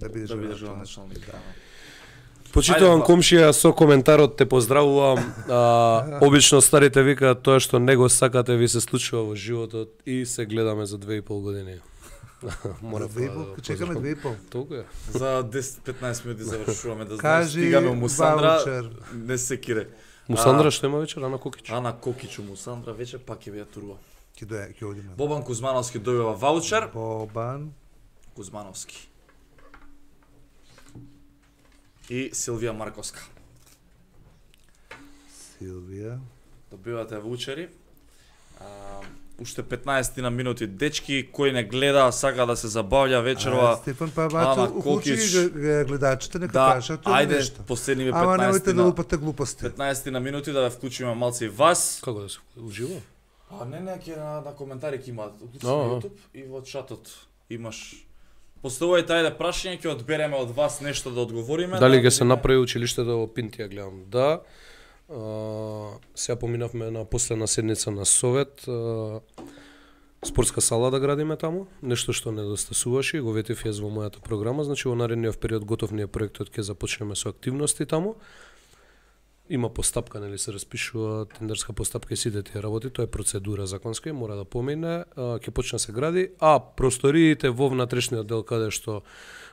Да бидеш да бидеш градоначалник. градоначалник. Да. Почитувам Ајде, комшија со коментарот те поздравувам. А, обично старите викаат тоа што не го сакате ви се случува во животот и се гледаме за две и пол години. Мора За две и да пол, го чекаме поздравам. две и пол. Толку е. За десет-петнаесет минути завршуваме да знаеш, Кажи стигаме у Мусандра, ваучер. не се кире. Мусандра што има вечер, Ана Кокич. Ана Кокич у Мусандра вече пак ќе ја турува. Ќе доја, ќе одиме. Бобан Кузмановски добива ваучер. Бобан. Кузмановски. И Силвија Марковска. Силвија. Добивате ваучери. А, уште петнаесет на минути дечки, кој не гледа, сака да се забавља А, вечерва. Стефан, па Ана бачо, уклучи Кокич. ги г- гледачите, нека Да, кажат тоа ајде нешто. последниве Ама немојте петнаесет да на лупате глупости. петнаесет на минути да ве вклучиме малце и вас. Како да се ужива? А не, не, ќе на, на коментари ќе имаат. Уклучи А, на а. YouTube и во чатот имаш. Поставувајте ајде прашање, ќе одбереме од вас нешто да одговориме. Дали да ќе се видиме. направи училиштето во Пинтија, гледам. Да. А, сега поминавме на последна седница на Совет. А, спортска сала да градиме таму, нешто што недостасуваше и го ветив јас во мојата програма, значи во наредниот период готов ни е проектот, ќе започнеме со активности таму. Има постапка, нели се распишува тендерска постапка и сите тие работи, тоа е процедура законска и мора да помине, а, ќе почне се гради, а просториите во внатрешниот дел каде што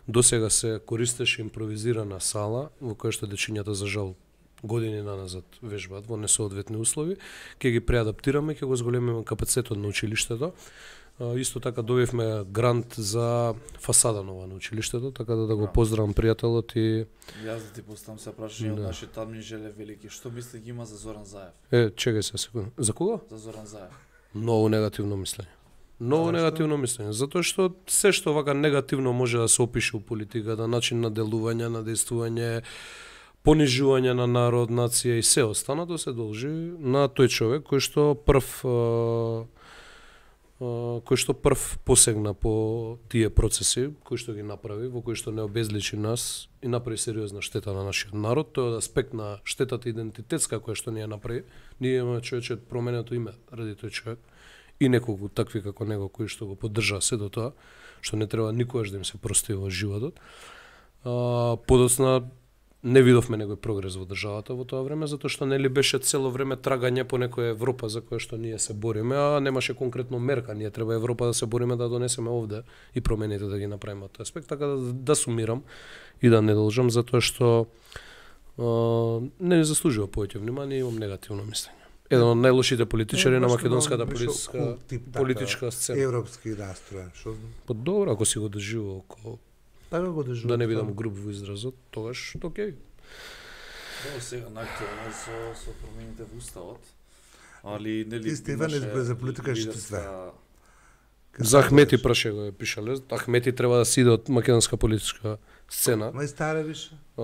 досега се користеше импровизирана сала, во која што дечињата за жал години наназад вежбаат во несоодветни услови, ќе ги преадаптираме, ќе го зголемиме капацитетот на училиштето. А, Исто така добивме грант за фасада нова на училиштето, така да да го поздравам пријателот и Јас да ти поставам се прашање од Да. нашите админ Желе Велики. Што мисли ги има за Зоран Заев? е, чекај се секунда. За кога? За Зоран Заев. Многу негативно мислење. Многу Зашто? негативно мислење, затоа што се што вака негативно може да се опише у политиката, начин на делување, на действување, понижување на народ, нација и се останато се должи на тој човек кој што прв а, кој што прв посегна по тие процеси, кој што ги направи, во кој што не обезличи нас и направи сериозна штета на нашиот народ. Тоа е аспект на штетата идентитетска која што ние направи. Ние имаме човече променето име ради тој човек и неколку такви како него кои што го поддржаа се до тоа, што не треба никогаш да им се прости во животот. А, подоцна не видовме некој прогрес во државата во тоа време, затоа што нели беше цело време трагање по некоја Европа за која што ние се бориме, а немаше конкретно мерка. Ние треба Европа да се бориме да донесеме овде и промените да ги направиме од тој аспект, така да, да сумирам и да не должам, затоа што а, не ни заслужува повеќе внимание и имам негативно мислење. Еден од најлошите политичари на македонската политичка, политичка сцена. Европски настроен, што знам. Па добро, ако си го држува околу Така го држува. да не бидам груб во изразот, тогаш окей. Добро, сега наактуелно со со промените во уставот. Али нели Ти Стефан избе за политика што све. За Ахмети праше го е пишале. Ахмети треба да си иде од македонска политичка сцена. Мај старе више. А,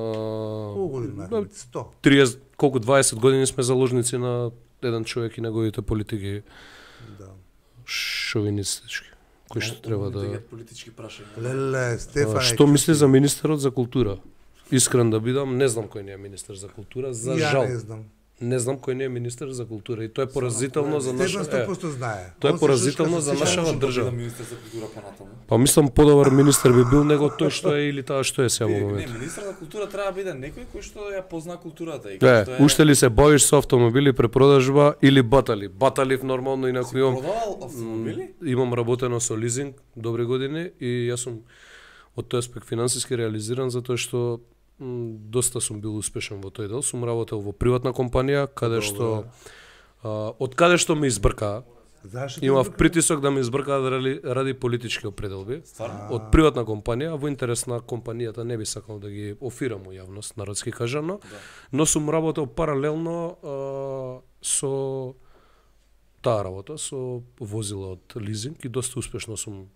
Колку години имаме? сто. триесет, колку дваесет години сме заложници на еден човек и неговите политики Да. шовинистички, кои што треба да... политички прашања. Леле, Стефан. А, што мисли за министерот за култура? Искрен да бидам, не знам кој не е министер за култура, за Ја жал. не знам. Не знам кој не е министер за култура и тоа е поразително за наша... Стефан сто проценти знае. Тоа е Он се поразително шушка за со нашава всичко. држава. Министер за култура понатаму. Па мислам подобар министер би бил него тој што е или таа што е сега во Не, моментот. министер за култура треба да биде некој кој што ја позна културата и Е, што е уште ли се бавиш со автомобили, препродажба или батали? Баталив нормално, инаку имам продавал автомобили? имам работено со лизинг добри години и јас сум од тој аспект финансиски реализиран затоа што м, доста сум бил успешен во тој дел. Сум работел во приватна компанија каде што а, од каде што ме избркаа. Зашто? Имав притисок да ме избркаат ради, ради политички определби. Стварно? Од приватна компанија, во интерес на компанијата не би сакал да ги офирам во јавност, народски кажано, Да. но сум работел паралелно а, со таа работа, со возила од лизинг и доста успешно сум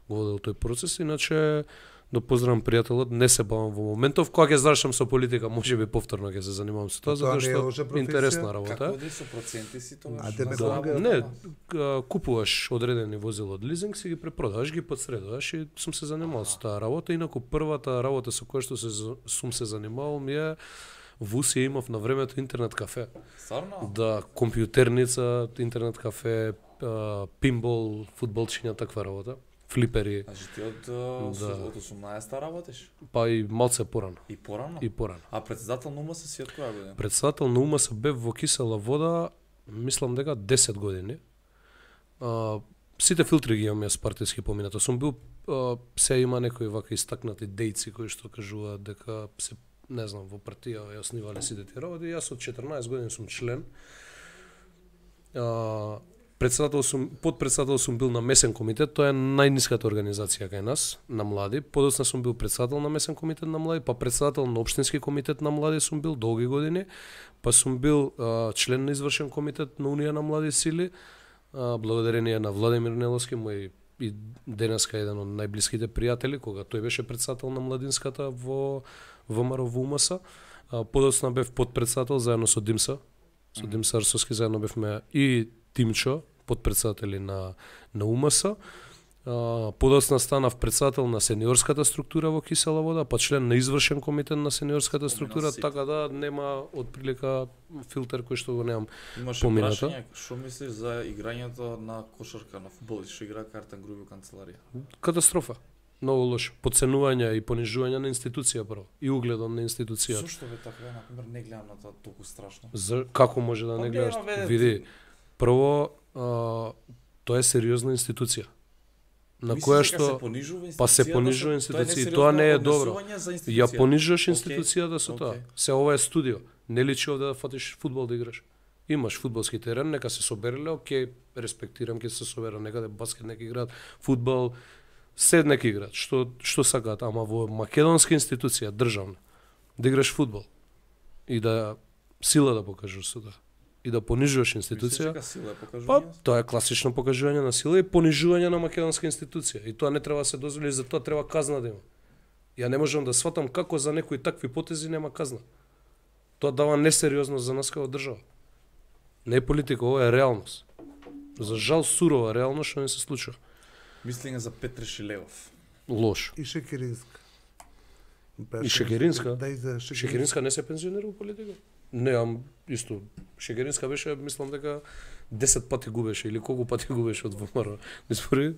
го водел тој процес, иначе да поздравам пријателот, не се бавам во моментов, кога ќе завршам со политика, можеби повторно ќе се занимавам со тоа, Тоа затоа не е лоша што професија? интересна работа. Како оди со проценти си тоа? А тебе Да. кога- Не, к- купуваш одредени возила од лизинг, си ги препродаваш, ги подсредуваш и сум се занимавал со таа работа. Инаку првата работа со која што се за- сум се занимавал ми е во Усија имав на времето интернет кафе. Стварно? Да, компјутерница, интернет кафе, а, пинбол, фудбалчиња, таква работа. Флипери, Значи ти од а, Да. од осумнаесета работиш? па и малце порано. И порано? И порано. А председател на УМС си од која година? Председател на УМС бев во Кисела вода, мислам дека десет години. А, сите филтри ги имам јас партиски поминато. Сум бил, а, се има некои вака истакнати дејци кои што кажуваат дека се, не знам, во партија ја оснивале сите тие работи. Јас од четрнаесет години сум член. А, председател сум, подпредседател сум бил на месен комитет, тоа е најниската организација кај нас, на млади. Подоцна сум бил председател на месен комитет на млади, па председател на општински комитет на млади сум бил долги години, па сум бил а, член на извршен комитет на Унија на млади сили, а, благодарение на Владимир Неловски, мој и денеска еден од најблиските пријатели, кога тој беше председател на младинската во ВМРО во УМС. А, подоцна бев подпредседател заедно со Димса, со Димса Арсовски заедно бевме и Тимчо, подпредседатели на на УМС. А, подоцна станав председател на сениорската структура во Кисела вода, па член на извршен комитет на сениорската структура, сите. така да нема отприлика филтер кој што го немам. Имаше поминато. прашање, што мислиш за играњето на кошарка на фудбал, што игра Картен Груби во канцеларија? Катастрофа. Многу лошо. Подценување и понижување на институција прво и угледот на институцијата. Зошто бе така, на пример, не гледам на тоа толку страшно? За како може да Па не гледам, гледаш? бе, Види, прво а, тоа е сериозна институција на Мислиш која дека што се понижува институцијата? па се понижува институција и тоа не е добро. Ја понижуваш институцијата со тоа. Окей. Се ова е студио. Не личи овде да фатиш фудбал да играш. Имаш фудбалски терен, нека се собереле, окей, респектирам ќе се собера некаде баскет нека играат, фудбал, се нека играат, што што сакаат, ама во македонска институција државна да играш фудбал и да сила да покажеш со тоа и да понижуваш институција. Па, тоа е класично покажување на сила и понижување на македонска институција. И тоа не треба да се дозволи, за тоа треба казна да има. Ја не можам да сватам како за некои такви потези нема казна. Тоа дава несериозност за нас како држава. Не е политика, ова е реалност. За жал сурова реално што не се случува. Мислење за Петре Шилегов. Лош. И Шекеринска. И Шекеринска? Да, и за Шекеринска. Шекеринска не се пензионира во политика? Неам исто. Шекеринска беше, мислам дека десет пати губеше или колку пати губеше од ВМРО. Испори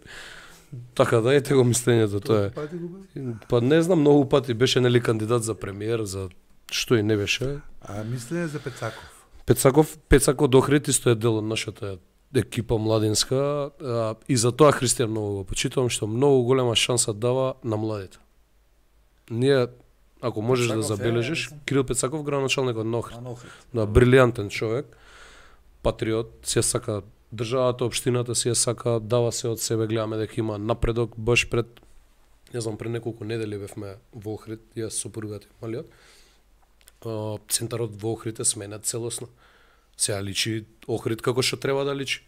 така да ете го мислењето тоа е. Пати губе? Па не знам, многу пати беше нели кандидат за премиер, за што и не беше. А мислење за Пецаков. Пецаков, Пецако Дохрит исто е дел од нашата екипа младинска, а, и за тоа Христијан многу го почитувам, што многу голема шанса дава на младите. Ние, ако можеш Пецаков да забележиш, е, Кирил Пецаков, градоначалник од Охрид, А, Охрид. да, брилијантен човек, патриот, си ја сака државата, општината си ја сака, дава се од себе, гледаме дека има напредок, баш пред, не знам, пред неколку недели бевме во Охрид, јас со сопругата и малиот, центарот во Охрид е сменет целосно. Сега личи Охрид како што треба да личи.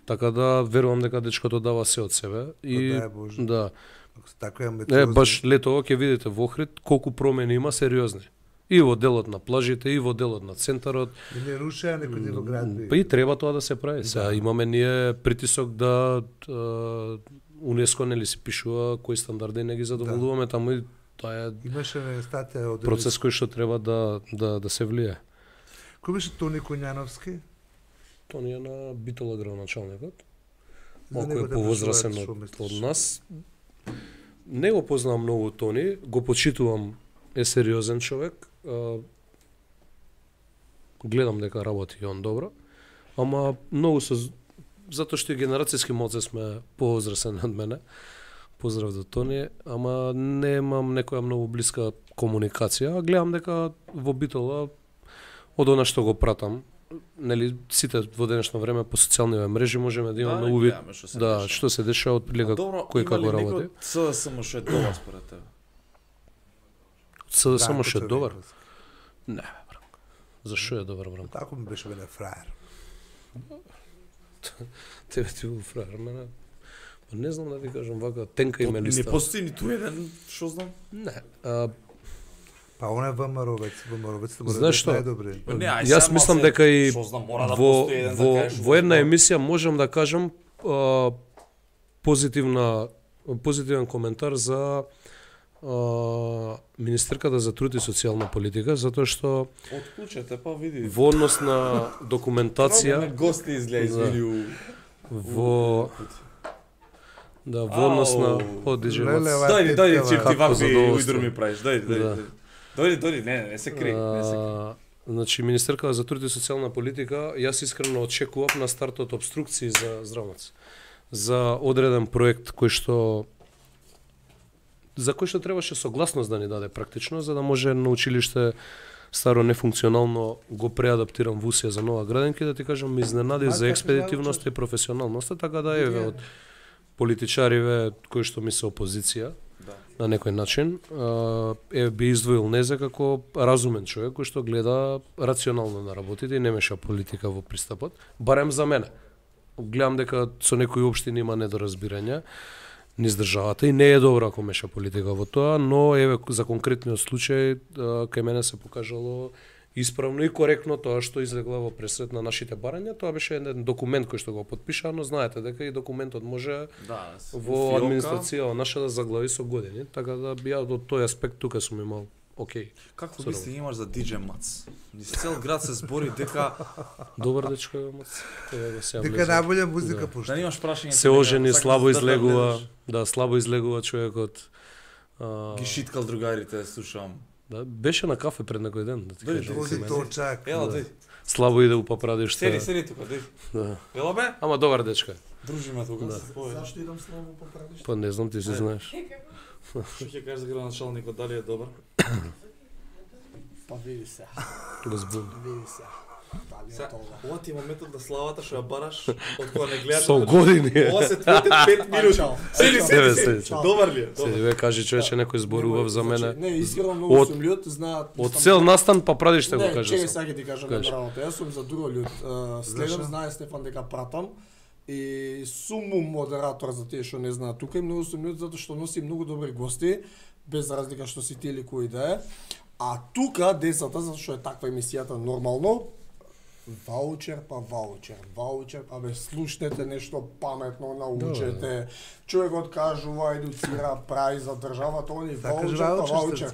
Така да верувам дека дечкото дава се од себе и Да, Боже. да. Така е Е, баш летово ќе видите во Охрид колку промени има сериозни. И во делот на плажите, и во делот на центарот. Да не рушеа некој дел град. Па и треба тоа да се прави. Сега имаме ние притисок да а, УНЕСКО нели се пишува кои стандарди не ги задоволуваме таму и тоа е Имаше не статија од процес кој што треба да да да се влие. Кој беше Тони Коњановски? Тони е на Битола градоначалникот. За Малку него е да повозрасен прашуваат, што од, мислиш? од нас. Не го познавам многу Тони, го почитувам, е сериозен човек. А, гледам дека работи и он добро, ама многу се затоа што и генерацијски малце сме повозрасен од мене. Поздрав до Тони, ама немам некоја многу блиска комуникација, а гледам дека во Битола од она што го пратам, нели сите во денешно време по социјалните мрежи можеме да имаме Да, увид гледаме што се да деша. што се дешава од прилика кој како работи. СДСМ што е добар според тебе? Се да само Бранко што е добар. Црвенковски. Не, бе, Бранко. Зашо е добар Бранко? Тако ми беше бе фраер. Тебе ти го фраер, мене. Па не знам да ти кажам вака тенка Не имениста. постои ниту еден, што знам. Не. А, Па он е ВМРО-вец, ВМРО-вец мора да Знаеш што? најдобри. Па не, ај Јас сега мислам се- дека и што знам, мора да во, постои еден да во, кажеш во една што- емисија можам да кажам а, позитивна позитивен коментар за а, Министерката за труд и социјална политика, затоа што Отклучете, па види. во однос на документација Троме гости изгледа извини у... во да во однос на Ау. о диџе Леле, Мац. ва- Дојди, дојди, чип ти Како вакви задоволство. ујдро ми правиш. Дојди, дојди. Да. дојди. Дојди, дојди, не, не се кри, не се кри. А, Значи, Министерката за труд и социјална политика, јас искрено очекував на стартот обструкции за здравници. За одреден проект кој што за кој што требаше согласност да ни даде практично, за да може на училиште старо нефункционално го преадаптирам во Усија за Нова Граденка и да ти кажам, ме изненади А, за како експедитивноста и професионалноста, така да еве од политичариве кои што ми се опозиција, Да. на некој начин, а, е би издвоил Незе како разумен човек кој што гледа рационално на работите и не меша политика во пристапот, барем за мене. Гледам дека со некои општини има недоразбирање низ државата и не е добро ако меша политика во тоа, но еве за конкретниот случај а, кај мене се покажало исправно и коректно тоа што излегла во пресред на нашите барања. Тоа беше еден документ кој што го потпиша, но знаете дека и документот може Да, во администрација наша да заглави со години, така да би ја од тој аспект тука сум имал окей. Какво Со мисли имаш за диџе Мац? Низ цел град се збори дека Добар дечко е Мац. Тоа го се Дека влезе. најболја музика Да. пушта. да немаш прашање. Се ожени, слабо да излегува, да, слабо излегува човекот. А, Ги шиткал другарите, слушам. да, беше на кафе пред некој ден, да ти Дојди, кажам. Вози Мене. точак. Ела, Да. дојди. Слабо иде у папрадиште. Седи, седи тука, дојди. Да. Ела бе? Ама добар дечко е. Дружиме тука. Да. Ој, Зашто идам слабо по правиш? Па не знам, ти си Ајде. знаеш. Што ќе кажеш за градоначалникот, дали е добар? Па види се, Го збуни. види се. Дали Се, е тоа? ова ти е моментот на славата што ја бараш, од кога не гледаш. Со години е. Ова се твоите пет минути. Чао. Седи, Себе, седи, седи. седи. Добар ли е? Седи, Добар. ве кажи човече некој зборував за мене. Не, искрено многу Од- сум љут, знаат. Од мислам, цел настан па прадиште го Не, кажа чекај сам. сега ќе ти кажам Кажи. направото. Јас сум за друго љут. Е, Следам, Зашо? знае Стефан дека пратам и сум му модератор за тие што не знаат тука и многу сум љут затоа што носи многу добри гости, без разлика што си ти или кој да е. А тука децата, затоа што е таква емисијата нормално, Ваучер па ваучер, ваучер, па бе слушнете нешто паметно, научете. Човекот кажува, едуцира, прави за државата, они ваучер па ваучер.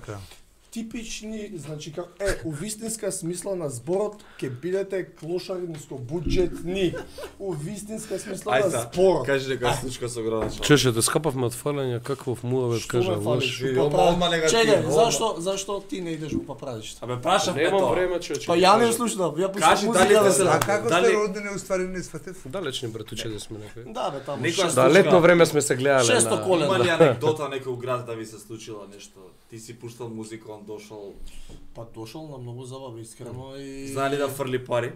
Типични, значи како е, у вистинска смисла на зборот ќе бидете клошари нискобуџетни. У вистинска смисла на зборот. Кажи дека случка со граначал. Чеше, да скапавме од фалење, каков муавет кажа лош. Чекај, зашто зашто ти не идеш во поправиште? Абе прашав ме Немам тоа. време, човече. Па ја не слушнав, ја пуштам Кажи музика. дали да те се- се- А како Дали- сте родени уствари не сватев? Далечни братуче да сме некои. Да, бе, таму. Некоја шест- Да, летно време сме се гледале Шесто на... коле. Има ли анекдота некој град да ви се случила нешто? Ти си пуштал музика, он дошол. Па дошол на многу забава, искрено и... Знае ли да фрли пари?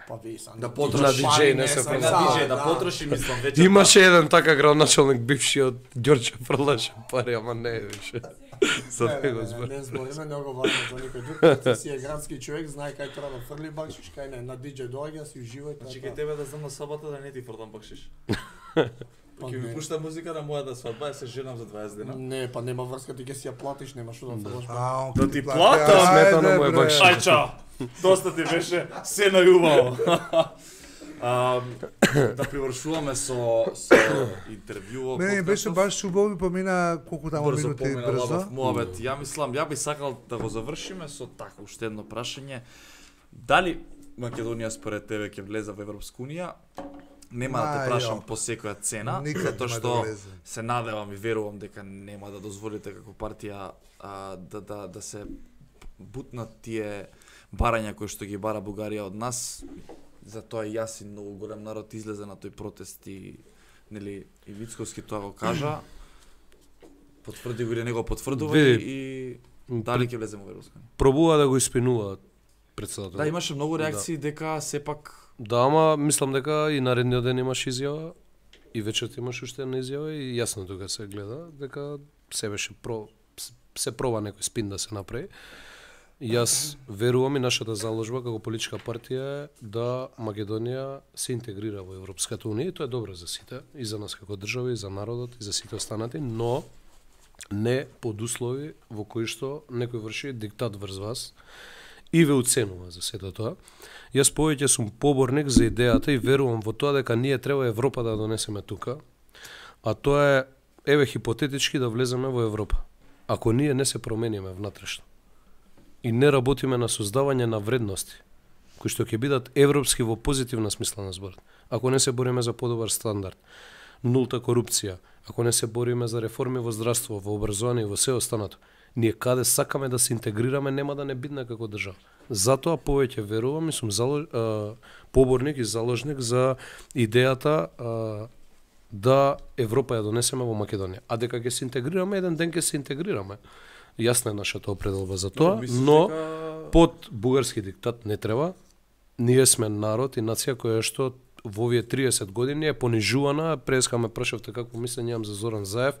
Па ви сам. Да На потроши диџеј не се на фрли. диџеј, да потроши мислам вече. Имаше еден така градоначалник бивши од Ѓорче фрлаше пари, ама не е више. За Не, не, него не, збор. не збориме, не го важно за никој друг. Ти си е градски човек, знае кај треба да фрли бакшиш, кај не, на диџеј доаѓа, си уживај. Значи кај тебе да знам на сабота да не ти фрлам бакшиш. Па Ќе ми не. пушта музика на мојата свадба, ја се женам за дваесет дена. Не, па нема врска, ти ќе си ја платиш, нема што да фрлаш. А, он Да ќе ти плати. плата, Ајде, смета на мој бре. бакшиш. Ај чао. Доста ти беше се најубаво. А, да привршуваме со со интервјуот. Мене ми беше баш убаво и помина колку таму брзо минути помина брзо. лабав муабет. Ја мислам, ја би сакал да го завршиме со така уште едно прашање. Дали Македонија според тебе ќе влезе во Европска унија? Нема да те Ма, прашам јо. по секоја цена, Никад затоа нема што да влезе. се надевам и верувам дека нема да дозволите како партија а, да да да се бутнат тие барања кои што ги бара Бугарија од нас. Затоа и јас и многу голем народ излезе на тој протест и нели и Вицковски тоа го кажа. Потврди го или не го потврдува Види, и дали ќе влеземе во Европска унија. Пробува да го испинуваат председател. Да, имаше многу реакции дека сепак Да, ама мислам дека и наредниот ден имаш изјава, и вечерта имаш уште една изјава и јасно тука се гледа дека се беше про се проба некој спин да се направи. Јас верувам и нашата заложба како политичка партија е да Македонија се интегрира во Европската унија и тоа е добро за сите, и за нас како држава, и за народот, и за сите останати, но не под услови во кои што некој врши диктат врз вас и ве уценува за сето тоа. Јас повеќе сум поборник за идејата и верувам во тоа дека ние треба Европа да донесеме тука, а тоа е, еве хипотетички, да влеземе во Европа. Ако ние не се промениме внатрешно и не работиме на создавање на вредности, кои што ќе бидат европски во позитивна смисла на зборот, ако не се бориме за подобар стандард, нулта корупција, ако не се бориме за реформи во здравство, во образование и во се останато, ние каде сакаме да се интегрираме нема да не бидне како држава. Затоа повеќе верувам и сум залож, а, поборник и заложник за идејата а, да Европа ја донесеме во Македонија. А дека ќе се интегрираме, еден ден ќе се интегрираме. Јасна е нашата определба за тоа, но под бугарски диктат не треба. Ние сме народ и нација која што во овие триесет години е понижувана. Преска ме прашавте како мислење имам за Зоран Заев.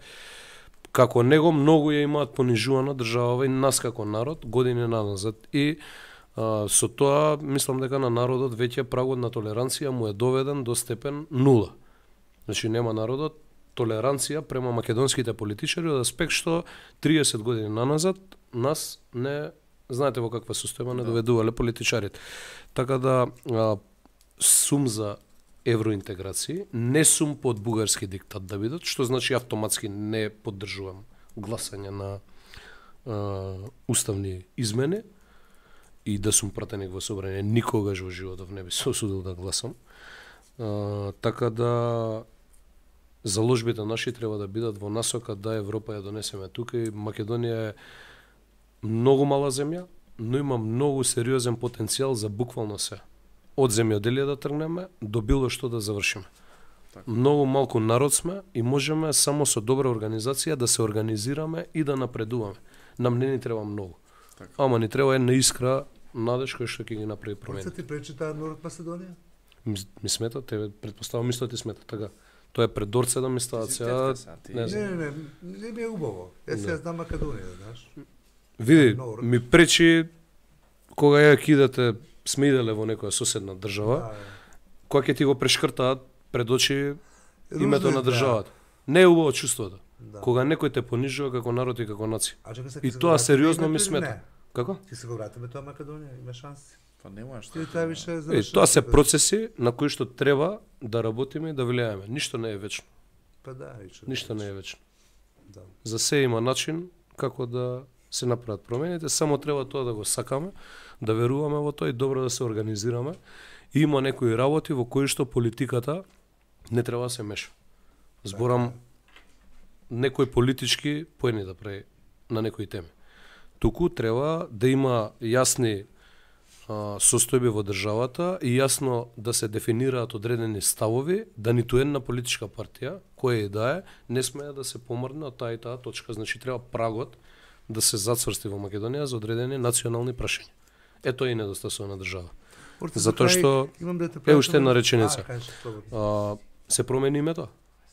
Како него многу ја имаат понижувана држава и нас како народ години назад. И а, со тоа мислам дека на народот веќе прагот на толеранција му е доведен до степен нула. Значи нема народот толеранција према македонските политичари од аспект што триесет години наназад нас не знаете во каква состојба не доведувале политичарите. Така да а, сум за евроинтеграција, не сум под бугарски диктат да бидат, што значи автоматски не поддржувам гласање на а, уставни измени и да сум пратеник во собрание. Никогаш во животов не би се осудил да гласам. А, така да заложбите наши треба да бидат во насока да Европа ја донесеме тука и Македонија е многу мала земја, но има многу сериозен потенцијал за буквално се. Од земјоделие да тргнеме до било што да завршиме. Така. Многу малку народ сме и можеме само со добра организација да се организираме и да напредуваме. Нам не ни треба многу. Така. Ама ни треба една искра надеж која што ќе ги направи Кој промени. се ти пречи таа Норд Македонија? Ми, ми смета, тебе предпоставам исто ти смета, така. Тоа е предорце да ми стават сега. Не Не, знам. не, не, не ми е убаво. Е, сега знам Македонија, знаеш. Види, Норд. ми пречи кога ја кидате, сме иделе во некоја соседна држава, Да, кога ќе ти го прешкртаат пред очи името на да. државата. Не е убаво чувството. Да. Кога некој те понижува како народ и како нација. А чека се, И ќе се тоа го сериозно вратиме ми или смета. не? Како? Ќе се го вратиме тоа Македонија, има шанси. Па нема што. Ти таа више Е, заврши. тоа се процеси на кои што треба да работиме и да влијаеме. Ништо не е вечно. Па да, више. Ништо не е вечно. Да. За се има начин како да се направат промените, само треба тоа да го сакаме, да веруваме во тоа и добро да се организираме. И има некои работи во кои што политиката не треба да се меша. Зборам некои политички поени да прави на некои теми. Туку треба да има јасни а, состојби во државата и јасно да се дефинираат одредени ставови, да ниту една политичка партија, која и да е, не смее да се помрдне од таа и таа точка. Значи треба прагот да се зацврсти во Македонија за одредени национални прашања. Ето е и недостасува на држава. Урте, Затоа за крај, што имам да те е уште прашам- една реченица. А, кажи, слободно. А, се промени името?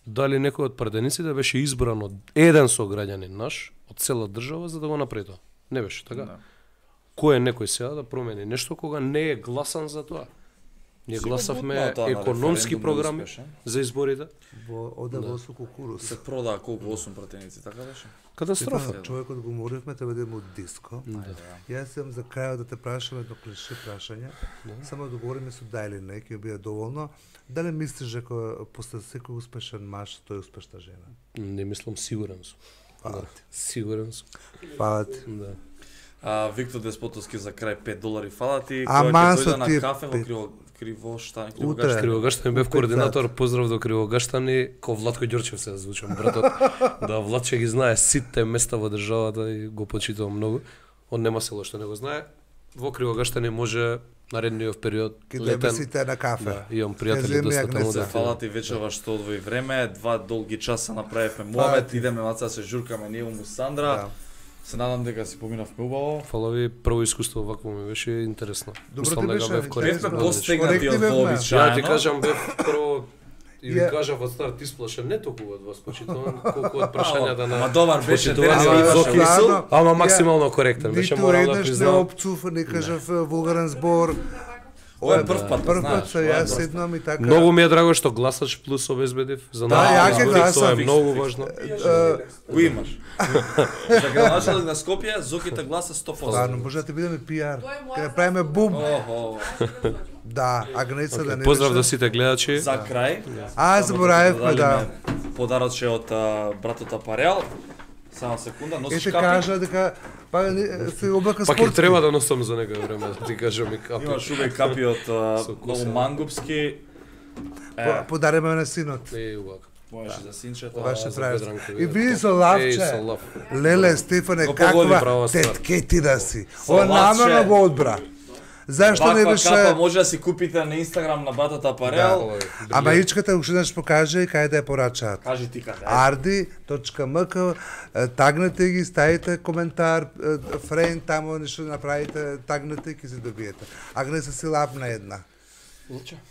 Дали некој од пратениците беше избран од еден сограѓанин наш, од цела држава, за да го направи тоа? Не беше така? Да. Кој е некој сега да промени нешто кога не е гласан за тоа? Ние Сигурно гласавме бутнаа тоа на економски референдум, програми не успеше. за изборите. Во ода во со кукуруз. Се продаа колку осум пратеници, така беше? Катастрофа. Стефан, човекот го моривме, треба да има од диско. Да. Јас имам за крајот да те прашам едно клише прашање. Само да говориме со да или не, ќе биде доволно. Дали мислиш дека после секој успешен маж, тој е успешна жена? Не мислам, сигурен сум. Фала Да, ти. сигурен сум. Фала ти. Да. А, Виктор Деспотовски за крај пет долари, фала ти. Ама Кога ќе со дојде на тие кафе во пет. криво кривоштани, Утре. кривогаштани. Кривогаштани бев У пет координатор, сати. поздрав до Кривогаштани, ко Владко Ѓорчев се звучам, братот. Да, Владче ги знае сите места во државата и го почитувам многу. Он нема село што не го знае. Во Кривогаштани може наредниот период Ке дојме летен. сите на кафе. Да, имам Ќе пријатели земе доста таму Агнеса. да Фала ти вечерва што одвои време, два долги часа направивме муабет, идеме маца се журкаме ние му Сандра. Да. Се надам дека си поминавме убаво. Фала ви, прво искуство вакво ми беше интересно. Добро Мислам ти дека беше, бев интересно. коректен. Бевме Коректни постегнати од бевме. вообичаено. Ја ти кажам, бев прво и ви Ја- кажав од старт исплашен, не толку од вас почитувам, колку од прашањата на Ама добар беше, почитувани денес и имаше Зоки. Ладно. Ама Ја- максимално коректен, беше Ниту морам да еднаш не признам. опцув, не кажав вулгарен збор. Ова е прв пат, Прв знаеш. пат се ова е јас прв пат. седнам и така. Многу ми е драго што гласач плюс обезбедив за Да, нас. ја ќе Тоа гласам. е многу важно. Го имаш. За градоначелник на Скопје, Зоките гласа сто проценти. Ладно, може да ти бидеме пиар. Ке направиме бум. Охо. Да, Агнеца да не Поздрав беше. до сите гледачи. За крај. А, само заборавивме, да да. дадеме подароче од а, братот Апарел. Само секунда, носиш Ете капи? кажа дека па не- се облака Пак спортски. и треба да носам за некој време, да ти кажам и капи. Имаш убави капи од а, Со коса. многу мангупски. Е, По- Подариме на синот. Е, убаво. можеш за синчето. Баше за прави. Бедранка, И бе. ви со Еј, лавче. со лав. Леле, Стефане, Го погоди, каква права ствар. тетке ти да си. Со Ова лавче. намерно го одбра. Зашто не Ваква беше... капа може да си купите на Инстаграм на братот Апарел. Ама ичката уште еднаш покаже и кај да ја порачаат. Кажи ти каде. арди точка ем ка, е, тагнете ги, ставите коментар, е, фрейн тамо нешто направите, тагнете и ќе се добиете. Агнеса си лапна една.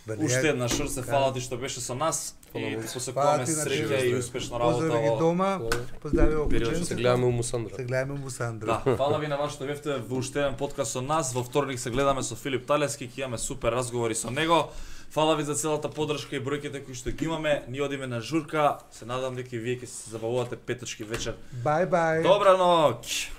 Бе, не, Уште една шорсе, фала ти што беше со нас и ти Фала посекуваме ти на среќа тебе. и успешна работа. Поздрави ги во- дома, поздрави во Период што Се кученцето. гледаме у Мусандра. Се гледаме му Сандра. Да, фала ви на вас што бевте во уште еден подкаст со нас. Во вторник се гледаме со Филип Талески, ќе имаме супер разговори со него. Фала ви за целата поддршка и бројките кои што ги имаме. Ние одиме на журка. Се надам дека и вие ќе се забавувате петочки вечер. Бај, бај. Добра ноќ.